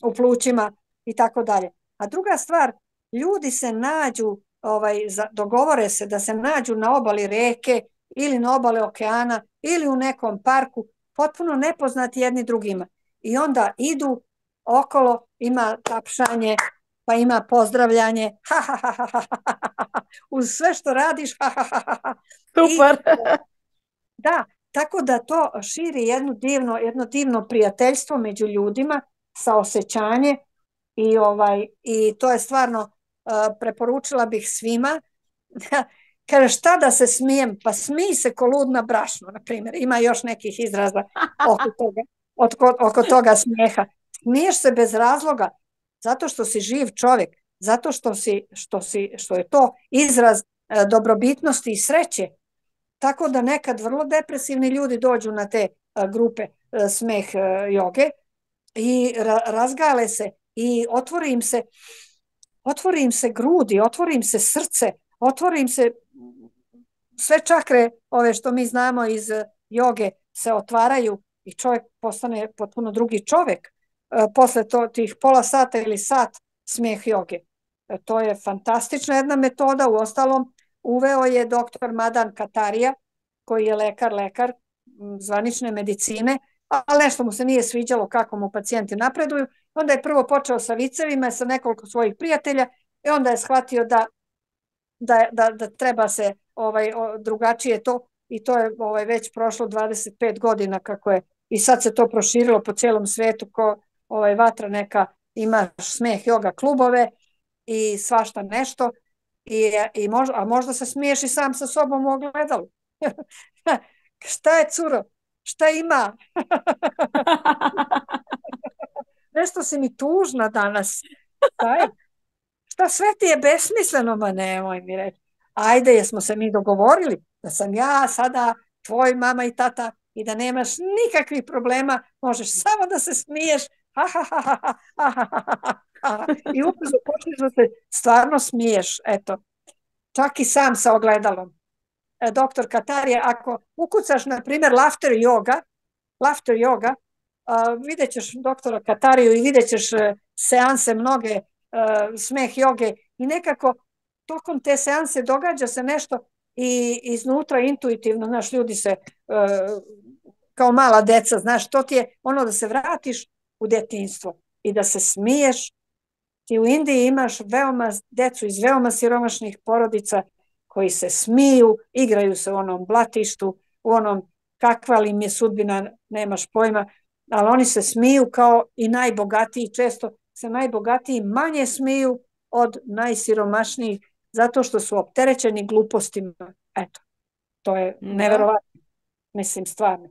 u plućima i tako dalje. A druga stvar, ljudi se nađu, ovaj, dogovore se da se nađu na obali reke ili na obale okeana ili u nekom parku, potpuno nepoznati jedni drugima. I onda idu okolo, ima tapšanje, pa ima pozdravljanje, ha, ha, ha, ha, ha, ha, uz sve što radiš, ha, ha, ha, ha. Super. I, da, tako da to širi jedno divno, jedno divno prijateljstvo među ljudima, saosećanje i, ovaj, i to je stvarno uh, preporučila bih svima. Kaže, šta da se smijem? Pa smij se ko lud na brašno, na primjer. Ima još nekih izraza oko toga, oko, oko toga smijeha. Smiješ se bez razloga, zato što si živ čovjek, zato što, si, što, si, što je to izraz uh, dobrobitnosti i sreće. Tako da nekad vrlo depresivni ljudi dođu na te uh, grupe uh, smeh uh, joge i ra razgale se i otvori im se, otvori im se grudi, otvori im se srce, otvori im se sve čakre, ove što mi znamo iz joge, se otvaraju i čovjek postane potpuno drugi čovjek uh, posle to, tih pola sata ili sat smeh joge. Uh, to je fantastična jedna metoda, u ostalom uveo je doktor Madan Kataria, koji je lekar, lekar zvanične medicine, ali nešto mu se nije sviđalo kako mu pacijenti napreduju. Onda je prvo počeo sa vicevima, sa nekoliko svojih prijatelja i onda je shvatio da, da, da, da treba se ovaj, drugačije to i to je ovaj, već prošlo dvadeset pet godina kako je i sad se to proširilo po cijelom svetu ko ovaj, vatra neka, ima smeh joga klubove i svašta nešto. I, i možda, a možda se smiješ i sam sa sobom u ogledalu. Šta je, curo? Šta ima? Nešto si mi tužna danas. Šta je? Šta sve ti je besmisleno? Ma nemoj mi reći. Ajde, jesmo se mi dogovorili da sam ja sada tvoj mama i tata i da nemaš nikakvih problema, možeš samo da se smiješ. Ha, ha, ha, ha, ha, ha, ha, ha. I ubrzo počneš da se stvarno smiješ. Eto. Čak i sam sa ogledalom. E, doktor Katarija, ako ukucaš, na primjer, laughter yoga, laughter yoga, uh, vidjet ćeš doktora Katariju i vidjet ćeš uh, seanse mnoge uh, smeh joge i nekako tokom te seanse događa se nešto i iznutra intuitivno, znaš, ljudi se uh, kao mala deca, znaš, to ti je ono da se vratiš u detinjstvo i da se smiješ. Ti u Indiji imaš veoma decu iz veoma siromašnih porodica koji se smiju, igraju se u onom blatištu, u onom kakva li im je sudbina, nemaš pojma, ali oni se smiju kao i najbogatiji, često se najbogatiji manje smiju od najsiromašnijih, zato što su opterećeni glupostima. Eto, to je neverovatno, mislim, stvarno.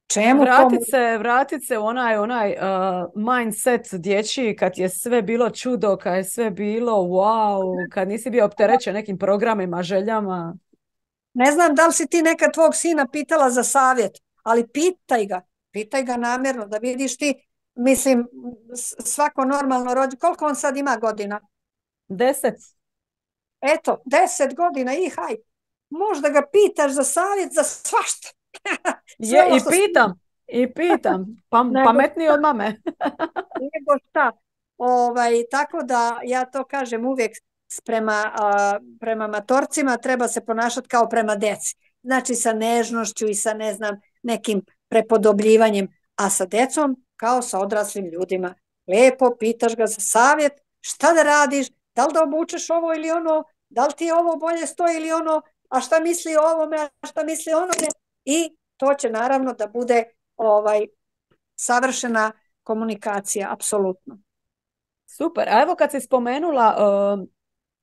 Čemu vratit to... se, vratit se u onaj, onaj uh, mindset dječji kad je sve bilo čudo, kad je sve bilo wow, kad nisi bio opterećen nekim programima, željama. Ne znam da li si ti nekad tvog sina pitala za savjet, ali pitaj ga, pitaj ga namjerno da vidiš ti, mislim, svako normalno rođe, koliko on sad ima godina? Deset. Eto, deset godina i haj, možda ga pitaš za savjet za svašta. Je, i pitam, i pitam, pa, pametniji od mame. Nego šta, ovaj, tako da ja to kažem uvijek prema, a, prema matorcima treba se ponašati kao prema deci. Znači sa nežnošću i sa ne znam nekim prepodobljivanjem, a sa decom kao sa odraslim ljudima. Lijepo pitaš ga za savjet, šta da radiš, da li da obučeš ovo ili ono, da li ti ovo bolje stoji ili ono, a šta misli o ovome, a šta misli o onome. I to će naravno da bude ovaj, savršena komunikacija, apsolutno. Super, a evo kad si spomenula uh,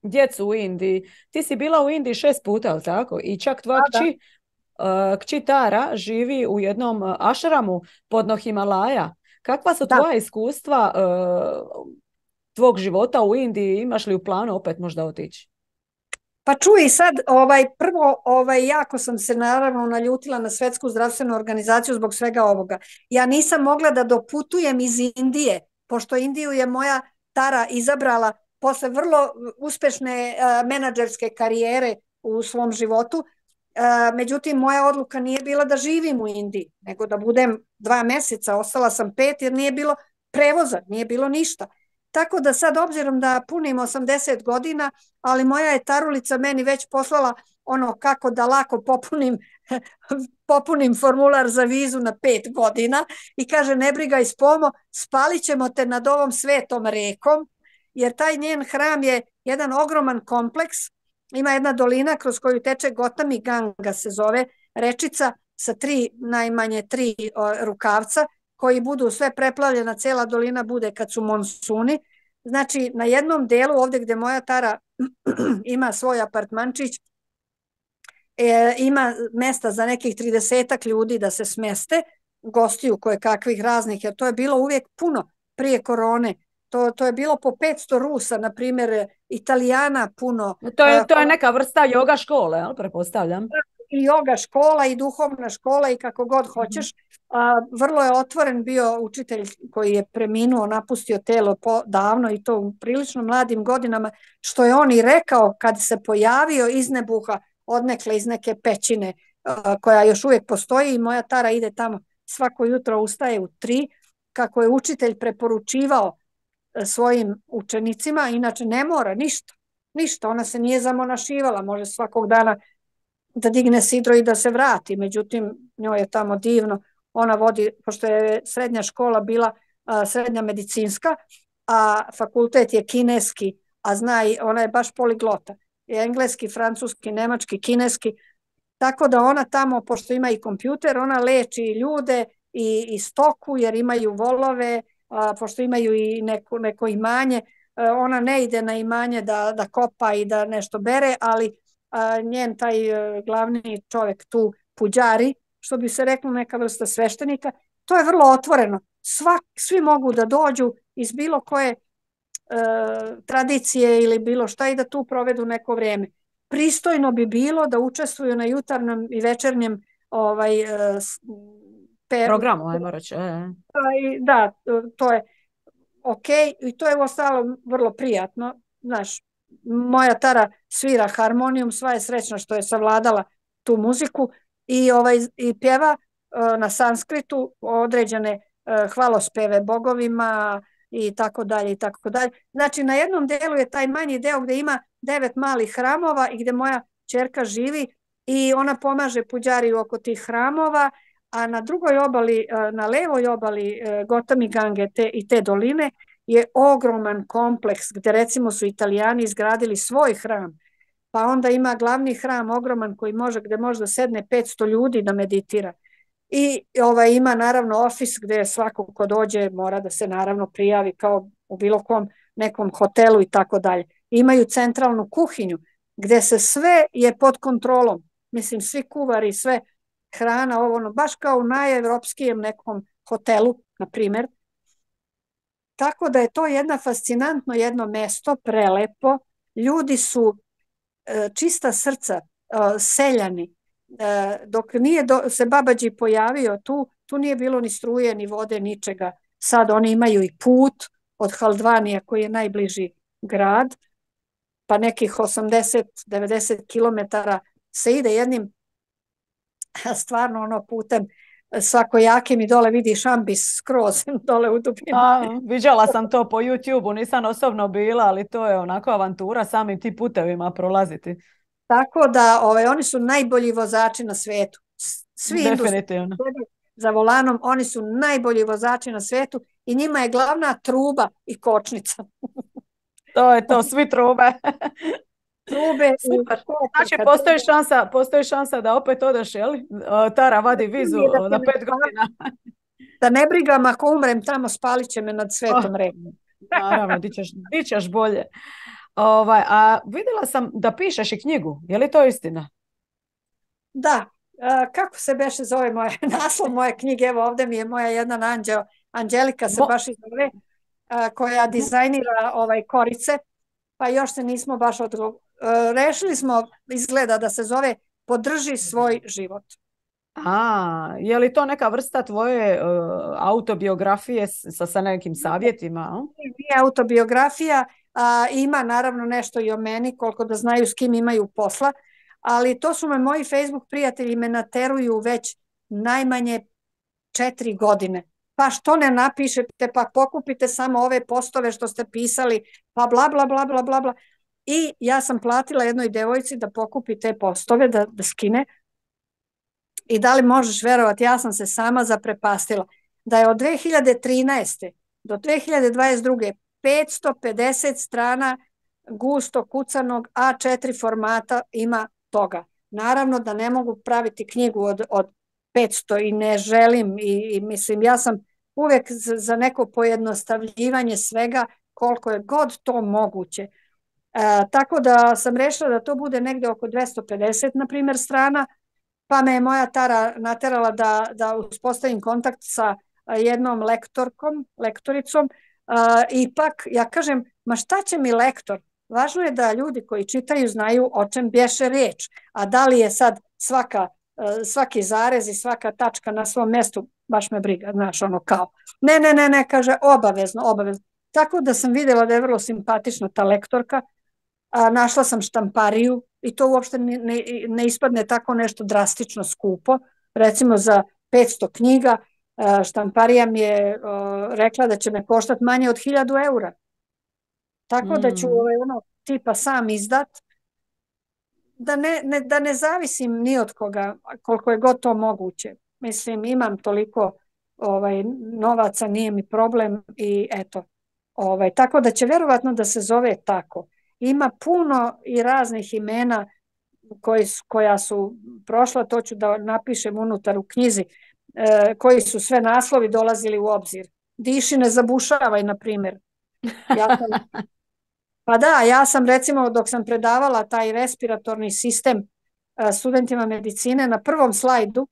djecu u Indiji, ti si bila u Indiji šest puta, ali tako? I čak tvoja kći, uh, kći Tara živi u jednom ašramu podno Himalaja. Kakva su tvoja iskustva uh, tvog života u Indiji? Imaš li u planu opet možda otići? Pa čuj sad, ovaj, prvo, ovaj, jako sam se naravno naljutila na Svjetsku zdravstvenu organizaciju zbog svega ovoga. Ja nisam mogla da doputujem iz Indije, pošto Indiju je moja Tara izabrala posle vrlo uspešne uh, menadžerske karijere u svom životu. Međutim, moja odluka nije bila da živim u Indiji, nego da budem dva meseca, ostala sam pet jer nije bilo prevoza, nije bilo ništa. Tako da sad, obzirom da punim osamdeset godina, ali moja je tarulica meni već poslala ono kako da lako popunim, popunim formular za vizu na pet godina i kaže ne brigaj Spomo, spalit ćemo te nad ovom svetom rekom, jer taj njen hram je jedan ogroman kompleks. Ima jedna dolina kroz koju teče Gotami Ganga se zove, rečica sa tri, najmanje tri o, rukavca koji budu sve preplavljena, cela dolina bude kad su monsuni. Znači na jednom delu ovde gde moja tara ima svoj apartmančić, e, ima mesta za nekih tridesetak ljudi da se smeste, gostiju koje kakvih raznih, jer to je bilo uvijek puno prije korone. To, to je bilo po petsto Rusa, na primjer, Italijana puno. To je, to je neka vrsta joga škole, jel, pretpostavljam? I joga škola i duhovna škola i kako god hoćeš. A, vrlo je otvoren bio učitelj koji je preminuo, napustio telo po, davno i to u prilično mladim godinama, što je on i rekao kad se pojavio iz nebuha, odnekle iz neke pećine a, koja još uvijek postoji i moja tara ide tamo svako jutro, ustaje u tri, kako je učitelj preporučivao svojim učenicima, inače ne mora ništa, ništa, ona se nije zamonašivala, može svakog dana da digne sidro i da se vrati, međutim njoj je tamo divno, ona vodi, pošto je srednja škola bila a, srednja medicinska, a fakultet je kineski, a zna i ona je baš poliglota, je engleski, francuski, nemački, kineski, tako da ona tamo, pošto ima i kompjuter, ona leči ljude i, i stoku jer imaju volove, a, pošto imaju i neko, neko imanje, a, ona ne ide na imanje da, da kopa i da nešto bere, ali a, njen taj a, glavni čovjek tu, puđari, što bi se reklo neka vrsta sveštenika, to je vrlo otvoreno. Svak, svi mogu da dođu iz bilo koje a, tradicije ili bilo šta i da tu provedu neko vrijeme. Pristojno bi bilo da učestvuju na jutarnjem i večernjem ovaj, a, pe... programu, ajmo reći. Da, to je ok i to je uostalom vrlo prijatno. Znaš, moja tara svira harmonijum, sva je srećna što je savladala tu muziku i, ovaj, i pjeva uh, na sanskritu određene uh, hvalospeve bogovima i tako dalje i tako dalje. Znači na jednom delu je taj manji deo gde ima devet malih hramova i gde moja ćerka živi i ona pomaže puđariju oko tih hramova, a na drugoj obali, na levoj obali Gotami Gange te, i te doline je ogroman kompleks gde recimo su Italijani izgradili svoj hram, pa onda ima glavni hram ogroman koji može, gde može da sedne petsto ljudi da meditira. I ovaj, ima naravno ofis gde svako ko dođe mora da se naravno prijavi kao u bilo kom nekom hotelu i tako dalje. Imaju centralnu kuhinju gde se sve je pod kontrolom. Mislim, svi kuvari, sve hrana, ovo ono, baš kao u najevropskijem nekom hotelu, na primjer. Tako da je to jedna fascinantno jedno mesto, prelepo. Ljudi su e, čista srca, e, seljani. E, dok nije do, se Babađi pojavio tu, tu nije bilo ni struje, ni vode, ničega. Sad oni imaju i put od Haldvanija koji je najbliži grad, pa nekih osamdeset do devedeset kilometara se ide jednim stvarno ono putem svakojakim i dole vidiš ambis skroz dole u dubinu. A, viđala sam to po YouTube-u, nisam osobno bila, ali to je onako avantura samim ti putevima prolaziti. Tako da ovaj, oni su najbolji vozači na svijetu. Svi definitivno za volanom, oni su najbolji vozači na svijetu i njima je glavna truba i kočnica. To je to, svi trube. Trube. Super. Znači, postoji šansa, postoji šansa da opet odeš, jel? Tara vadi vizu na pet godina. Da ne brigam, ako umrem tamo, spalit će me nad svetom oh, rekom. Naravno, di ćeš, di ćeš bolje. Ovaj, a vidjela sam da pišeš i knjigu, je li to istina? Da. Kako se beše zove moje naslov moje knjige? Evo ovdje mi je moja jedna anđeo, Anđelika se Mo... baš izove, koja dizajnira ovaj korice, pa još se nismo baš odgo... rešili smo, izgleda da se zove Podrži svoj život. A, je li to neka vrsta tvoje uh, autobiografije sa, sa nekim savjetima? Nije autobiografija, a, ima naravno nešto i o meni, koliko da znaju s kim imaju posla, ali to su me moji Facebook prijatelji me nateruju već najmanje četiri godine. Pa što ne napišete, pa pokupite samo ove postove što ste pisali, pa bla, bla, bla, bla, bla, bla. I ja sam platila jednoj devojci da pokupi te postove, da, da skine. I da li možeš verovati, ja sam se sama zaprepastila da je od dve hiljade trinaeste do dve hiljade dvadeset druge petsto pedeset strana gusto kucanog A četiri formata ima toga. Naravno da ne mogu praviti knjigu od, od petsto i ne želim i, i mislim ja sam uvek za, za neko pojednostavljivanje svega koliko je god to moguće. E, tako da sam rešila da to bude negde oko dvesta pedeset na primjer strana, pa me je moja Tara naterala da, da uspostavim kontakt sa jednom lektorkom, lektoricom. Uh, ipak ja kažem, ma šta će mi lektor? Važno je da ljudi koji čitaju znaju o čem bješe riječ, a da li je sad svaka, uh, svaki zarez i svaka tačka na svom mjestu, baš me briga, znaš, ono kao. Ne, ne, ne, ne, kaže, obavezno, obavezno. Tako da sam vidjela da je vrlo simpatična ta lektorka. A, našla sam štampariju i to uopšte ne, ne, ne ispadne tako nešto drastično skupo. Recimo za petsto knjiga a, štamparija mi je a, rekla da će me koštati manje od hiljadu eura. Tako mm. da ću ovaj, ono, tipa sam izdat, da ne, ne, da ne zavisim ni od koga, koliko je god to moguće. Mislim, imam toliko ovaj, novaca, nije mi problem i eto. Ovaj, tako da će verovatno da se zove tako. Ima puno i raznih imena koji, koja su prošla, to ću da napišem unutar u knjizi, e, koji su sve naslovi dolazili u obzir. Diši, ne zabušavaj, na primjer. Ja sam, pa da, ja sam recimo dok sam predavala taj respiratorni sistem e, studentima medicine, na prvom slajdu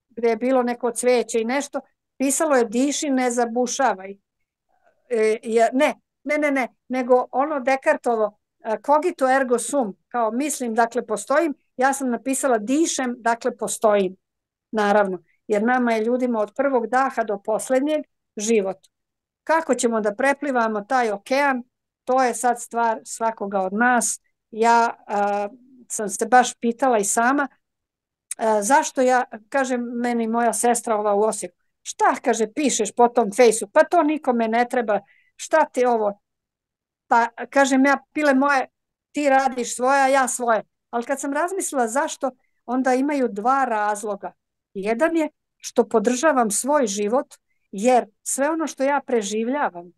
gdje je bilo neko cvijeće i nešto, pisalo je diši, ne zabušavaj. E, ne, ne, ne, ne, nego ono Descartovo cogito ergo sum, kao mislim, dakle postojim, ja sam napisala dišem, dakle postojim, naravno, jer nama je ljudima od prvog daha do posljednjeg život. Kako ćemo da preplivamo taj okean, to je sad stvar svakoga od nas. Ja a, sam se baš pitala i sama, a, zašto ja, kaže meni moja sestra ova u Osijeku, šta, kaže, pišeš po tom fejsu, pa to nikome ne treba, šta ti ovo? Pa kažem ja, pile moje, ti radiš svoje, a ja svoje. Ali kad sam razmislila zašto, onda imaju dva razloga. Jedan je što podržavam svoj život, jer sve ono što ja preživljavam,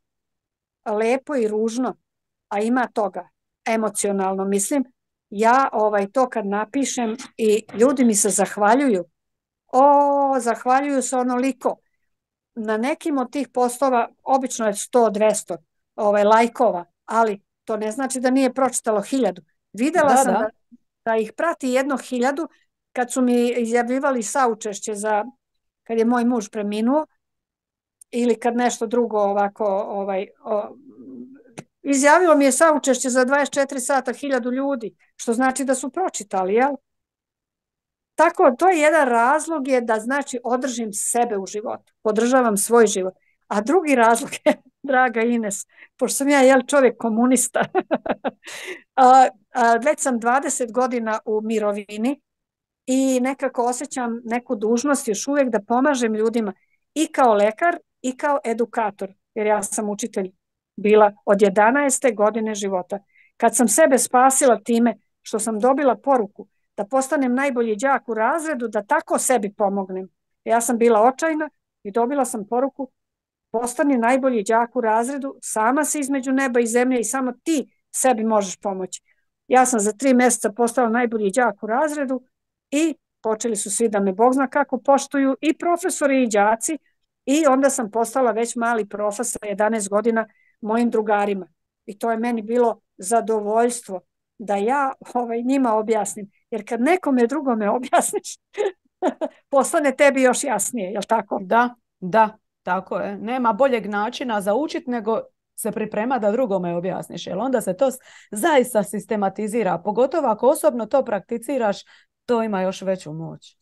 lepo i ružno, a ima toga, emocionalno mislim, ja ovaj, to kad napišem i ljudi mi se zahvaljuju, o, zahvaljuju se onoliko. Na nekim od tih postova, obično je sto dvjesto ovaj, lajkova, ali to ne znači da nije pročitalo hiljadu. Videla da, sam da. Da, da ih prati jedno hiljadu kad su mi izjavljivali saučešće za kad je moj muž preminuo ili kad nešto drugo ovako ovaj, o, izjavilo mi je saučešće za dvadeset četiri sata hiljadu ljudi, što znači da su pročitali, jel? Tako, to je jedan razlog je da znači održim sebe u životu, podržavam svoj život. A drugi razlog je, draga Ines, pošto sam ja jel čovjek komunista, a, a, već sam dvadeset godina u mirovini i nekako osjećam neku dužnost još uvijek da pomažem ljudima i kao lekar i kao edukator, jer ja sam učitelj bila od jedanaeste godine života. Kad sam sebe spasila time što sam dobila poruku da postanem najbolji đak u razredu, da tako sebi pomognem. Ja sam bila očajna i dobila sam poruku postani najbolji đak u razredu, sama si između neba i zemlje i samo ti sebi možeš pomoći. Ja sam za tri mjeseca postala najbolji đak u razredu i počeli su svi da me Bog zna kako poštuju i profesori i đaci i onda sam postala već mali profesor sa jedanaest godina mojim drugarima. I to je meni bilo zadovoljstvo da ja ovaj, njima objasnim. Jer kad nekome drugome objasniš, postane tebi još jasnije, jel tako? Da, da, tako je. Nema boljeg načina za učit nego se priprema da drugome objasniš. Jer onda se to zaista sistematizira. Pogotovo ako osobno to prakticiraš, to ima još veću moć.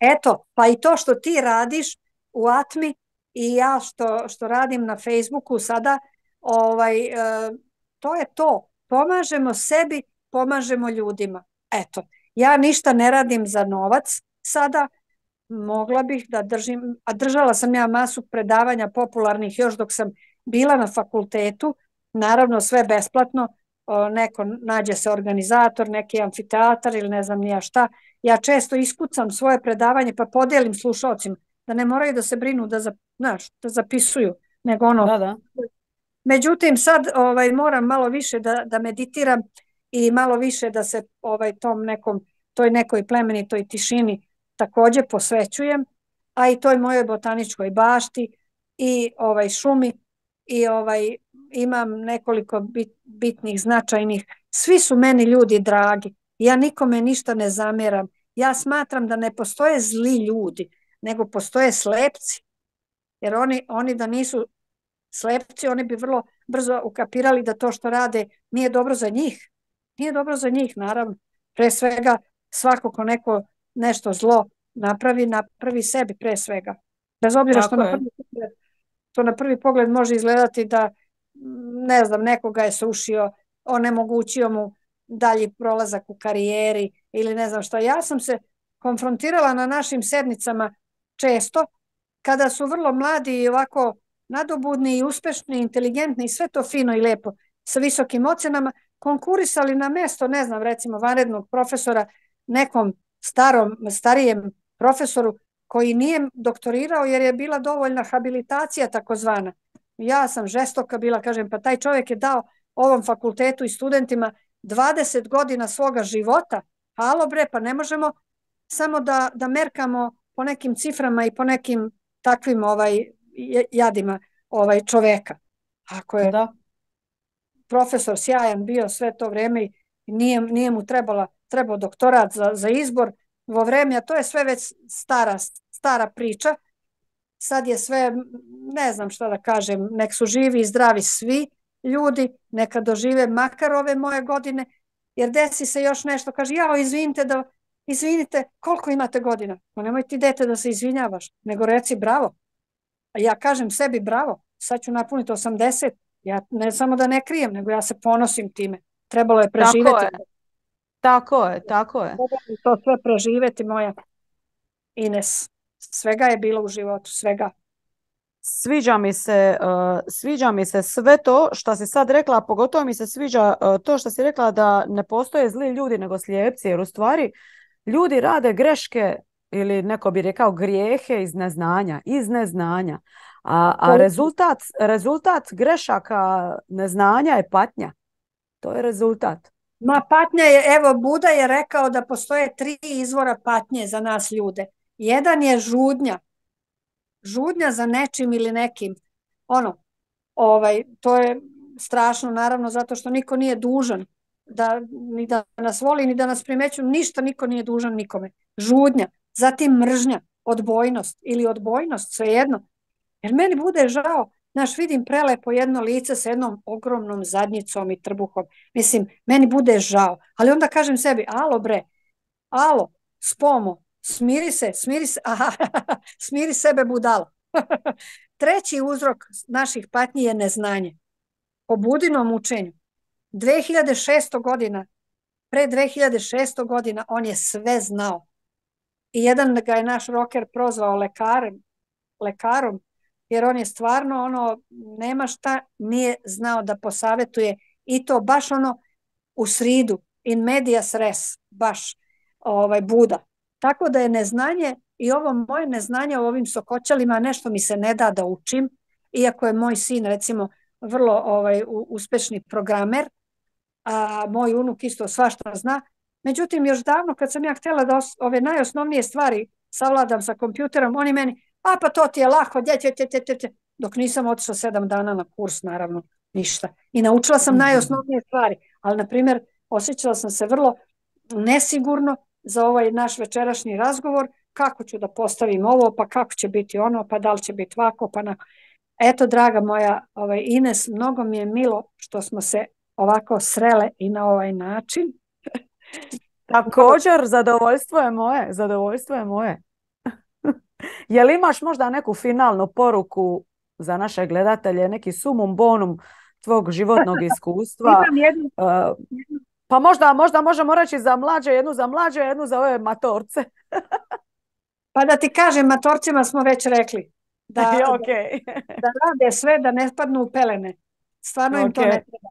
Eto, pa i to što ti radiš u Atmi i ja što, što radim na Facebooku sada, ovaj, to je to. Pomažemo sebi, pomažemo ljudima. Eto. Ja ništa ne radim za novac sada, mogla bih da držim, a držala sam ja masu predavanja popularnih još dok sam bila na fakultetu, naravno sve besplatno, neko nađe se organizator, neki amfiteatar ili ne znam nija šta. Ja često iskucam svoje predavanje pa podelim slušalcima, da ne moraju da se brinu da, znaš, da zapisuju, nego ono. Da, da. Međutim, sad ovaj, moram malo više da, da meditiram i malo više da se ovaj, tom nekom, toj nekoj plemenitoj tišini također posvećujem, a i toj mojoj botaničkoj bašti i ovaj šumi i ovaj imam nekoliko bit, bitnih, značajnih. Svi su meni ljudi dragi. Ja nikome ništa ne zameram. Ja smatram da ne postoje zli ljudi, nego postoje slepci. Jer oni, oni da nisu slepci, oni bi vrlo brzo ukapirali da to što rade nije dobro za njih. Nije dobro za njih, naravno. Pre svega, svako ko neko nešto zlo napravi, napravi sebi pre svega. Bez obzira što na, prvi pogled, što na prvi pogled može izgledati da, ne znam, nekoga je srušio, onemogućio mu dalji prolazak u karijeri ili ne znam šta. Ja sam se konfrontirala na našim sednicama često, kada su vrlo mladi i ovako nadobudni i uspešni, inteligentni i sve to fino i lepo sa visokim ocenama, konkurisali na mesto, ne znam, recimo vanrednog profesora nekom starom, starijem profesoru koji nije doktorirao jer je bila dovoljna habilitacija takozvana. Ja sam žestoka bila, kažem, pa taj čovjek je dao ovom fakultetu i studentima dvadeset godina svoga života. Halo bre, pa ne možemo samo da, da merkamo po nekim ciframa i po nekim takvim ovaj jadima ovaj čoveka. Ako je da. Profesor sjajan bio sve to vrijeme i nije, nije mu trebala, trebao doktorat za, za izbor vo vreme, a to je sve već stara, stara priča. Sad je sve, ne znam šta da kažem, nek su živi i zdravi svi ljudi, neka dožive makar ove moje godine, jer desi se još nešto, kaže, jao, izvinite, da, izvinite, koliko imate godina? No nemoj ti dete da se izvinjavaš, nego reci bravo. A ja kažem sebi bravo, sad ću napuniti osamdeset, ja ne samo da ne krijem, nego ja se ponosim time. Trebalo je preživeti. Tako je, tako je, tako je. Trebalo je to sve preživeti, moja Ines. Svega je bilo u životu, svega. Sviđa mi se, uh, sviđa mi se sve to što si sad rekla, a pogotovo mi se sviđa uh, to što si rekla da ne postoje zli ljudi nego slijepci, jer u stvari ljudi rade greške ili neko bi rekao grijehe iz neznanja, iz neznanja. A, a rezultat, rezultat grešaka neznanja je patnja. To je rezultat. Ma patnja je, evo Buda je rekao da postoje tri izvora patnje za nas ljude. Jedan je žudnja. Žudnja za nečim ili nekim. Ono, ovaj, to je strašno naravno zato što niko nije dužan da, ni da nas voli, ni da nas primećuje. Ništa niko nije dužan nikome. Žudnja. Zatim mržnja, odbojnost ili odbojnost, svejedno. Jer meni bude žao, znaš, vidim prelepo jedno lice sa jednom ogromnom zadnjicom i trbuhom. Mislim, meni bude žao. Ali onda kažem sebi, alo bre, alo, spomo, smiri se, smiri se, aha, smiri sebe budalo. Treći uzrok naših patnji je neznanje. Po Budinom učenju. dve hiljade šeststo godina, pre dve hiljade šeststo godina on je sve znao. I jedan ga je naš roker prozvao lekarem, lekarom, jer on je stvarno ono, nema šta, nije znao da posavetuje i to baš ono u sridu, in medias res, baš ovaj, Buda. Tako da je neznanje i ovo moje neznanje o ovim sokoćalima nešto mi se ne da da učim, iako je moj sin recimo vrlo ovaj, uspešni programer, a moj unuk isto svašta zna. Međutim, još davno kad sam ja htjela da ove najosnovnije stvari savladam sa kompjuterom, oni meni, a pa to ti je lako, dje, dje, dje, dje, dje. Dok nisam otišla sedam dana na kurs, naravno, ništa. I naučila sam najosnovnije stvari, ali, na primjer, osjećala sam se vrlo nesigurno za ovaj naš večerašnji razgovor, kako ću da postavim ovo, pa kako će biti ono, pa da li će biti ovako, pa na... Eto, draga moja ovaj, Ines, mnogo mi je milo što smo se ovako srele i na ovaj način. Također, zadovoljstvo je moje, zadovoljstvo je moje. Jel imaš možda neku finalnu poruku za naše gledatelje, neki sumum bonum tvog životnog iskustva? Imam jednu, uh, Pa možda, možda možemo reći za mlađe, jednu za mlađe, jednu za ove matorce. Pa da ti kažem, matorcima smo već rekli da, da, Ok. da rade sve da ne spadnu u pelene. Stvarno im Ok. to ne treba.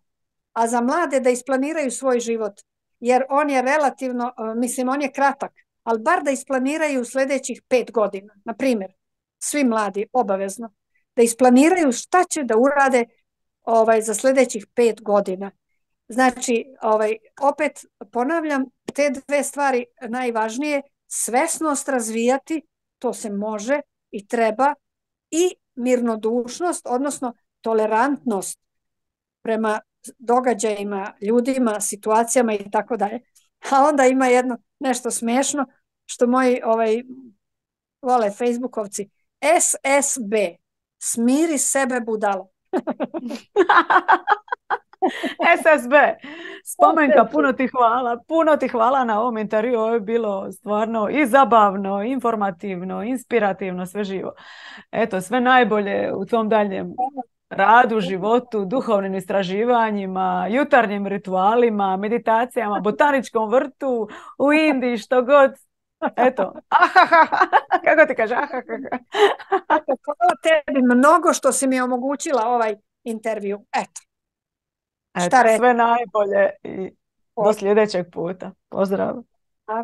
A za mlade da isplaniraju svoj život, jer on je relativno, mislim, on je kratak, ali bar da isplaniraju sljedećih pet godina. Na primjer, svi mladi, obavezno, da isplaniraju šta će da urade ovaj, za sljedećih pet godina. Znači, ovaj, opet ponavljam, te dve stvari najvažnije, svesnost razvijati, to se može i treba, i mirnodušnost, odnosno tolerantnost prema događajima, ljudima, situacijama i tako dalje. A onda ima jedno nešto smiješno što moji ovaj, vole Facebookovci. S S B. Smiri sebe budalo. S S B. Spomenka, puno ti hvala. Puno ti hvala na ovom intervju. Ovo je bilo stvarno i zabavno, informativno, inspirativno, sve živo. Eto, sve najbolje u tom daljem radu, životu, duhovnim istraživanjima, jutarnjim ritualima, meditacijama, botaničkom vrtu, u Indiji, što god. Eto, kako ti kaže? Eto, hvala tebi mnogo što si mi omogućila ovaj intervju. Eto. Eto, sve najbolje i do sljedećeg puta. Pozdrav. A?